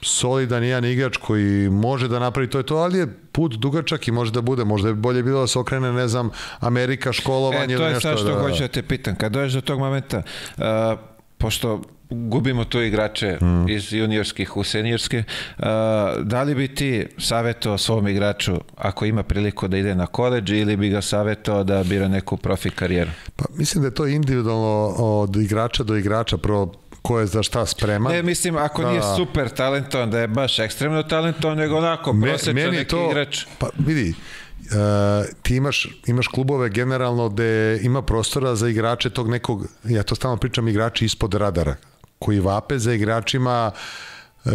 solidan jedan igrač koji može da napravi to i to, ali je put dugačak i može da bude. Možda je bolje bilo da se okrene, ne znam, Amerika, školovanje ili nešto. To je sad što hoću da te pitam. Kad dođeš do tog momenta, pošto gubimo tu igrače iz juniorskih u seniorske, da li bi ti savjetovao svom igraču ako ima priliku da ide na koledž, ili bi ga savjetovao da bira neku profi karijeru? Pa mislim da je to individualno od igrača do igrača, ko je za šta spreman. Ne, mislim, ako nije super talentovan, da je baš ekstremno talentovan, nego onako prosječan neki igrač. Pa vidi, ti imaš klubove generalno gde ima prostora za igrače tog nekog, ja to stalno pričam, igrači ispod radara, koji vape za igračima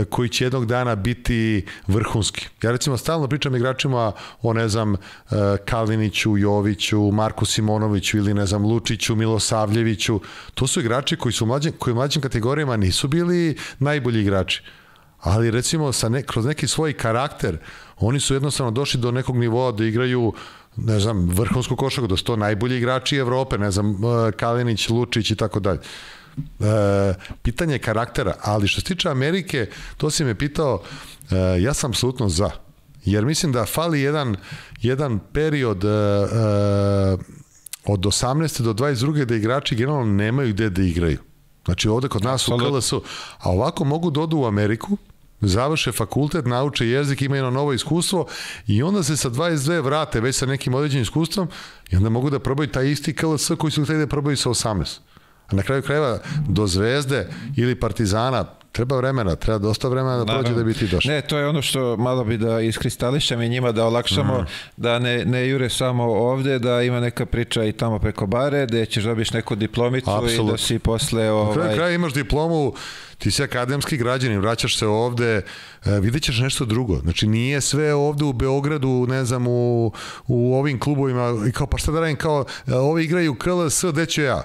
koji će jednog dana biti vrhunski. Ja recimo stalno pričam igračima o, ne znam, Kaliniću, Joviću, Marku Simonoviću ili, ne znam, Lučiću, Milosavljeviću. To su igrači koji u mlađim kategorijama nisu bili najbolji igrači. Ali recimo kroz neki svoj karakter oni su jednostavno došli do nekog nivoa da igraju, ne znam, vrhunsku košarku, da su to najbolji igrači Evrope, ne znam, Kalinić, Lučić i tako dalje. Pitanje karaktera, ali što se tiče Amerike, to si me pitao, ja sam apsolutno za, jer mislim da fali jedan period od 18. do 22. da igrači generalno nemaju gde da igraju. Znači ovde kod nas u KLS-u, a ovako mogu da odu u Ameriku, završe fakultet, nauče jezik, imaju jedno novo iskustvo i onda se sa 22 vrate već sa nekim određenim iskustvom i onda mogu da probaju taj isti KLS koji su hteli da probaju sa 18. A na kraju krajeva do Zvezde ili Partizana treba vremena, treba dosta vremena da prođe da bi ti došli. Ne, to je ono što malo bi da iskristališemo i njima da olakšamo, da ne jure samo ovde, da ima neka priča i tamo preko bare, da ćeš dobiš neku diplomicu i da si posle... Na kraju kraja imaš diplomu, ti si akademski građanin, vraćaš se ovde, vidjet ćeš nešto drugo. Znači, nije sve ovde u Beogradu, ne znam, u ovim klubovima, i kao, pa šta da radim, kao, ovi igraju KLS, gde ću ja?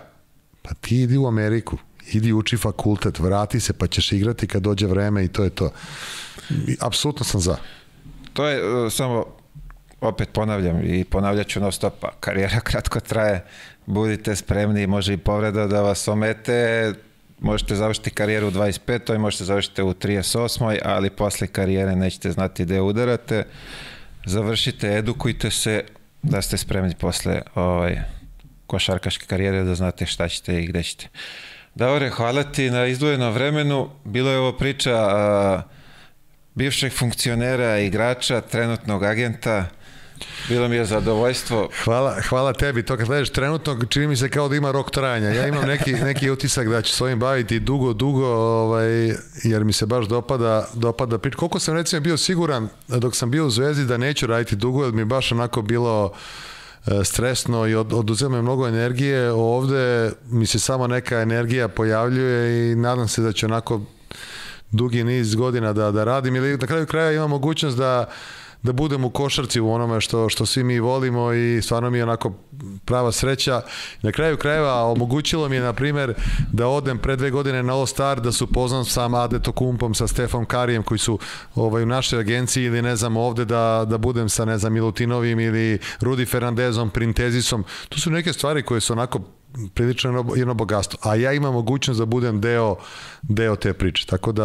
Pa ti idi u Ameriku, idi uči fakultet, vrati se pa ćeš igrati kad dođe vreme i to je to. Apsolutno sam za. To je samo, opet ponavljam i ponavljat ću non stop, karijera kratko traje, budite spremni, može i povreda da vas omete, možete završiti karijeru u 25. možete završiti u 38. ali posle karijere nećete znati gde udarate, završite, edukujte se da ste spremni posle košarkaške karijere, da znate šta ćete i gde ćete. Davore, hvala ti na izdvojenom vremenu. Bilo je ovo priča bivšeg funkcionera, igrača, trenutnog agenta. Bilo mi je zadovoljstvo. Hvala tebi. To kad gledaš trenutno, čini mi se kao da ima rok trajanja. Ja imam neki utisak da ću s ovim baviti dugo, jer mi se baš dopada priča. Koliko sam recimo bio siguran dok sam bio u Zvezdi da neću raditi dugo, jer mi je baš onako bilo stresno i oduzema mnogo energije. Ovde mi se samo neka energija pojavljuje i nadam se da će onako dugi niz godina da radim, ili na kraju kraja imam mogućnost da budem u košarci u onome što svi mi volimo i stvarno mi je onako prava sreća. Na kraju krajeva omogućilo mi je, na primjer, da odem pre 2 godine na All Star, da su poznam sa Adetokumpom, sa Stefom Karijem koji su u našoj agenciji, ili ne znam ovde da budem sa ne znam Milutinovim ili Rudi Fernandezom, Printezisom. To su neke stvari koje su onako prilično jedno bogatstvo, a ja imam mogućnost da budem deo te priče, tako da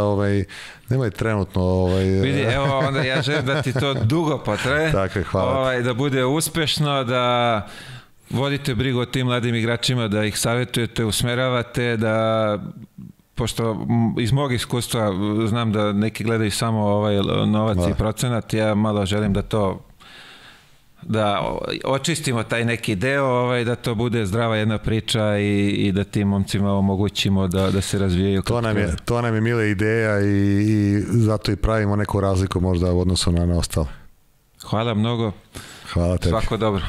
nemoj trenutno vidi, evo onda ja želim da ti to dugo potraje. Tako je, hvala da bude uspešno, da vodite brigu o tim mladim igračima, da ih savjetujete, usmeravate, da pošto iz mog iskustva znam da neki gledaju samo novac i procenat, ja malo želim da očistimo taj neki deo, da to bude zdrava jedna priča i da tim momcima omogućimo da se razvijaju. To nam je mila ideja i zato i pravimo neku razliku možda u odnosu na ostale. Hvala mnogo. Hvala tebi. Svako dobro.